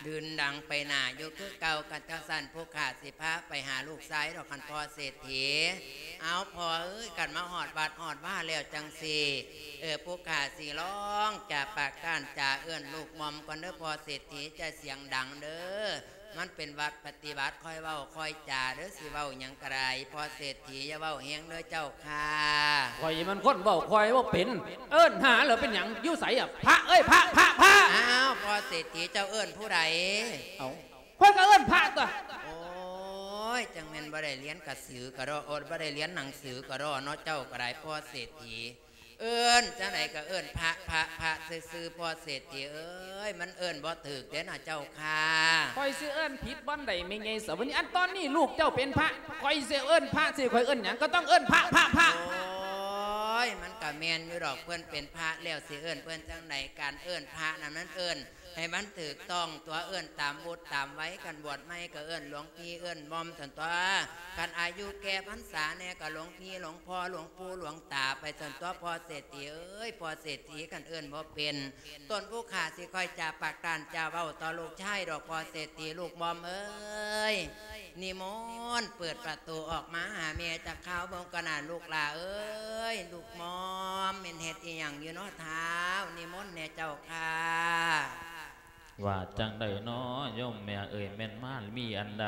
ດືນດັງໄປໜ້າຢູ່ຄືເກົ່າ. ຄັນຈັ່ງຊັ້ນ ຜູ້ຂ້າຊິພາໄປຫາລູກຊາຍດອກ ຄັນພໍ່ເສດຖີ. ເອົາ ພໍ່ເອີຍ ຄັນມາຮອດວັດຮອດວາແລ້ວຈັ່ງຊີ້ ເອີ ຜູ້ຂ້າຊິລອງຈາປາກກ້ານຈາເອີ້ນລູກໝ່ອມກ່ອນເດີ ພໍ່ເສດຖີ ຢ່າສຽງດັງເດີ. ມັນເປັນວັດປະຕິບັດ ຄ່ອຍເວົ້າຄ່ອຍຈາເດີ້ ຊິເວົ້າຫຍັງກໍໄດ້ ພໍ່ເສດຖີຢ່າເວົ້າແຮງເດີ້ເຈົ້າຄ່າ. ຂ້ອຍມັນຄົນເວົ້າ ຂ້ອຍເວົ້າເປັນ ເອີ້ນຫາແລ້ວເປັນຫຍັງ? ຢູ່ໃສອະ? ພະເອີຍ ພະ ພະ ພະ! ອ້າວ ພໍ່ເສດຖີເຈົ້າເອີ້ນຜູ້ໃດ? ເອົ້າ ຂ້ອຍກໍເອີ້ນພະຕົ໋ວະ. ໂອ້ຍ ຈັ່ງແມ່ນບໍ່ໄດ້ຮຽນກະສືກະດໍ ໂອ້ ບໍ່ໄດ້ຮຽນໜັງສືກະດໍເນາະ ເຈົ້າກໍໄດ້ ພໍ່ເສດຖີ. ເອີ້ນຈັ່ງໃດກໍເອີ້ນພະ ພະ ພະຊື່ໆ ພໍ່ເສດຖີເອີຍ ມັນເອີ້ນບໍ່ຖືກເດ້ນະເຈົ້າຄ່າ. ຂ້ອຍຊິເອີ້ນຜິດບ່ອນໃດແມ່ໃຫຍ່ສະຫວັນ? ອັນຕອນນີ້ລູກເຈົ້າເປັນພະ ຂ້ອຍຊິເອີ້ນພະ ຊິຂ້ອຍເອີ້ນຫຍັງກໍຕ້ອງເອີ້ນພະ ພະ ພະ. ໂອ້ຍ ມັນກໍແມ່ນຢູ່ດອກ ເພິ່ນເປັນພະແລ້ວ ຊິເອີ້ນເພິ່ນຈັ່ງໃດ? ການເອີ້ນພະນັ້ນມັນເອີ້ນ ໃຫ້ມັນຖືກຕ້ອງຕົ໋ວ ເອີ້ນຕາມວຸດຕາມໄວ ຄັນບວດໃໝ່ກໍເອີ້ນຫຼວງພີ່ ເອີ້ນໝ່ອມຊັ້ນຕົ໋ວ ຄັນອາຍຸແກ່ພັນສາແດ່ກໍຫຼວງພີ່ ຫຼວງພໍ່ ຫຼວງປູ່ ຫຼວງຕາໄປຊັ້ນຕົ໋ວ ພໍ່ເສດຖີເອີຍ ພໍ່ເສດຖີ ຄັນເອີ້ນບໍ່ເປັນ ຕົນຜູ້ຂ້າຊິຄ່ອຍຈາປາກກ້ານຈາເວົ້າຕໍ່ລູກຊາຍດອກ ພໍ່ເສດຖີ ລູກໝ່ອມເອີຍ. ນິມົນເປີດປະຕູອອກມາຫາແມ່ຈັກຄາວເບິ່ງກ່ອນນະລູກຫຼ້າເອີຍ. ລູກໝ່ອມ ແມ່ນເຮັດອີ່ຫຍັງຢູ່ເນາະທ້າວ? ນິມົນແດ່ເຈົ້າຄ່າ. ວ່າຈັ່ງໃດເນາະໂຍມແມ່ເອີຍ ແມ່ນມາມີອັນໃດ?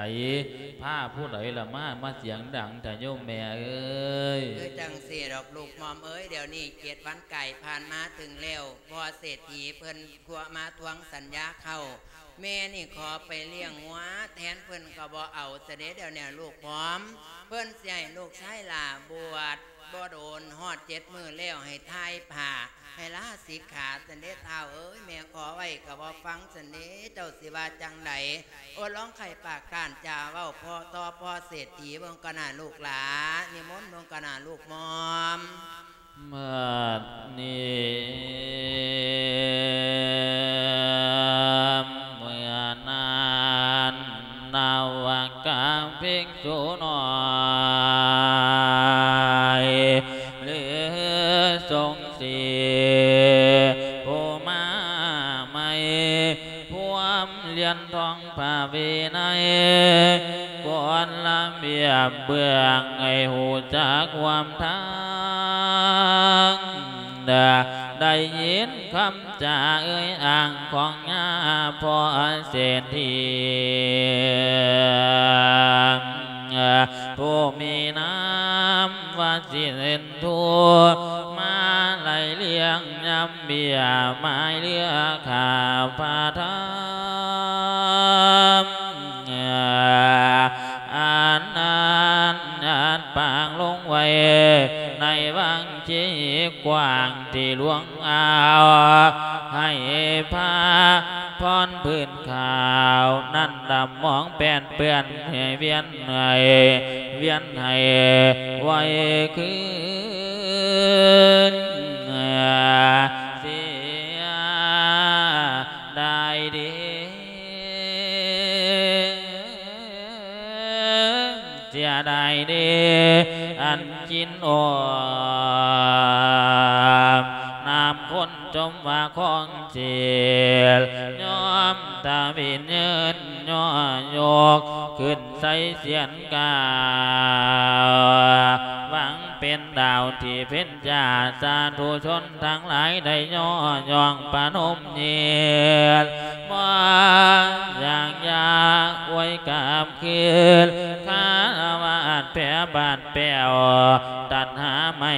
ພາຜູ້ໃດລະມາ ມາສຽງດັງແທ້ໂຍມແມ່ເອີຍ? ຄືຈັ່ງຊີ້ດອກລູກໝ່ອມເອີຍ ດຽວນີ້ເຈັດວັນກາຍຜ່ານມາເຖິງແລ້ວ ພໍ່ເສດຖີເພິ່ນ ພວກມາທວງສັນຍາເຂົ້າ ແມ່ນີ້ຂໍໄປລ້ຽງງົວແທນ ເພິ່ນກໍບໍ່ເອົາຊະເດ. ດຽວນີ້ລູກໝ່ອມ ເພິ່ນຊິໃຫ້ລູກຊາຍຫຼ້າບວດ ບໍ່ໂດນຮອດເຈັດມື້ແລ້ວ ໃຫ້ຖ່າຍຜ້າ ໃຫ້ລາສິກຂາຊັ້ນເດທ້າວເອີຍ. ແມ່ຂໍໄວ້ກໍບໍ່ຟັງຊັ້ນເດ ເຈົ້າຊິວ່າຈັ່ງໃດ? ໂອ ລອງໄຂປາກກ້ານຈາເວົ້າພໍຕໍ່ພໍ່ເສດຖີເບິ່ງກ່ອນນະລູກຫຼ້າ ນິມົນເບິ່ງກ່ອນນະລູກໝ່ອມ. ບັດນີ້ເມື່ອນັ້ນ ນະວະກະພິກຂຸນ້ອຍ ຫຼື ສົງສີຜູ້ມາໃໝ່ ພວມລຽນທ່ອງພະວິໄນ ກົດລະບຽບເບື້ອງ ໃຫ້ຮູ້ຈັກຮ່ວມທາງ ໄດ້ຍິນຄຳຈາເອີ່ຍອ້າງຂອງຍາພໍ່ເສດຖີ ຜູ້ມີນາມວ່າສິນທຸ ມາໄລ່ລຽງຍາມເບ້ຍໝາຍເຫຼືອຂ້າພະທຳ ອັນນັ້ນອັນປາງລົງໄວ້ໃນວັງທີ່ກວ້າງທີ່ຫຼວງອາວ ໃຫ້ພະພອນພື້ນຂາວນັ້ນດຳໝອງແປດເປື້ອນ ໃຫ້ວຽນ ໃຫ້ວຽນໃຫ້ໄວຄືນເສຍດາຍເດ ເສຍດາຍເດ ອັນກິນອອມນ້ຳຄົນ ຈົ່ມວ່າຂອງເສຍ ຍອມຕາວິນເຍີນຍໍຍົກ ຂຶ້ນໃສ່ສຽນກາວ ຫວັງເປັນດາວທີ່ເພັນຈ້າ ສາທຸຊົນທັງຫຼາຍໄດ້ຍໍຍ້ອງປະນົມຍິນ ບໍ່ຢາກຢາອວຍກັບຄືນ ຄາລະວາດແຜ່ບາດແປ້ວ ຕັນຫາໄມ້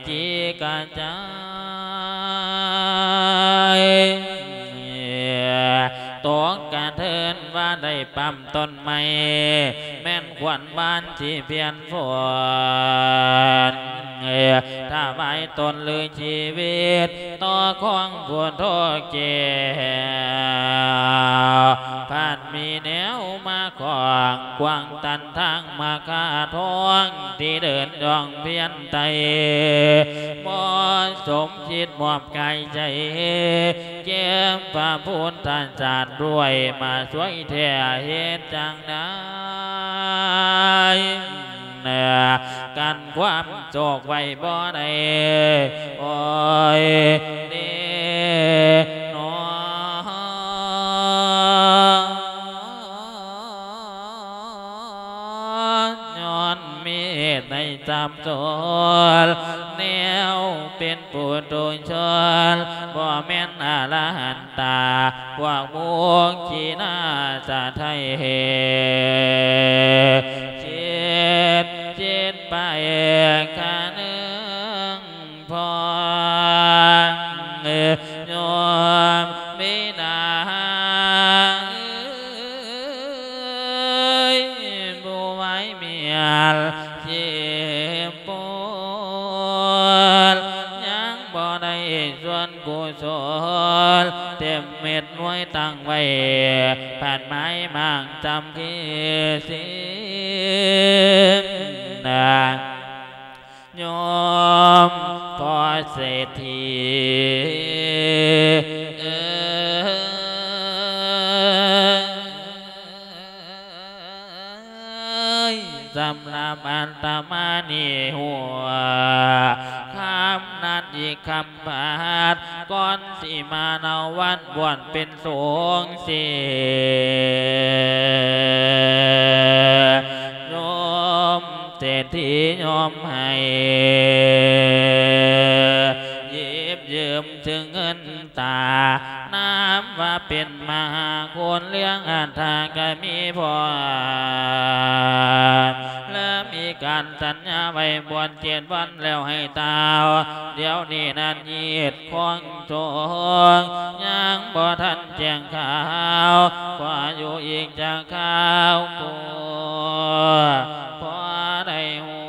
ຈີກະຈາຍ ຕົກກະເທີນວ່າໄດ້ປ້ຳຕົ້ນໄມ້ ແມ່ນຂວັນບານທີ່ພຽນຝົນ ຖວາຍຕົນຫຼືຊີວິດ ຕໍ່ຂອງຜູ້ໂທແກ້ວ ພັດມີແນວມາຂວາງ ຂວາງຕັນທາງມາຄາທອງ ທີ່ເດີນຍ່ອງພຽນໄຕ່ ບໍ່ສົມຄິດມອບກາຍໃຈ ແກ່ພະພຸດທະຊາດດ້ວຍ ມາຊ່ວຍແທ້ເຮັດຈັ່ງໃດ ກັນຄວາມໂຊກໄວ້ບໍ່ໄດ້ ໂອຍເດນອ ຍ້ອນມີ ດໃນສາມຊົນ ແນວເປັນປຸຖຸຊົນ ບໍ່ແມ່ນອະລະຫັນຕາ ພວກມຸຂິນາສະໄທ ຄິດ ຄິດໄປຄະນຶງ ພອງໂຍມບິດາເອີຍ ຜູ້ໄວມຽນເຈັບປົວດ ຍັງບໍ່ໄດ້ສ່ວນກຸສົນ ເຕັມເມັດໜ່ວຍຕັ້ງໄວ້ ພັນໝາຍໝາງຈຳຄືສິນນາ ໂຍມພໍ່ເສດຖີເອີຍ ສຳລັບອາດຕະມານີ້ຫົວຄ່ຳນັ້ນອີກຄ່ຳບາດ ກ່ອນຊິມາເນົາວັນບວນເປັນສົງฆ์ເສ ໂຍມເສດຖີຍອມໃຫ້ ຍິບຢືມເຊິ່ງເງິນຕາ ນາມວ່າເປັນມະຫາຄຸນ ເລື່ອງອັດຖະກະມີພອນ ແລະມີການສັນຍາໄວ້ບວນເຈັດວັນແລ້ວໃຫ້ຕ່າວ ດຽວນີ້ນັ້ນຍິດ ຂອງໂຈງ ຍັງບໍ່ທັນແຈ້ງຂ່າວ ຂໍຢູ່ອີກຈັກຄາວ ໂກ ພໍໄດ້ຮູ້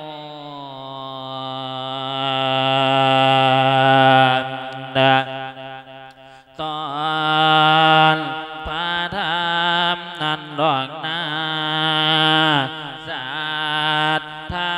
ນະ ຕອນພະທຳນັ້ນດອກນາ ສັດທາ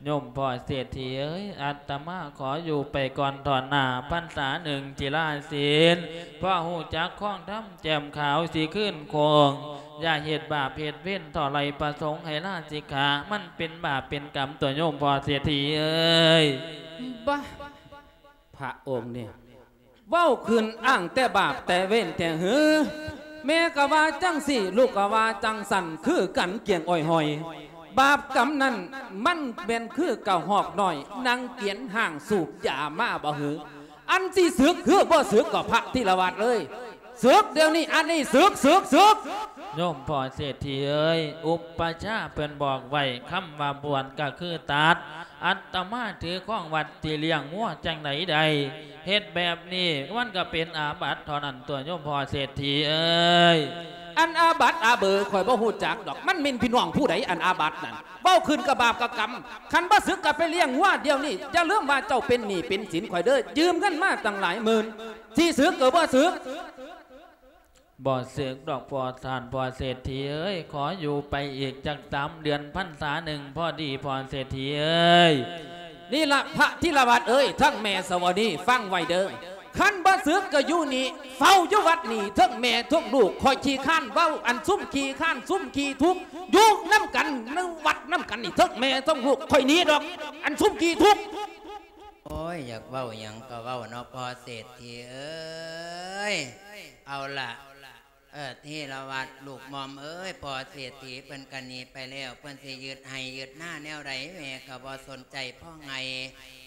ໂຍມພໍ່ເສດຖີເອີຍ ອາດຕະມາຂໍຢູ່ໄປກ່ອນ ຖ້ອນໜ້າພັນສາໜຶ່ງຈິລາສິນ ເພາະຮູ້ຈັກຄອງທຳແຈ່ມຂາວ ຊິຄືນຄົງ ຢ່າເຮັດບາບເຮັດເວນ ເທົ່າໃດປະສົງໃຫ້ລາສິກຂາ ມັນເປັນບາບເປັນກຳຕົວະໂຍມພໍ່ເສດຖີເອີຍ. ບາ ພະອົງນີ້ ເວົ້າຂຶ້ນອ້າງແຕ່ບາບແຕ່ເວນແທ້ຫື? ແມ່ກໍວ່າຈັ່ງຊີ້ ລູກກໍວ່າຈັ່ງຊັ້ນ ຄືກັນກຽງອ້ອຍຫອຍ. ບາບກຳນັ້ນມັນແມ່ນຄືກະຮອກນ້ອຍ ນັ່ງກຽນຫ້າງສູບຢາມາບໍ່ຫື? ອັນຊິສຶກຄືບໍ່ສຶກກໍພະທີລະວັດເອີຍ ສຶກດຽວນີ້ ອັນນີ້ ສຶກ ສຶກ ສຶກ. ໂຍມພໍ່ເສດຖີເອີຍ ອຸປະຊາເພິ່ນບອກໄວ້ ຄຳວ່າບວດກໍຄືຕັດ ອາດຕະມາຖືຄອງວັດທີ່ລ້ຽງງົວຈັ່ງໃດໄດ້ ເຮັດແບບນີ້ມັນກໍເປັນອາບັດເທົ່ານັ້ນຕົວະໂຍມພໍ່ເສດຖີເອີຍ. ອັນອາບັດອາເບີຂ້ອຍບໍ່ຮູ້ຈັກດອກ ມັນແມ່ນພີ່ນ້ອງຜູ້ໃດອັນອາບັດນັ້ນ? ເວົ້າຂຶ້ນກະບາບກະກຳ ຄັນບໍ່ສຶກກໍໄປລ້ຽງງົວດຽວນີ້ ຢ່າລືມວ່າເຈົ້າເປັນໜີ້ເປັນສິນຂ້ອຍເດີ ຢືມເງິນມາຕັ້ງຫຼາຍໝື່ນ ຊິສຶກກໍບໍ່ສຶກ. ບໍ່ສຶກດອກພໍ່ທ່ານພໍ່ເສດຖີເອີຍ ຂໍຢູ່ໄປອີກຈັກສາມເດືອນພັນສາໜຶ່ງພໍດີພໍ່ເສດຖີເອີຍ. ນີ້ລະພະທີລະວັດເອີຍ ທັງແມ່ສະຫວະນີ ຟັງໄວ້ເດີ ຄັນບໍ່ສຶກກໍຢູ່ນີ້ ເຝົ້າຢູ່ວັດນີ້ ທັງແມ່ທັງລູກ ຂ້ອຍຂີ້ຄ້ານເວົ້າ ອັນຊຸມຂີ້ຄ້ານຊຸມຂີ້ທຸກ ຢູ່ນຳກັນໃນວັດນຳກັນນີ້ ທັງແມ່ທັງລູກ ຂ້ອຍໜີດອກ ອັນຊຸມຂີ້ທຸກ. ໂອ້ຍ ຢາກເວົ້າຫຍັງກໍເວົ້າເນາະ ພໍ່ເສດຖີເອີຍ. ເອົາລະ ເອີ ທີລະວັດ ລູກໝອມເອີຍ ພໍ່ເສດຖີເພິ່ນກະໜີໄປແລ້ວ ເພິ່ນຊິຍຶດໄຮ່ຍຶດນາແນວໃດ ແມ່ກໍບໍ່ສົນໃຈພໍ່ໃຫຍ່.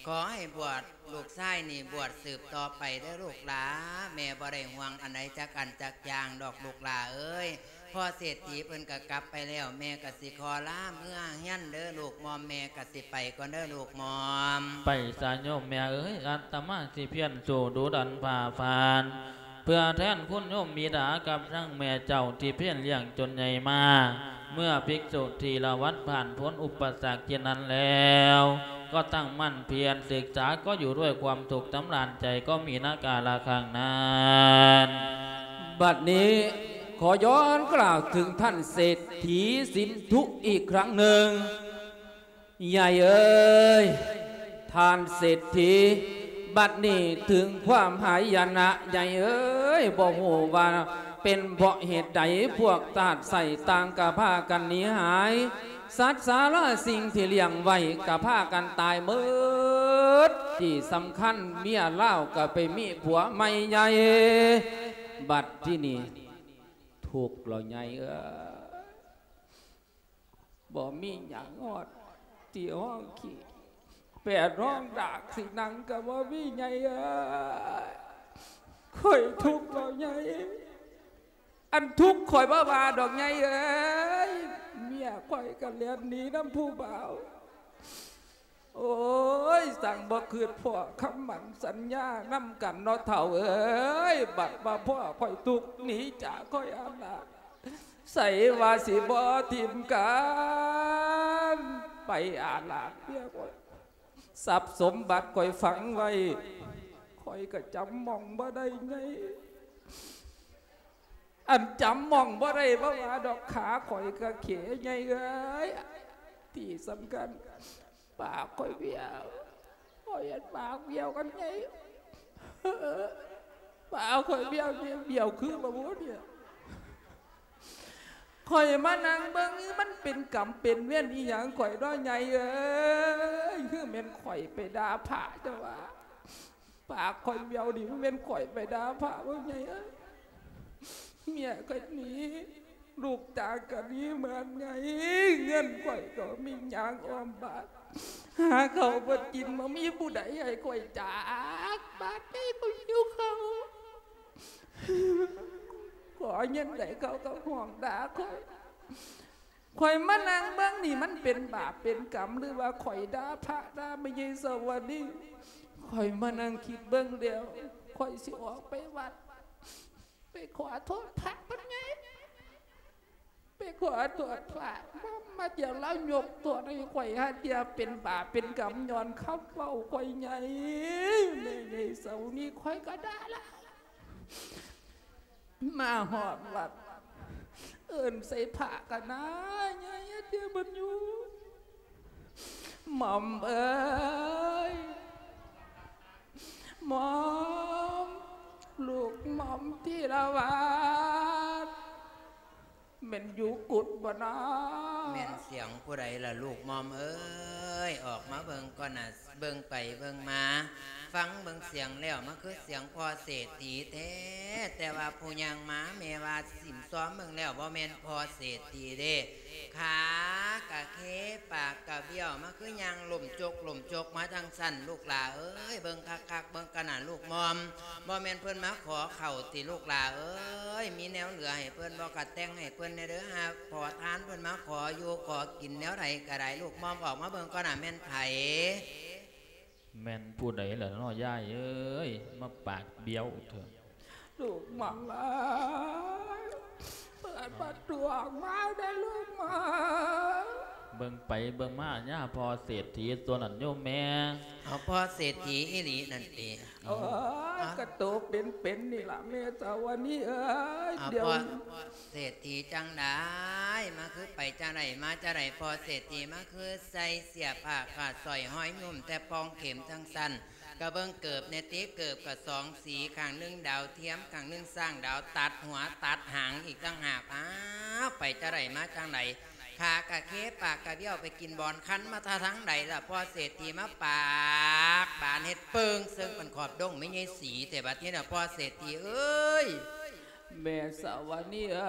ຂໍໃຫ້ບວດ ລູກຊາຍນີ້ບວດສືບຕໍ່ໄປເດີລູກຫຼາ ແມ່ບໍ່ໄດ້ຫ່ວງອັນໃດຈັກອັນຈັກຢ່າງດອກລູກຫຼາເອີຍ. ພໍ່ເສດຖີເພິ່ນກໍກັບໄປແລ້ວ ແມ່ກໍຊິຂໍລາເມືອເຮືອນເດີລູກໝອມ ແມ່ກໍຊິໄປກ່ອນເດີລູກໝອມ. ໄປສາໂຍມແມ່ເອີຍ ອາດຕະມາຊິພຽນສູ້ດຸດັນຟາຟັນ ເພື່ອແທນຄຸນໂຍມບິດາກັບທັງແມ່ເຈົ້າທີ່ພຽນລ້ຽງຈົນໃຫຍ່ມາ. ເມື່ອພິກສຸທີລະວັດຜ່ານພົ້ນອຸປະສັກເຊັ່ນນັ້ນແລ້ວ ກໍຕັ້ງໝັ້ນພຽນສຶກສາ ກໍຢູ່ດ້ວຍຄວາມສຸກສຳລານໃຈ ກໍມີນະກາລະຄັ້ງນັ້ນ. ບັດນີ້ຂໍຍ້ອນກ່າວເຖິງທ່ານເສດຖີສິນທຸອີກຄັ້ງໜຶ່ງ. ຍາຍເອີຍ ທ່ານເສດຖີ ບັດນີ້ເຖິງຄວາມຫາຍນະໃຫຍ່ເອີຍ ບໍ່ຮູ້ວ່າເປັນເພາະເຫດໃດ ພວກທາດໄສ້ຕ່າງກໍພາກັນໜີຫາຍ ສັດສາລາສິ່ງທີ່ລ້ຽງໄວ້ກໍພາກັນຕາຍໝົດ ທີ່ສຳຄັນເມຍລາວກໍໄປມີຜົວໃໝ່ໃຫຍ່ ບັດທີ່ນີ້ທຸກແລ້ວໃຫຍ່ເອີຍ. ບໍ່ມີຫຍັງຮອດທີ່ຮອງຂີ້ ແປດຮອງດາກ ຊິນັ່ງກໍບໍ່ມີໃຫຍ່ເອີຍ ຂ້ອຍທຸກແລ້ວໃຫຍ່ ອັນທຸກຂ້ອຍບໍ່ວ່າດອກໃຫຍ່ເອີຍ ເມຍຂ້ອຍກໍແລ່ນໜີນຳຜູ້ບ່າວ ໂອ້ຍ ຊ່າງບໍ່ຄິດພໍ້ຄຳໝັ້ນສັນຍານຳກັນເນາະເຖົ້າເອີຍ ບັດມາພໍ້ຂ້ອຍທຸກໜີຈາກຂ້ອຍອາລາດ ໃສວ່າຊິບໍ່ຖິ້ມກັນ ໄປອາລາດເມຍຂ້ອຍ ຊັບສົມບັດຂ້ອຍຝັງໄວ້ ຂ້ອຍກໍຈຳໝ່ອງບໍ່ໄດ້ໃຫຍ່ ອັນຈຳໝ່ອງບໍ່ໄດ້ບໍ່ວ່າດອກ ຂາຂ້ອຍກະເຂໃຫຍ່ເອີຍ ທີ່ສຳຄັນ ປາກຂ້ອຍບ້ຽວ ຂ້ອຍເຫັນປາກບ້ຽວກັນໃຫຍ່ ປາກຂ້ອຍບ້ຽວນີ້ ບ້ຽວຄືບໍ່ຮູ້ນີ້ ຂ້ອຍມານັ່ງເບິ່ງ ມັນເປັນກຳເປັນເວນອີ່ຫຍັງຂ້ອຍເນາະໃຫຍ່ເອີຍ ຄືແມ່ນຂ້ອຍໄປດ່າພະເຈົ້າວ່າ ປາກຂ້ອຍບ້ຽວນີ້ ມັນແມ່ນຂ້ອຍໄປດ່າພະບໍ່ໃຫຍ່ເອີຍ ເມຍຂ້ອຍໜີ ລູກຈາກກັນໜີເໝືອນໃຫຍ່ ເງິນຂ້ອຍກໍມີຫຍັງອ້ອມບາດ ຫາເຂົ້າບໍ່ກິນ ບໍ່ມີຜູ້ໃດໃຫ້ຂ້ອຍຈາກ ບາດໃດຂ້ອຍຫິວເຂົ້າ ຂໍເງິນໃດເຂົາກໍຮ້ອງດ່າຂ້ອຍ ຂ້ອຍມານັ່ງເບິ່ງນີ້ ມັນເປັນບາບເປັນກຳ ຫຼືວ່າຂ້ອຍດ່າພະດ່າແມ່ໃຫຍ່ສະຫວັນນີ້ ຂ້ອຍມານັ່ງຄິດເບິ່ງແລ້ວ ຂ້ອຍຊິອອກໄປວັດ ໄປຂໍໂທດພະເພິ່ນໃຫຍ່ ໄປຂໍໂທດພະ ມາ ມາດຽວລາວຍົກໂທດໃຫ້ຂ້ອຍ ຫາເທື່ອເປັນບາບເປັນກຳ ຍ້ອນຄຳເວົ້າຂ້ອຍໃຫຍ່ ແມ່ໃຫຍ່ສະຫວັນນີ້ ຂ້ອຍກໍດ່າລາວ. ມາຮອດວັດ ເອີ້ນໃສ່ພະກັນນາ ຍາຍເທບບັນຍູ ໝ່ອມເອີຍ ໝ່ອມ ລູກໝ່ອມທີລະວັດ ແມ່ນຢູ່ກຸດບໍ່ນາ? ແມ່ນສຽງຜູ້ໃດລະລູກໝ່ອມເອີຍ? ອອກມາເບິ່ງກ່ອນນະ. ເບິ່ງໄປເບິ່ງມາ ຟັງເບິ່ງສຽງແລ້ວ ມັນຄືສຽງພໍ່ເສດຖີແທ້ ແຕ່ວ່າຜູ້ຍ່າງມາ ແມ່ວ່າສິ້ມຊອມເບິ່ງແລ້ວ ບໍ່ແມ່ນພໍ່ເສດຖີເດ້ ຂາກະເຄ ປາກກະບ້ຽວ ມັນຄືຍ່າງລົ້ມຈົກລົ້ມຈົກມາຈັ່ງຊັ້ນ ລູກຫຼ້າເອີຍ ເບິ່ງຄັກໆ ເບິ່ງກັນນະ ລູກໝ່ອມ ບໍ່ແມ່ນເພິ່ນມາຂໍເຂົ້າຕິ ລູກຫຼ້າເອີຍ ມີແນວເຫຼືອໃຫ້ເພິ່ນບໍ່ ກະແຕ່ງໃຫ້ເພິ່ນແດ່ເດີ ຫາຂໍທານເພິ່ນມາຂໍຢູ່ຂໍກິນແນວໃດກະໄດ້ ລູກໝ່ອມ ອອກມາເບິ່ງກ່ອນນະ ແມ່ນໃຜ? ແມ່ນຜູ້ໃດລະເນາະ ຍາຍເອີຍ ມາປາກບ້ຽວເທີ? ລູກໝ່ອມເອີຍ ເປີດປະຕູອອກມາເດີລູກໝ່ອມ. ເບິ່ງໄປເບິ່ງມາ ຍາພໍ່ເສດຖີຕົວນັ້ນໂຍມແມ່. ເອົາ ພໍ່ເສດຖີອີ່ຫຼີນັ້ນຕິ? ໂອ້ຍ ກະໂຕເປັນໆ ນີ້ລະແມ່ສາວະນີເອີຍ. ດຽວພໍ່ເສດຖີຈັ່ງໃດ ມາຄືໄປຈັ່ງໃດ ມາຈັ່ງໃດ ພໍ່ເສດຖີ ມາຄືໃສ່ເສື້ອຜ້າຂາດ ສ້ອຍຫ້ອຍຫຍຸ້ມແຕ່ປ່ອງເຂັມຈັ່ງຊັ້ນ? ກະເບິ່ງເກີບແດ່ຕິ ເກີບກະສອງສີ ຂ້າງໜຶ່ງດາວທຽມ ຂ້າງໜຶ່ງຊ້າງດາວ ຕັດຫົວຕັດຫາງອີກຕ່າງຫາກ. ອ້າວ ໄປຈັ່ງໃດມາຈັ່ງໃດ ຂາກະເຄ ປາກກະບ້ຽວ ໄປກິນບ່ອນຄັນມາແຕ່ທາງໃດລະ ພໍ່ເສດຖີ ມາປາກບານເຮັດເປິງເຊິ່ງເປັນຂອບດົງແມ່ໃຫຍ່ສີແທ້ ບັດນີ້ນະ ພໍ່ເສດຖີເອີຍ. ແມ່ສາວະນີເອີ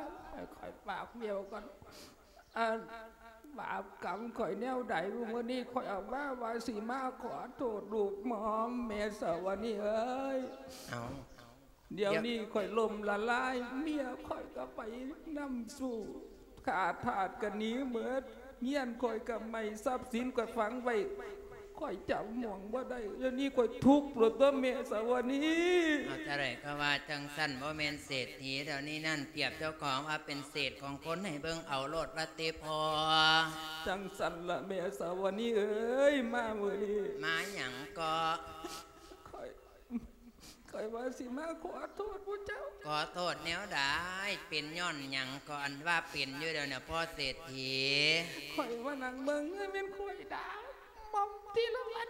ຍ ໃຫ້ຂ້ອຍປາກບ້ຽວກ່ອນ ອັນ ບາບກຳຂ້ອຍແນວໃດ ມື້ນີ້ຂ້ອຍອອກມາວ່າຊິມາຂໍໂທດລູກໝ່ອມ ແມ່ສາວະນີເອີຍ. ເອົາ ດຽວນີ້ຂ້ອຍລົ້ມລະລາຍ ເມຍຂ້ອຍກໍໄປນຳສູ່ ຂ້າທາດກໍໜີໝົດ ເຮືອນຂ້ອຍກໍໄໝ້ ຊັບສິນຂ້ອຍຝັງໄວ້ ຂ້ອຍຈຳໝ່ອງບໍ່ໄດ້ ດຽວນີ້ຂ້ອຍທຸກໂລດຕົວະແມ່ສາວະນີ. ເອົາ ຈັ່ງໃດກໍວ່າຈັ່ງຊັ້ນ ບໍ່ແມ່ນເສດຖີດຽວນີ້ນັ້ນ ປຽບເຈົ້າຂອງວ່າເປັນເສດຂອງຄົນ ໃຫ້ເບິ່ງເອົາໂລດວ່າຕິພໍ່. ຈັ່ງຊັ້ນລະແມ່ສາວະນີເອີຍ ມາມື້ນີ້ ມາຫຍັງເກາະ? ຂ້ອຍ ຂ້ອຍວ່າຊິມາຂໍໂທດພວກເຈົ້າ. ຂໍໂທດແນວໃດ? ເປັນຍ້ອນຫຍັງເກາະ ອັນວ່າເປັນຢູ່ດຽວນີ້ ພໍ່ເສດຖີ? ຂ້ອຍມານັ່ງເບິ່ງ ເອີຍ ແມ່ນຂ້ອຍດ່າໝ່ອມທີລະວັດ.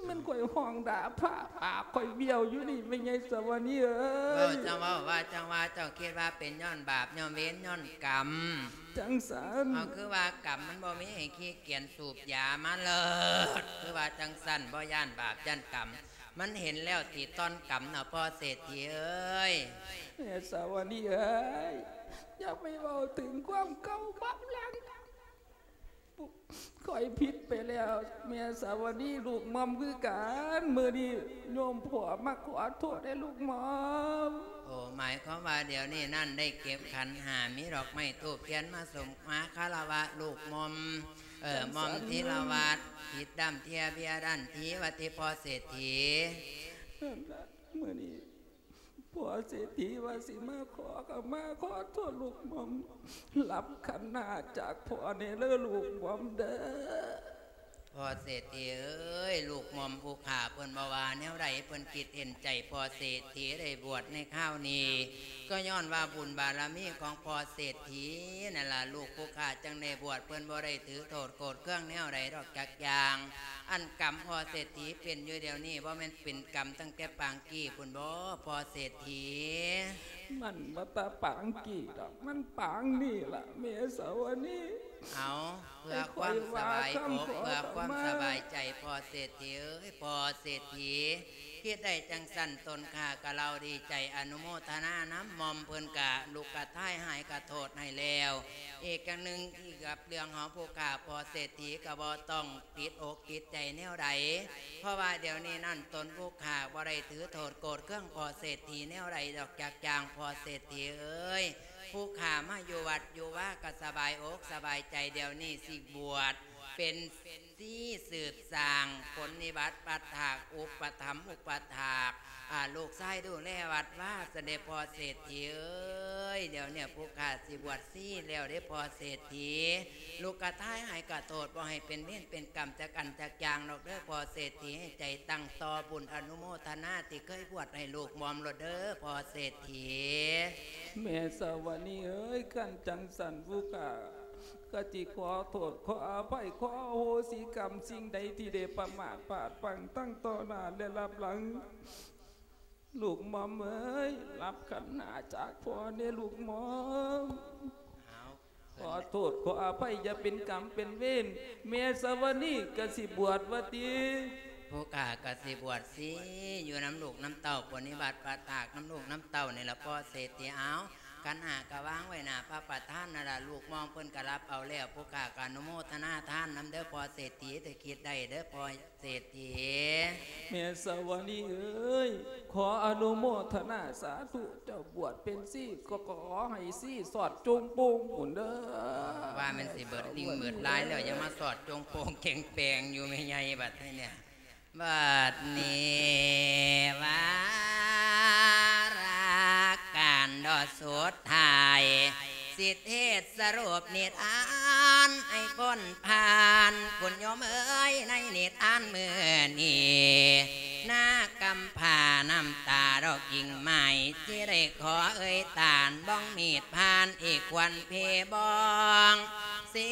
ແມ່ນຂ້ອຍຮ້ອງດ່າພະ ປາກຂ້ອຍບ້ຽວຢູ່ນີ້ ແມ່ໃຫຍ່ສາວະນີເອີຍ. ເວົ້າ ເຈົ້າເວົ້າວ່າ ເຈົ້າວ່າ ເຈົ້າຄິດວ່າເປັນຍ້ອນບາບ ຍ້ອນເວນ ຍ້ອນກຳ. ຈັ່ງຊັ້ນ. ເອົາ ຄືວ່າກຳມັນບໍ່ມີ ໃຫ້ຂີ້ກຽນສູບຢາມາເລີດ ຄືວ່າຈັ່ງຊັ້ນ ບໍ່ຢ້ານບາບຢ້ານກຳ ມັນເຫັນແລ້ວຕິ ຕ່ອນກຳນະ ພໍ່ເສດຖີເອີຍ. ແມ່ສາວະນີເອີຍ ຢ່າໄປເວົ້າເຖິງຄວາມເກົ່າບາບຫຼັງ. ຂ້ອຍຜິດໄປແລ້ວ ແມ່ສາວະນີ ລູກໝອມຄືກັນ. ມື້ນີ້ໂຍມພໍ່ມາຂໍໂທດໃຫ້ລູກໝອມ. ໂອ້ ໝາຍຄວາມວ່າດຽວນີ້ນັ້ນ ໄດ້ເກັບຂັນຫ້າ ມີດອກໄມ້ທູບທຽນມາສົມ ມາຄາລະວະລູກໝອມ ເອີ ໝອມທີລະວັດ ຜິດດຳເທຍເບຍດັນທີ ວ່າຕິ ພໍ່ເສດຖີ. ນັ້ນລະ ມື້ນີ້ພໍ່ເສດຖີວ່າຊິມາຂໍຂະມາຂໍໂທດລູກໝອມ ຮັບຂັນຫ້າຈາກພໍ່ແດ່ເດີລູກໝອມເດີ. ພໍ່ເສດຖີເອີຍ ລູກໝອມຜູ້ຂ້າເພິ່ນບໍ່ວ່າແນວໃດ ເພິ່ນຄິດເຫັນໃຈພໍ່ເສດຖີໄດ້ບວດໃນຄາວນີ້ ກໍຍ້ອນວ່າບຸນບາລະມີຂອງພໍ່ເສດຖີນັ້ນລະ ລູກຜູ້ຂ້າຈັ່ງໄດ້ບວດ ເພິ່ນບໍ່ໄດ້ຖືໂທດໂກດເຄືອງແນວໃດດອກຈັກຢ່າງ. ອັນກຳພໍ່ເສດຖີເປັນຢູ່ດຽວນີ້ ບໍ່ແມ່ນເປັນກຳຕັ້ງແຕ່ປາງກີ້ພຸ້ນບໍ ພໍ່ເສດຖີ? ມັນບໍ່ຕາປາງກີ້ດອກ ມັນປາງນີ້ລະແມ່ສາວະນີ. ເອົາ ເພື່ອຄວາມສະບາຍອົກ ເພື່ອຄວາມສະບາຍໃຈພໍ່ເສດຖີເອີຍ ພໍ່ເສດຖີ ຄິດໄດ້ຈັ່ງຊັ້ນ ຕົນຂ້າກະເລົ່າດີໃຈອະນຸໂມທະນານຳ ໝ່ອມເພິ່ນກະລຸກກະທ້າຍຫາຍກະໂທດໃຫ້ແລ້ວ. ອີກຢ່າງໜຶ່ງ ອີກກັບເລື່ອງຂອງຜູ້ຂ້າພໍ່ເສດຖີກະບໍ່ຕ້ອງຕິດອົກຕິດໃຈແນວໃດ ເພາະວ່າດຽວນີ້ນັ້ນຕົນຜູ້ຂ້າບໍ່ໄດ້ຖືໂທດໂກດເຄືອງພໍ່ເສດຖີແນວໃດດອກຈັກຢ່າງ ພໍ່ເສດຖີເອີຍ. ຜູ້ຂ້າມາຢູ່ວັດຢູ່ວາກະສະບາຍອົກສະບາຍໃຈ ດຽວນີ້ຊິບວດເປັນ ຊີສືບສ້າງຜົນນິບັດປະຖາກ ອຸປະຖຳອຸປະຖາກ ອາ ລູກຊາຍດູແລວັດວາ ຊັ້ນເດພໍ່ເສດຖີເອີຍ. ດຽວນີ້ຜູ້ຂ້າຊິບວດຊີແລ້ວເດ້ພໍ່ເສດຖີ, ລຸກກະທ້າຍຫາຍກະໂທດ ບໍ່ໃຫ້ເປັນເວນເປັນກຳຈັກອັນຈັກຢ່າງດອກເດີພໍ່ເສດຖີ. ໃຫ້ໃຈຕັ້ງຕໍ່ບຸນອະນຸໂມທະນາທີ່ເຄີຍບວດໃຫ້ລູກໝອມໂລດເດີພໍ່ເສດຖີ. ແມ່ສາວະນີເອີຍ ຄັນຈັ່ງຊັ້ນຜູ້ຂ້າ ກະຊິຂໍໂທດ ຂໍອະໄພ ຂໍອະໂຫສິກຳສິ່ງໃດທີ່ໄດ້ປະໝາດພາດພັ້ງທັງຕໍ່ໜ້າ ແລະ ລັບຫຼັງ. ລູກໝອມເອີຍ ຮັບຂັນຫ້າຈາກພໍ່ແດ່ລູກໝອມ. ເອົາ ຂໍໂທດຂໍອະໄພ ຢ່າເປັນກຳເປັນເວນ. ແມ່ສາວະນີກະຊິບວດວ່າຕິ? ຜູ້ຂ້າກະຊິບວດຊີ ຢູ່ນຳລູກນຳເຕົ້າ ປົນນິບັດປະຖາກນຳລູກນຳເຕົ້ານີ້ລະພໍ່ເສດຖີ. ເອົາ ຂັນຫ້າກະວາງໄວ້ໜ້າພະປະທານນັ້ນລະ ລູກໝອມເພິ່ນກະຮັບເອົາແລ້ວ ຜູ້ຂ້າກະອະນຸໂມທະນາທານນຳເດີພໍ່ເສດຖີ. ໄດ້ຄິດໄດ້ເດີພໍ່ເສດຖີ. ແມ່ສາວະນີເອີຍ ຂໍອະນຸໂມທະນາສາທຸ ເຈົ້າບວດເປັນຊີ ກໍຂໍໃຫ້ຊີສອດຈົ່ງໂປ່ງພຸ້ນເດີ. ວ່າແມ່ນຊິເບີດລິງເບີດລາຍແລ້ວ ຍັງມາສອດຈົ່ງໂປ່ງເຈັງແປງຢູ່ແມ່ໃຫຍ່ບັດນີ້. ບັດນີ້ວາລະການດອກສຸດທ້າຍ ຊິເທດສະຫຼຸບນິທານໃຫ້ພົ້ນຜ່ານ ຄຸນໂຍມເອີຍ ໃນນິທານມື້ນີ້ ນາກຳພ້ານ້ຳຕາດອກກິ່ງໄມ້ ທີ່ໄດ້ຂໍເອີຍຕານ ບ້ອງມີດຜ່ານອີກຄວັນເພບ້ອງ ສີ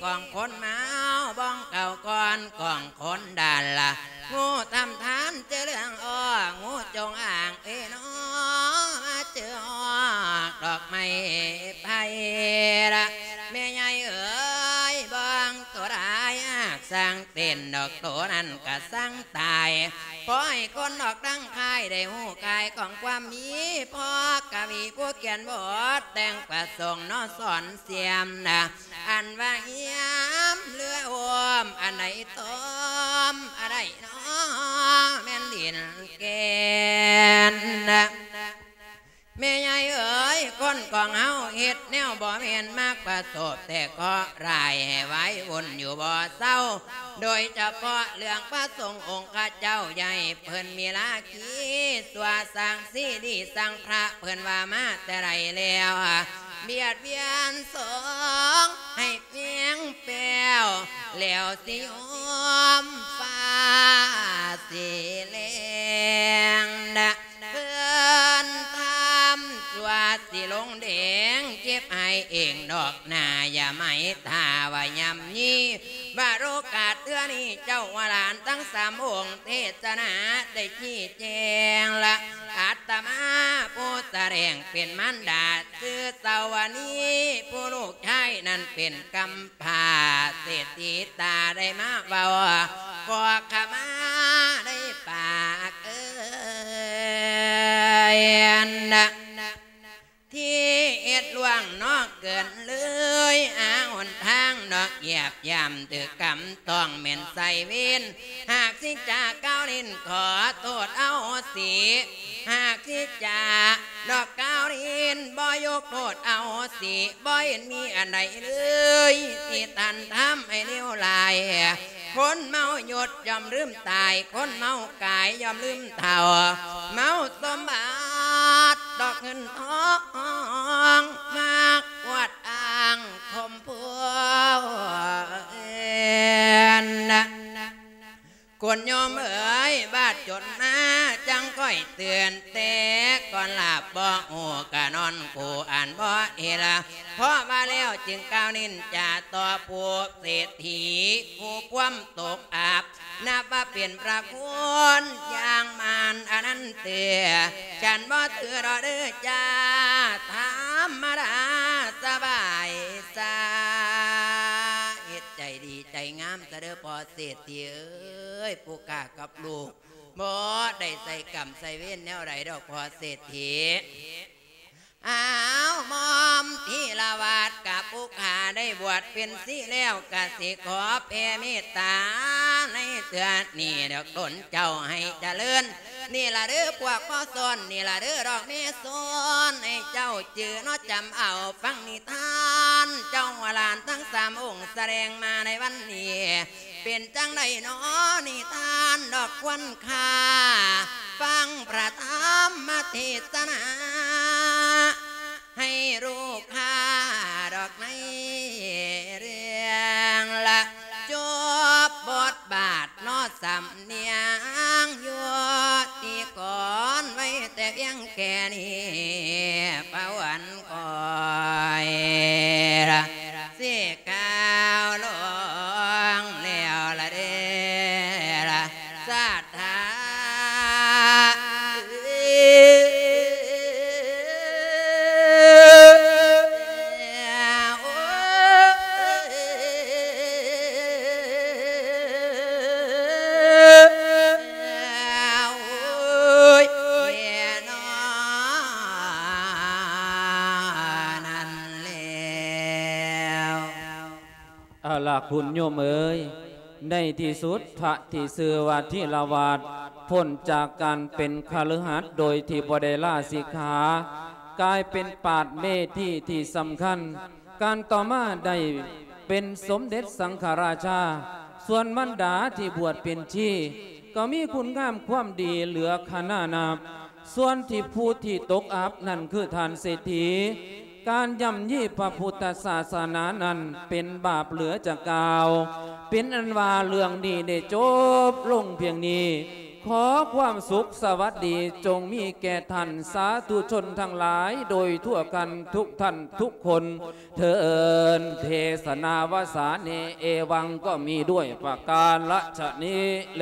ກອງຄົນມາວ ບ້ອງເກົ່າກ່ອນກອງຄົນດັນລະ ງູທຳທານເຈີເລື່ອງອ້ອ ງູຈົ່ງອ່າງເອນໍ ມາເຈີອອກດອກໄມ້ໄຜ່ລະ ແມ່ໃຫຍ່ເອີຍ ບ້ອງໂຕດາຍອາກສ້າງເຕັ້ນດອກໂຕນັ້ນກະສ້າງຕາຍ ພໍໃຫ້ຄົນອອກດັ່ງຄ້າຍໄດ້ຮູ້ກາຍຂອງຄວາມມີ ພໍກະວີຜູ້ຂຽນບົດແຕ່ງປະສົງເນາະສອນສຽມນະ ອັນວ່າຮຽມເຫຼືອໂອມ ອັນໃດຕົ້ມ ອັນໃດເນາະແມ່ນດິນແກ່ນນະ. ແມ່ໃຫຍ່ເອີຍ ຄົນຂອງເຮົາເຮັດແນວບໍ່ແມ່ນ ມັກປະສົບແຕ່ເຄາະຮ້າຍ ໃຫ້ວາຍວຸ່ນຢູ່ບໍ່ເຊົາ ໂດຍສະເພາະເລື່ອງພະສົງອົງຄະເຈົ້າ ຢ່າໃຫ້ເພິ່ນມີລາຄີ ຊົ່ວສ້າງຊີດີສ້າງພະ ເພິ່ນວ່າມາແຕ່ໃດແລ້ວ ບຽດບຽນສົງໃຫ້ແພງແປ້ວ ແລ້ວຊິໂຍມຟ້າຊິແລງນະ ເພິ່ນທຳຊົ່ວຊິລົງແດງ ເຈັບໃຫ້ເອງດອກໜ້າ ຢ່າໄໝ້ຖ້າວ່າຍ່ຳຢີ ວ່າໂອກາດເທື່ອນີ້ ເຈົ້າວ່າຫຼານທັງສາມອົງເທດສະໜາໄດ້ຊີ້ແຈງລະ ອາດຕະມາຜູ້ສະແດງເປັນມານດາ ຊື່ສາວະນີ ຜູ້ລູກຊາຍນັ້ນເປັນກຳພ້າ ເສດຖີຕາໄດ້ມາເວົ້າ ຂໍຂະມາໄດ້ປາກເອີຍນະ ທີ່ເຮັດລ່ວງນອກເກີນເລີຍ ຫາຫົນທາງນອກຫຍາບຢາມ ຖືກກຳຕ້ອງແມ່ນໃສ່ເວນ ຫາກສິຈາກ່າວຫຼິ້ນຂໍໂທດອະໂຫສິ ຫາກສິຈາດອກກ່າວຫຼິ້ນບໍ່ຍົກໂທດອະໂຫສິ ບໍ່ເຫັນມີອັນໃດເລີຍ ທີ່ທ່ານທຳໃຫ້ເລວຮ້າຍ ຄົນເມົາຍົດຍ່ອມລືມຕາຍ ຄົນເມົາກາຍຍ່ອມລືມເຖົ້າ ເມົາສົມບັດດອກເງິນທອງ ມັກອວດອ້າງຂົ່ມຜູ້ອື່ນ ຄຸນໂຍມເອີຍ ບາດຈົນມາຈັ່ງຄ່ອຍເຕືອນ ແຕ່ກ່ອນຫຼັບບໍ່ຮູ້ກະນອນຄູ່ອັນບໍ່ເອລະ ເພາະວ່າແລ້ວຈຶ່ງກ່າວນິນຈາຕໍ່ຜູ້ເສດຖີ ຜູ້ຄວາມຕົກອັບ ນັບວ່າເປັນພະຄຸນຢ່າງມານອະນັນເຕີ ສັນບໍ່ຖືດອກເດີຈ້າ ທຳມະດາສະບາຍສາ ເຮັດໃຈດີໃຈງາມຊະເດີພໍ່ເສດຖີເອີຍ ຜູ້ຂ້າກັບລູກ ບໍ່ໄດ້ໃສ່ກຳໃສ່ເວນແນວໃດດອກພໍ່ເສດຖີ. ອ້າວ ໝອມທີລະວາດກັບຜູ້ຂ້າໄດ້ບວດເປັນສີແລ້ວ ກະຊິຂໍແຜ່ເມດຕາໃນເທື່ອນີ້ດອກ ດົນເຈົ້າໃຫ້ຈະເລີນ ນີ້ລະເດີພວກພໍ່ສອນ ນີ້ລະເດີດອກແມ່ສອນ ໃຫ້ເຈົ້າຈື່ເນາະ ຈຳເອົາຟັງນິທານ ເຈົ້າວ່າຫຼານທັງສາມອົງສະແດງມາໃນວັນນີ້ ເປັນຈັ່ງໃດນໍນິທານດອກຄວັນຄ່າ ຟັງພະທຳມະເທດສະນາ ໃຫ້ຮູ້ຄ່າດອກໃນເລື່ອງລະ ຈົບບົດບາດເນາະ ສຳນຽງຢູ່ທີ່ກ່ອນໄວ້ແຕ່ພຽງແຄ່ນີ້ ພະວັນ ຂ້ອຍລະຊິກ່າວລົງແລ້ວລະເດ້ລະ ສາທາ ເອົາລະ ຄຸນໂຍມເອີຍ, ໃນທີ່ສຸດ ພະທີ່ຊື່ວ່າທີລະວາດ ພົ້ນຈາກການເປັນຄະລືຫັດໂດຍທີ່ບໍ່ໄດ້ລາສິກຂາ, ກາຍເປັນປາດເມທີທີ່ສຳຄັນ. ການຕໍ່ມາໄດ້ເປັນສົມເດັດສັງຄະລາຊາ. ສ່ວນມານດາທີ່ບວດເປັນຊີ ກໍມີຄຸນງາມຄວາມດີເຫຼືອຂະໜານນັບ. ສ່ວນທີ່ຜູ້ທີ່ຕົກອັບນັ້ນຄືທ່ານເສດຖີ. ການຢ້ຳຢີພະພຸດທະສາສະໜານັ້ນເປັນບາບເຫຼືອຈະກ່າວ, ເປັນອັນວ່າເລື່ອງນີ້ໄດ້ຈົບລົງພຽງນີ້. ຂໍຄວາມສຸກສະຫວັດດີຈົ່ງມີແກ່ທ່ານສາທຸຊົນທັງຫຼາຍໂດຍທົ່ວກັນທຸກທ່ານທຸກຄົນເທີ້ນ. ເທສະນາວາສາເນ ເອວັງ ກໍມີດ້ວຍປະການລະຊະນີ້ແລ.